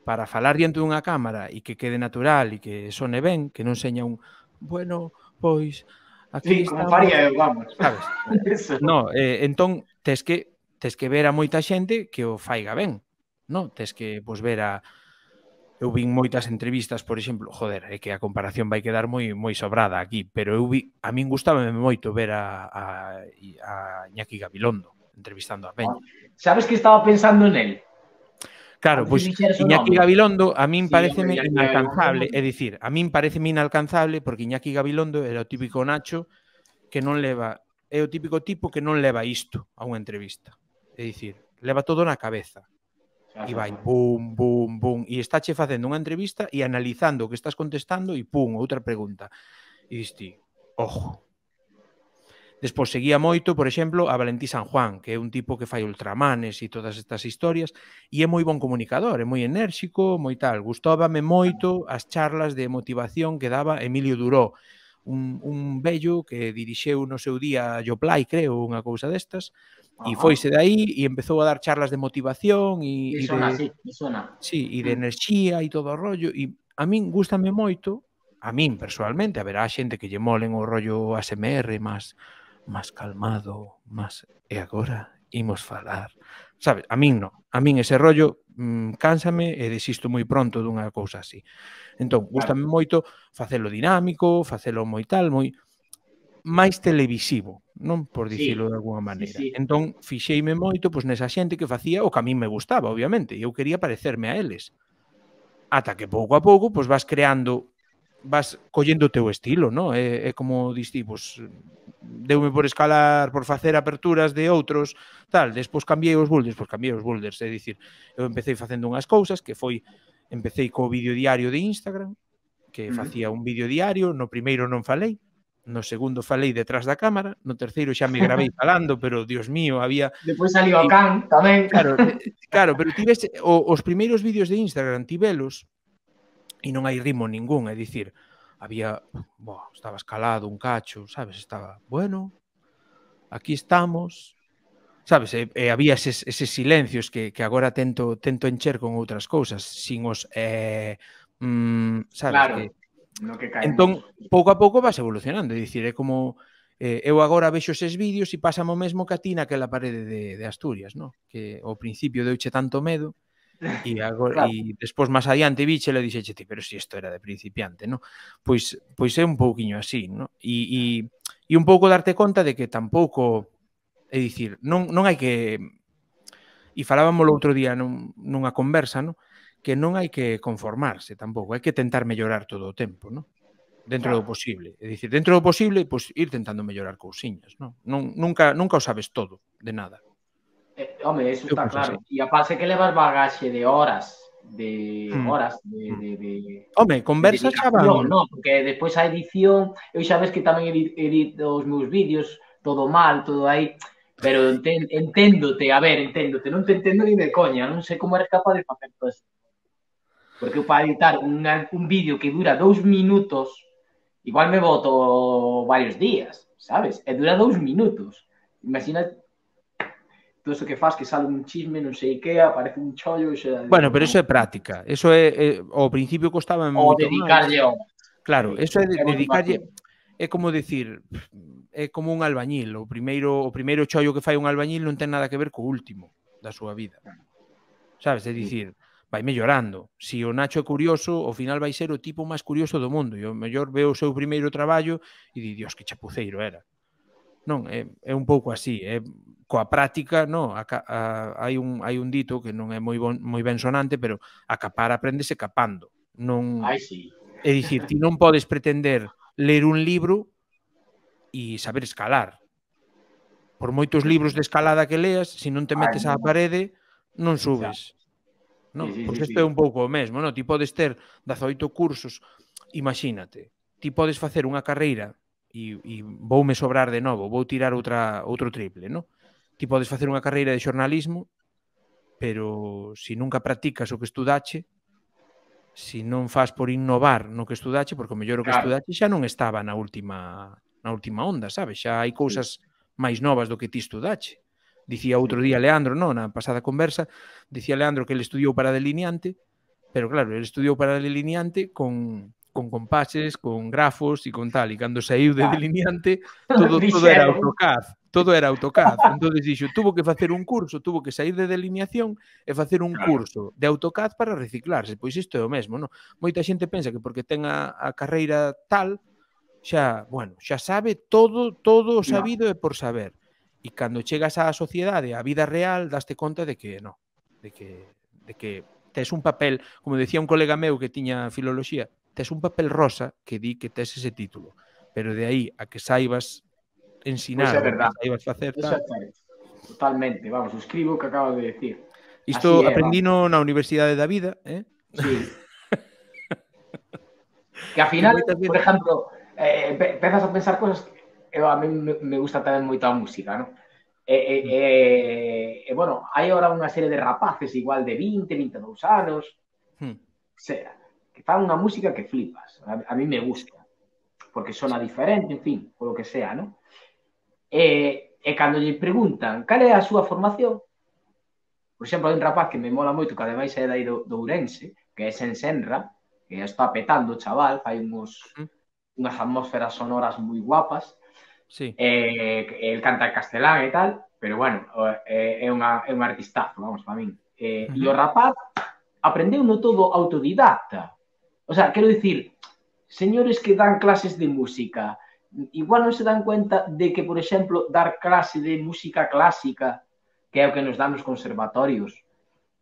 para falar diante dunha cámara e que quede natural e que sone ben, que non seña un bueno, pois aquí
sí,
estamos...
como faría eu, vamos.
Sabes? No, entón tes que ver a moita xente que o faiga ben, no? Tes que ver a... Eu vin moitas entrevistas, por exemplo, joder, é que a comparación vai quedar moi sobrada aquí, pero a min gustábame moito ver a Iñaki Gabilondo entrevistando a Peña.
Sabes que estaba pensando nel?
Claro, pois Iñaki Gabilondo a min pareceme inalcanzable, é dicir, a min pareceme inalcanzable porque Iñaki Gabilondo era o típico Nacho que non leva, é o típico tipo que non leva isto a unha entrevista. É dicir, leva todo na cabeza. E vai bum, bum, bum, e estáche facendo unha entrevista e analizando o que estás contestando e pum, outra pregunta. E diste, ojo. Despois seguía moito, por exemplo, a Valentí San Juan, que é un tipo que fai ultramanes e todas estas historias, e é moi bon comunicador, é moi enérxico, moi tal. Gustóbame moito as charlas de motivación que daba Emilio Duró, un vello que dirixeu no seu día Yoplai, creo, unha cousa destas, e foise de aí e empezou a dar charlas de motivación e de enerxía e todo o rollo, e a min gústame moito, a min persoalmente, haberá xente que lle molen o rollo ASMR máis calmado, máis e agora imos falar, sabes? A min non, a min ese rollo cánsame e desisto moi pronto dunha cousa así. Entón, gústame moito facelo dinámico, facelo moi tal, moi máis televisivo, non? Por dicilo de alguna maneira. Entón, fixeime moito nesa xente que facía o que a min me gustaba, obviamente, e eu quería parecerme a eles. Ata que pouco a pouco vas creando, vas collendo o teu estilo, non? É como diste, deume por escalar, por facer aperturas de outros, tal, despois cambiei os boulders, é dicir, eu empecé facendo unhas cousas que empecé co vídeo diario de Instagram, que facía un vídeo diario, no primeiro non falei, no segundo falei detrás da cámara, no terceiro xa me gravei falando, pero, Dios mío, había...
Depois salió o can tamén.
Claro, pero tivese os primeiros vídeos de Instagram, tivelos, e non hai ritmo ningún, é dicir, había, estaba escalado un cacho, sabes, estaba, bueno, aquí estamos, sabes, e había eses silencios que agora tento encher con outras cousas, sin os, sabes, que... Entón, pouco a pouco vas evolucionando, é dicir, é como eu agora vexo eses vídeos e pásame o mesmo que a ti naquela parede de Asturias, non? Que ao principio deuche tanto medo e despois máis adiante viche e dixeche ti, pero si isto era de principiante, non? Pois é un pouquiño así, non? E un pouco darte conta de que tampouco, é dicir, non hai que... E falábamos o outro día nunha conversa, non? Que non hai que conformarse tampouco, hai que tentar mellorar todo o tempo, non? Dentro do posible. É dicir, dentro do posible, ir tentando mellorar cousiñas, non? Nunca o sabes todo, de nada.
Home, eso está claro. E aparte que levas bagaxe de horas,
Home, conversas xa van...
Non, porque despois a edición, eu xa ves que tamén edito os meus vídeos, todo mal, todo aí... Pero enténdote, non te entendo ni de coña, non sei como eres capaz de facer todo isto. Porque eu para editar un vídeo que dura 2 minutos, igual me boto varios días, sabes? E dura 2 minutos. Imagina todo eso que faz, que sale un chisme, non sei que, aparece un chollo...
Bueno, pero eso é práctica. Eso é... Ao principio costaba moito máis.
O dedicarlle horas.
Claro, eso é dedicarlle... É como dicir... É como un albañil. O primeiro chollo que fai un albañil non ten nada que ver co último da súa vida. Sabes? É dicir... vai mellorando. Si o Nacho é curioso, ao final vai ser o tipo máis curioso do mundo. E o mellor ve o seu primeiro traballo e di, Dios, que chapuceiro era. Non, é un pouco así. Coa práctica, non, hai un dito que non é moi ben sonante, pero a capar apréndese capando. Non, é dicir, ti non podes pretender ler un libro e saber escalar. Por moitos libros de escalada que leas, se non te metes á parede, non subes. Pois isto é un pouco o mesmo, non? Ti podes ter 18 cursos, imagínate, ti podes facer unha carreira e voume sobrar de novo, vou tirar outro triple, non? Ti podes facer unha carreira de xornalismo, pero se nunca practicas o que estudache, se non faz por innovar no que estudache, porque o mellor o que estudache xa non estaba na última onda, sabes? Xa hai cousas máis novas do que ti estudache. Dicía outro día Leandro, non, na pasada conversa, dicía Leandro que ele estudiou para delineante, pero claro, ele estudiou para delineante con compases, con grafos e con tal, e cando saiu de delineante todo era AutoCAD, todo era AutoCAD. Entón dixo, tuvo que facer un curso, tuvo que sair de delineación e facer un curso de AutoCAD para reciclarse. Pois isto é o mesmo, non? Moita xente pensa que porque ten a carreira tal, xa sabe todo o sabido e por saber. E cando chegas á sociedade, á vida real, daste conta de que non, de que tes un papel, como decía un colega meu que tiña filoloxía, tes un papel rosa que di que tes ese título, pero de aí a que saibas ensinar,
que
saibas facer tal.
Totalmente, vamos, escribo o que acabo de decir.
Isto aprendino na Universidade da Vida,
Sí. Que ao final, por exemplo, empezas a pensar cosas que a mí me gusta tamén moito a música, non? Bueno, hai ahora unha serie de rapaces igual de 20, 22 anos, sea, que fan unha música que flipas. A mí me gusta, porque sona diferente, en fin, polo que sea, non? E cando lle preguntan cal é a súa formación, por exemplo, hai un rapaz que me mola moito, que ademais é dai do Ourense, que é Senra, que está petando o chaval, fai unhas atmósferas sonoras moi guapas, el canta en castelán e tal, pero bueno, é un artistazo, vamos, para min. E o rapaz aprendeu no todo autodidacta. O sea, quero dicir, señores que dan clases de música, igual non se dan cuenta de que, por exemplo, dar clase de música clásica, que é o que nos dan nos conservatorios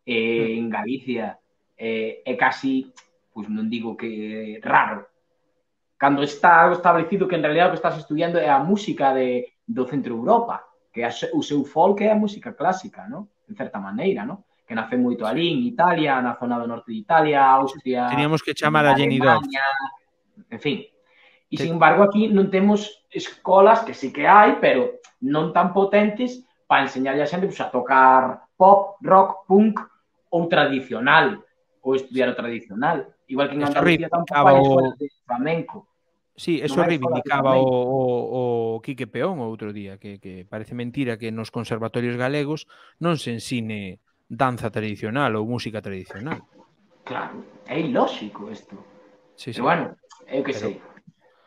en Galicia, é casi, pois non digo que raro, cando está establecido que en realidad o que estás estudiando é a música do Centro Europa, que o seu folk é a música clásica, non? En certa maneira, non? Que nace moito ali en Italia, na zona do norte de Italia, Austria,
teníamos que chamar a Jenny Dove,
en fin. E, sin embargo, aquí non temos escolas, que sí que hai, pero non tan potentes para enseñarlle a xente a tocar pop, rock, punk ou tradicional, ou estudiar o tradicional. Igual que en Andalucía tampouco hai escolas de flamenco.
Sí, eso reivindicaba o Quique Peón o outro día, que parece mentira que nos conservatorios galegos non se ensine danza tradicional ou música tradicional.
Claro, é ilóxico isto. Pero bueno, eu que sei.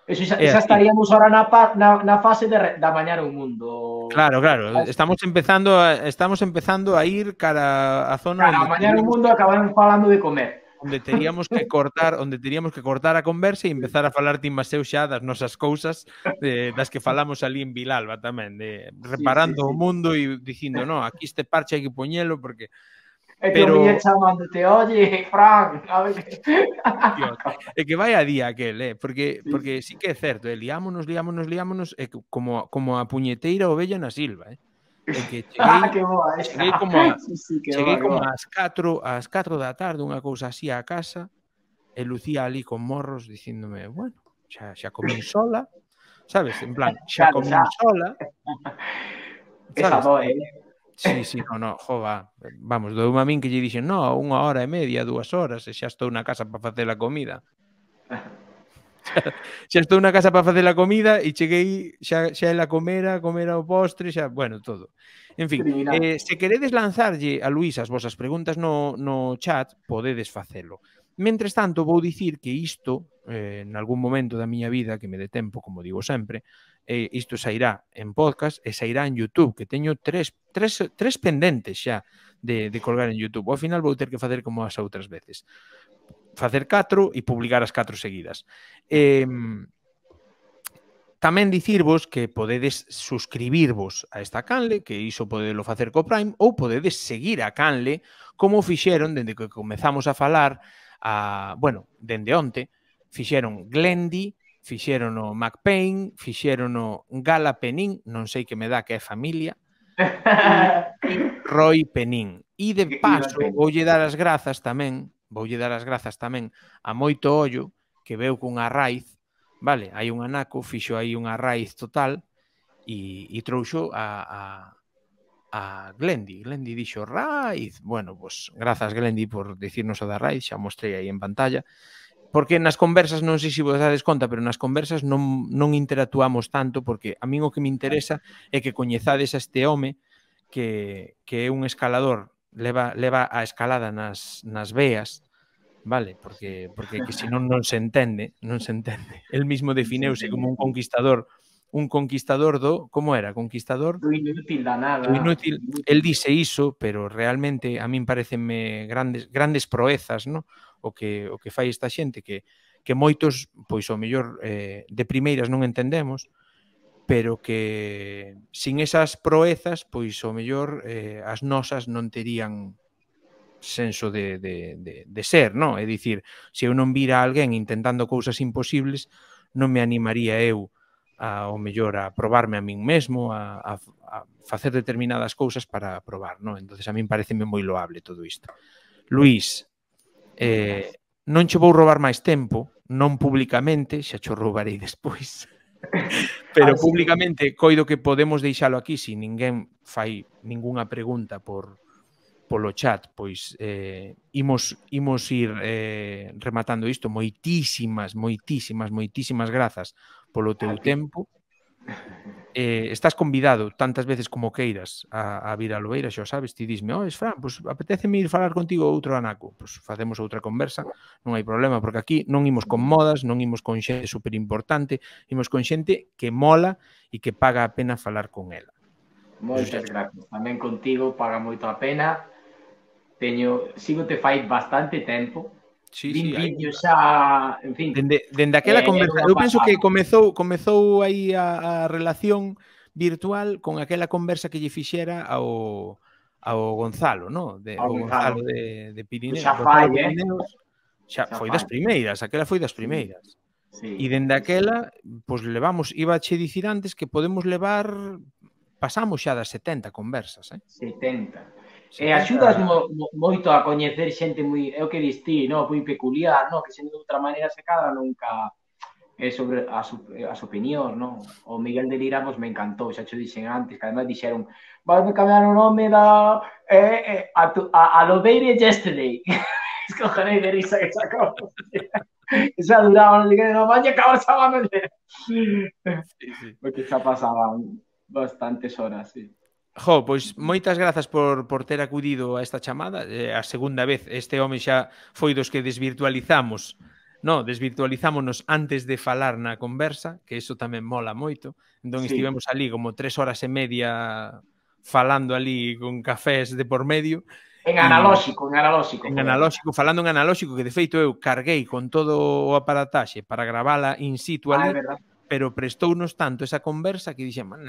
Eso xa estaríamos ahora na fase de amañar o mundo.
Claro, estamos empezando a ir cara a zona...
Cara, amañar o mundo acabaron falando de comer.
Onde teríamos que cortar a conversa e empezar a falar ti Maseu xa das nosas cousas, das que falamos ali en Vilalba tamén, de reparando o mundo e dicindo, no, aquí este parche hai que poñelo porque...
E te oía chamándote, oye, Fran, a ver...
É que vai a día aquel, porque sí que é certo, liámonos, como a puñeteira ovella na silva, É que cheguei como ás 4 da tarde, unha cousa así á casa, e Lucía ali con morros dicíndome, bueno, xa comín sola, sabes? En plan, xa comín sola.
Esa doe,
Sí, no, jova, vamos, doume a min que lle dixen, no, 1 hora e media, 2 horas, e xa estou na casa para facer a comida. Xa estou na casa para facer a comida e cheguei, xa ela comera o postre, xa, bueno, todo. En fin, se queredes lanzarlle a Luís as vosas preguntas no chat, podedes facelo. Mentres tanto, vou dicir que isto, en algún momento da miña vida, que me dé tempo, como digo sempre, isto sairá en podcast e sairá en YouTube, que teño tres pendentes xa de colgar en YouTube. Ao final vou ter que facer como as outras veces. Facer 4 e publicar as 4 seguidas. Tamén dicirvos que podedes suscribirvos a esta canle, que iso podedelo facer co Prime, ou podedes seguir a canle como fixeron dende que comezamos a falar, bueno, dende onte, fixeron Glendi, fixeron o McPain, fixeron o Gala Penín, non sei que me dá que é familia, e Roy Penín. E de paso, voulle dar as grazas tamén a Moito Ollo, que veu cunha raíz, vale, hai un anaco, fixo aí unha raíz total, e trouxo a Glendy. Glendy dixo raíz. Bueno, pues grazas Glendy por dicirnos o da raíz, xa mostrei aí en pantalla. Porque nas conversas, non sei se vos dades conta, pero nas conversas non interactuamos tanto, porque a min o que me interesa é que coñezades a este home que é un escalador, leva a escalada nas veas, vale? Porque que senón non se entende. El mismo defineuse como un conquistador do, como era? Conquistador
do inútil da nada.
Do inútil. El dice iso, pero realmente a min parecenme grandes proezas, ¿no? O que fai esta xente que moitos, pois ao mellor de primeiras non entendemos, pero que sin esas proezas, pois ao mellor as nosas non terían senso de ser, non? É dicir, se eu non vira a alguén intentando cousas imposibles, non me animaría eu ao mellor a probarme a min mesmo, a facer determinadas cousas para probar, non? Entonces a min pareceme moi loable todo isto. Luís, non che vou roubar máis tempo, non públicamente, xa cho roubarei despois, pero públicamente coido que podemos deixalo aquí se ninguén fai ningunha pregunta polo chat, pois imos ir rematando isto. Moitísimas grazas polo teu tempo. Estás convidado tantas veces como queiras a vir a Lobeira, xa sabes, ti disme, Fran, pois apetéceme ir falar contigo outro anaco, pois facemos outra conversa, non hai problema, porque aquí non imos con modas, non imos con xente superimportante, imos con xente que mola e que paga a pena falar con ela.
Moitas gracias, tamén contigo paga moito a pena. Sigo-te fai bastante tempo. Vin vídeos xa, en fin.
Dende aquela conversa, eu penso que comezou aí a relación virtual con aquela conversa que lle fixera ao Gonzalo, non? O Gonzalo de Pirineos.
Xa fai,
xa foi das primeiras, aquela foi das primeiras. E dende aquela, pois levamos, iba che dicir antes que podemos levar, pasamos xa das 70 conversas,
70. E axudas moito a coñecer xente moi, é o que dis ti, moi peculiar, que xente de outra maneira se cadra nunca é sobre as opinións, o Miguel de Lira me encantou, xa xo dixen antes, que además dixeron vai me cambiar o nome da a Lobeira Yesterday. Escojarei de risa que sacou. Xa duraba, non diga, non vai acabar chamándole. Porque xa pasaban bastantes horas, sí.
Pois moitas grazas por ter acudido a esta chamada. A segunda vez, este home xa foi dos que desvirtualizámonos antes de falar na conversa, que iso tamén mola moito. Entón estivemos ali como 3 horas e media falando ali con cafés de por medio.
En analóxico.
Falando en analóxico, que de feito eu carguei con todo o aparataxe para gravala in situ ali, pero prestounos tanto esa conversa que dixemos,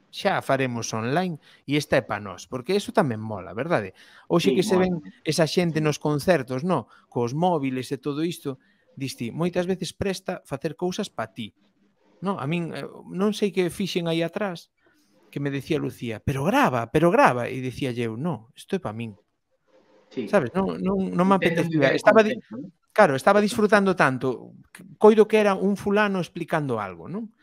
xa faremos online e esta é pa nós, porque eso tamén mola, verdade? Hoxe que se ven esa xente nos concertos, cos móviles e todo isto, diste, moitas veces presta facer cousas pa ti. A min, non sei que fixen aí atrás, que me decía Lucía, pero grava, e dicía eu, isto é pa min. Sabes, non me apetecía. Estaba disfrutando tanto, coido que era un fulano explicando algo, non?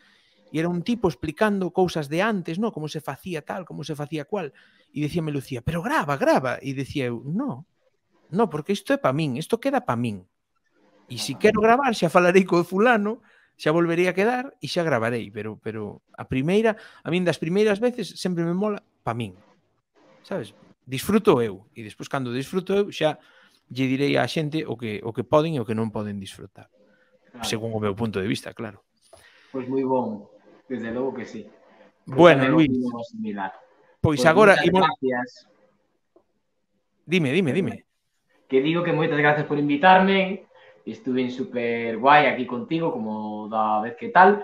E era un tipo explicando cousas de antes, como se facía tal, como se facía cual. E dicíame Lucía, pero grava. E dicía eu, porque isto é pa min, isto queda pa min. E se quero gravar, xa falarei co fulano, xa volverei a quedar e xa gravarei. Pero a min das primeiras veces sempre me mola pa min. Sabes? Disfruto eu. E despois, cando disfruto eu, xa lle direi á xente o que poden e o que non poden disfrutar. Según o meu punto de vista, claro.
Pois moi bon. Desde logo que sí.
Bueno, Luís, pois agora...
Gracias.
Dime.
Que digo que moitas gracias por invitarme. Estuve super guai aquí contigo, como da vez que tal.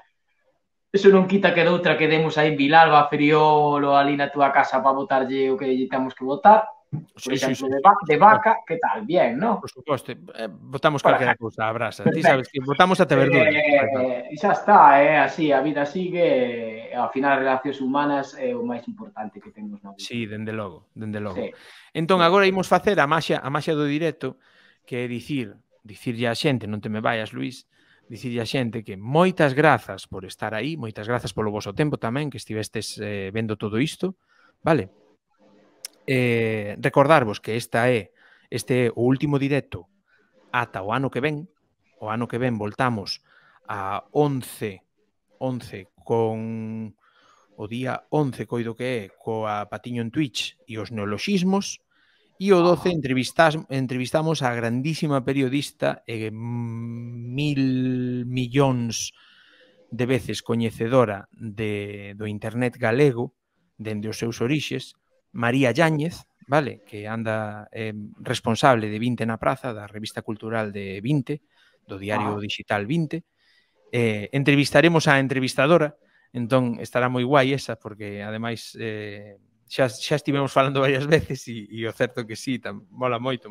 Eso non quita que doutra quedemos aí en Vilalba, Feriolo, ali na túa casa para botarlle o que lle temos que botar. Por exemplo, de vaca, que tal? Bien, ¿no?
Por suposto, botamos calquera cousa a brasa. Ti sabes que botamos ata verdura.
E xa está, así, a vida sigue, ao final as relacións humanas é o máis importante que temos na vida.
Sí, dende logo, dende logo. Entón, agora imos facer a maxia do directo, que é dicirlle a xente, non te me vayas, Luís, dicirlle a xente que moitas grazas por estar aí, moitas grazas polo voso tempo tamén, que estivestes vendo todo isto, vale? Recordarvos que este é o último directo ata o ano que ven. O ano que ven voltamos a 11 con o día 11, coido que é, coa Patiño en Twitch e os neoloxismos, e o 12 entrevistamos a grandísima periodista e 1000 millóns de veces coñecedora do internet galego dende os seus orixes, María Yáñez, vale, que anda responsable de 20 na Praza, da revista cultural de 20, do diario digital 20. Entrevistaremos a entrevistadora, entón estará moi guai esa, porque ademais xa estivemos falando varias veces e o certo que sí, mola moito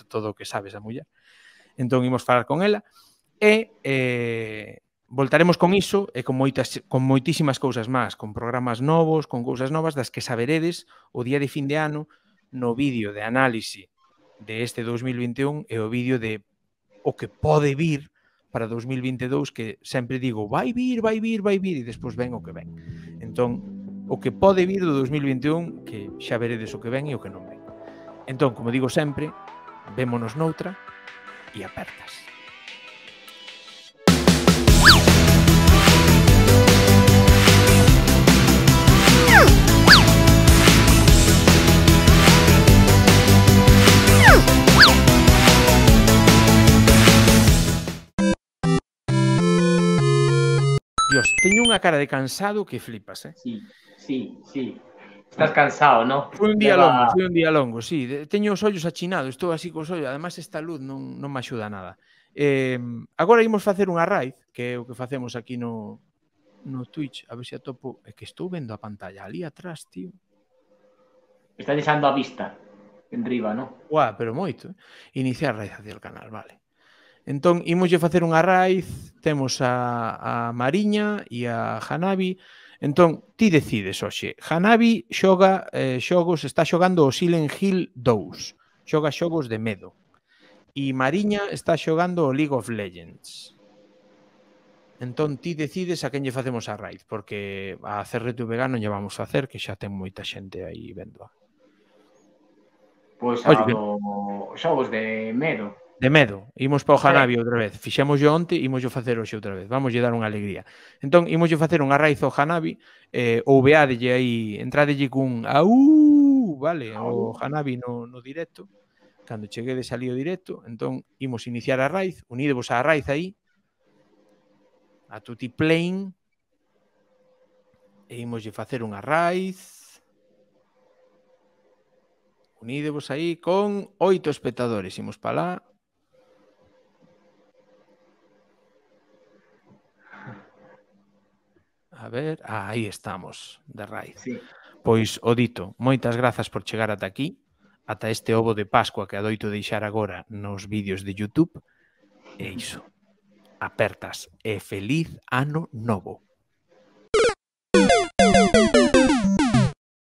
todo o que sabes a muller. Entón imos falar con ela e voltaremos con iso e con moitísimas cousas máis, con programas novos, con cousas novas das que saberedes o día de fin de ano no vídeo de análise de este 2021 e o vídeo de o que pode vir para 2022, que sempre digo vai vir e despois ven o que ven. Entón, o que pode vir do 2021, que xa veredes o que ven e o que non ven. Entón, como digo sempre, vémonos noutra e apertas. Dios, teño unha cara de cansado que flipas,
Sí. Estás cansado, ¿no?
Foi un día longo, sí. Teño os ollos achinados, estou así cos ollos. Además, esta luz non me axuda nada. Agora imos facer unha raid, que é o que facemos aquí no Twitch. A ver se atopo. É que estou vendo a pantalla ali atrás, tío.
Está deixando a vista en riba, ¿no?
Guau, pero moito. Iniciar raid hacia o canal, vale. Entón, imoslle facer unha raid, temos a Mariña e a Hanabi. Entón, ti decides hoxe. Hanabi xoga xogos, está xogando o Silent Hill 2. Xoga xogos de medo. E Mariña está xogando o League of Legends. Entón, ti decides a quen lle facemos a raid, porque a CRTVG non lle vamos a facer, que xa ten moita xente aí vendo.
Pois a xogos de medo.
De medo, imos para o Hanabi outra vez. Fixémoslo onte, imoslo facer hoxe outra vez. Vamoslle dar unha alegría. Entón, imoslle facer unha raíz ao Hanabi, ou veadelle aí, entradelle cun vale, o Hanabi no directo. Cando cheguedes ali o directo, entón, imos iniciar a raíz, unidevos á raíz aí, a tutti playing, e imoslle facer unha raíz. Unidevos aí con 8 espectadores. Imos para lá. A ver, aí estamos, de raíz.
Sí.
Pois, o dito, moitas grazas por chegar ata aquí, ata este ovo de Pascua que adoito deixar agora nos vídeos de YouTube. E iso, apertas e feliz ano novo.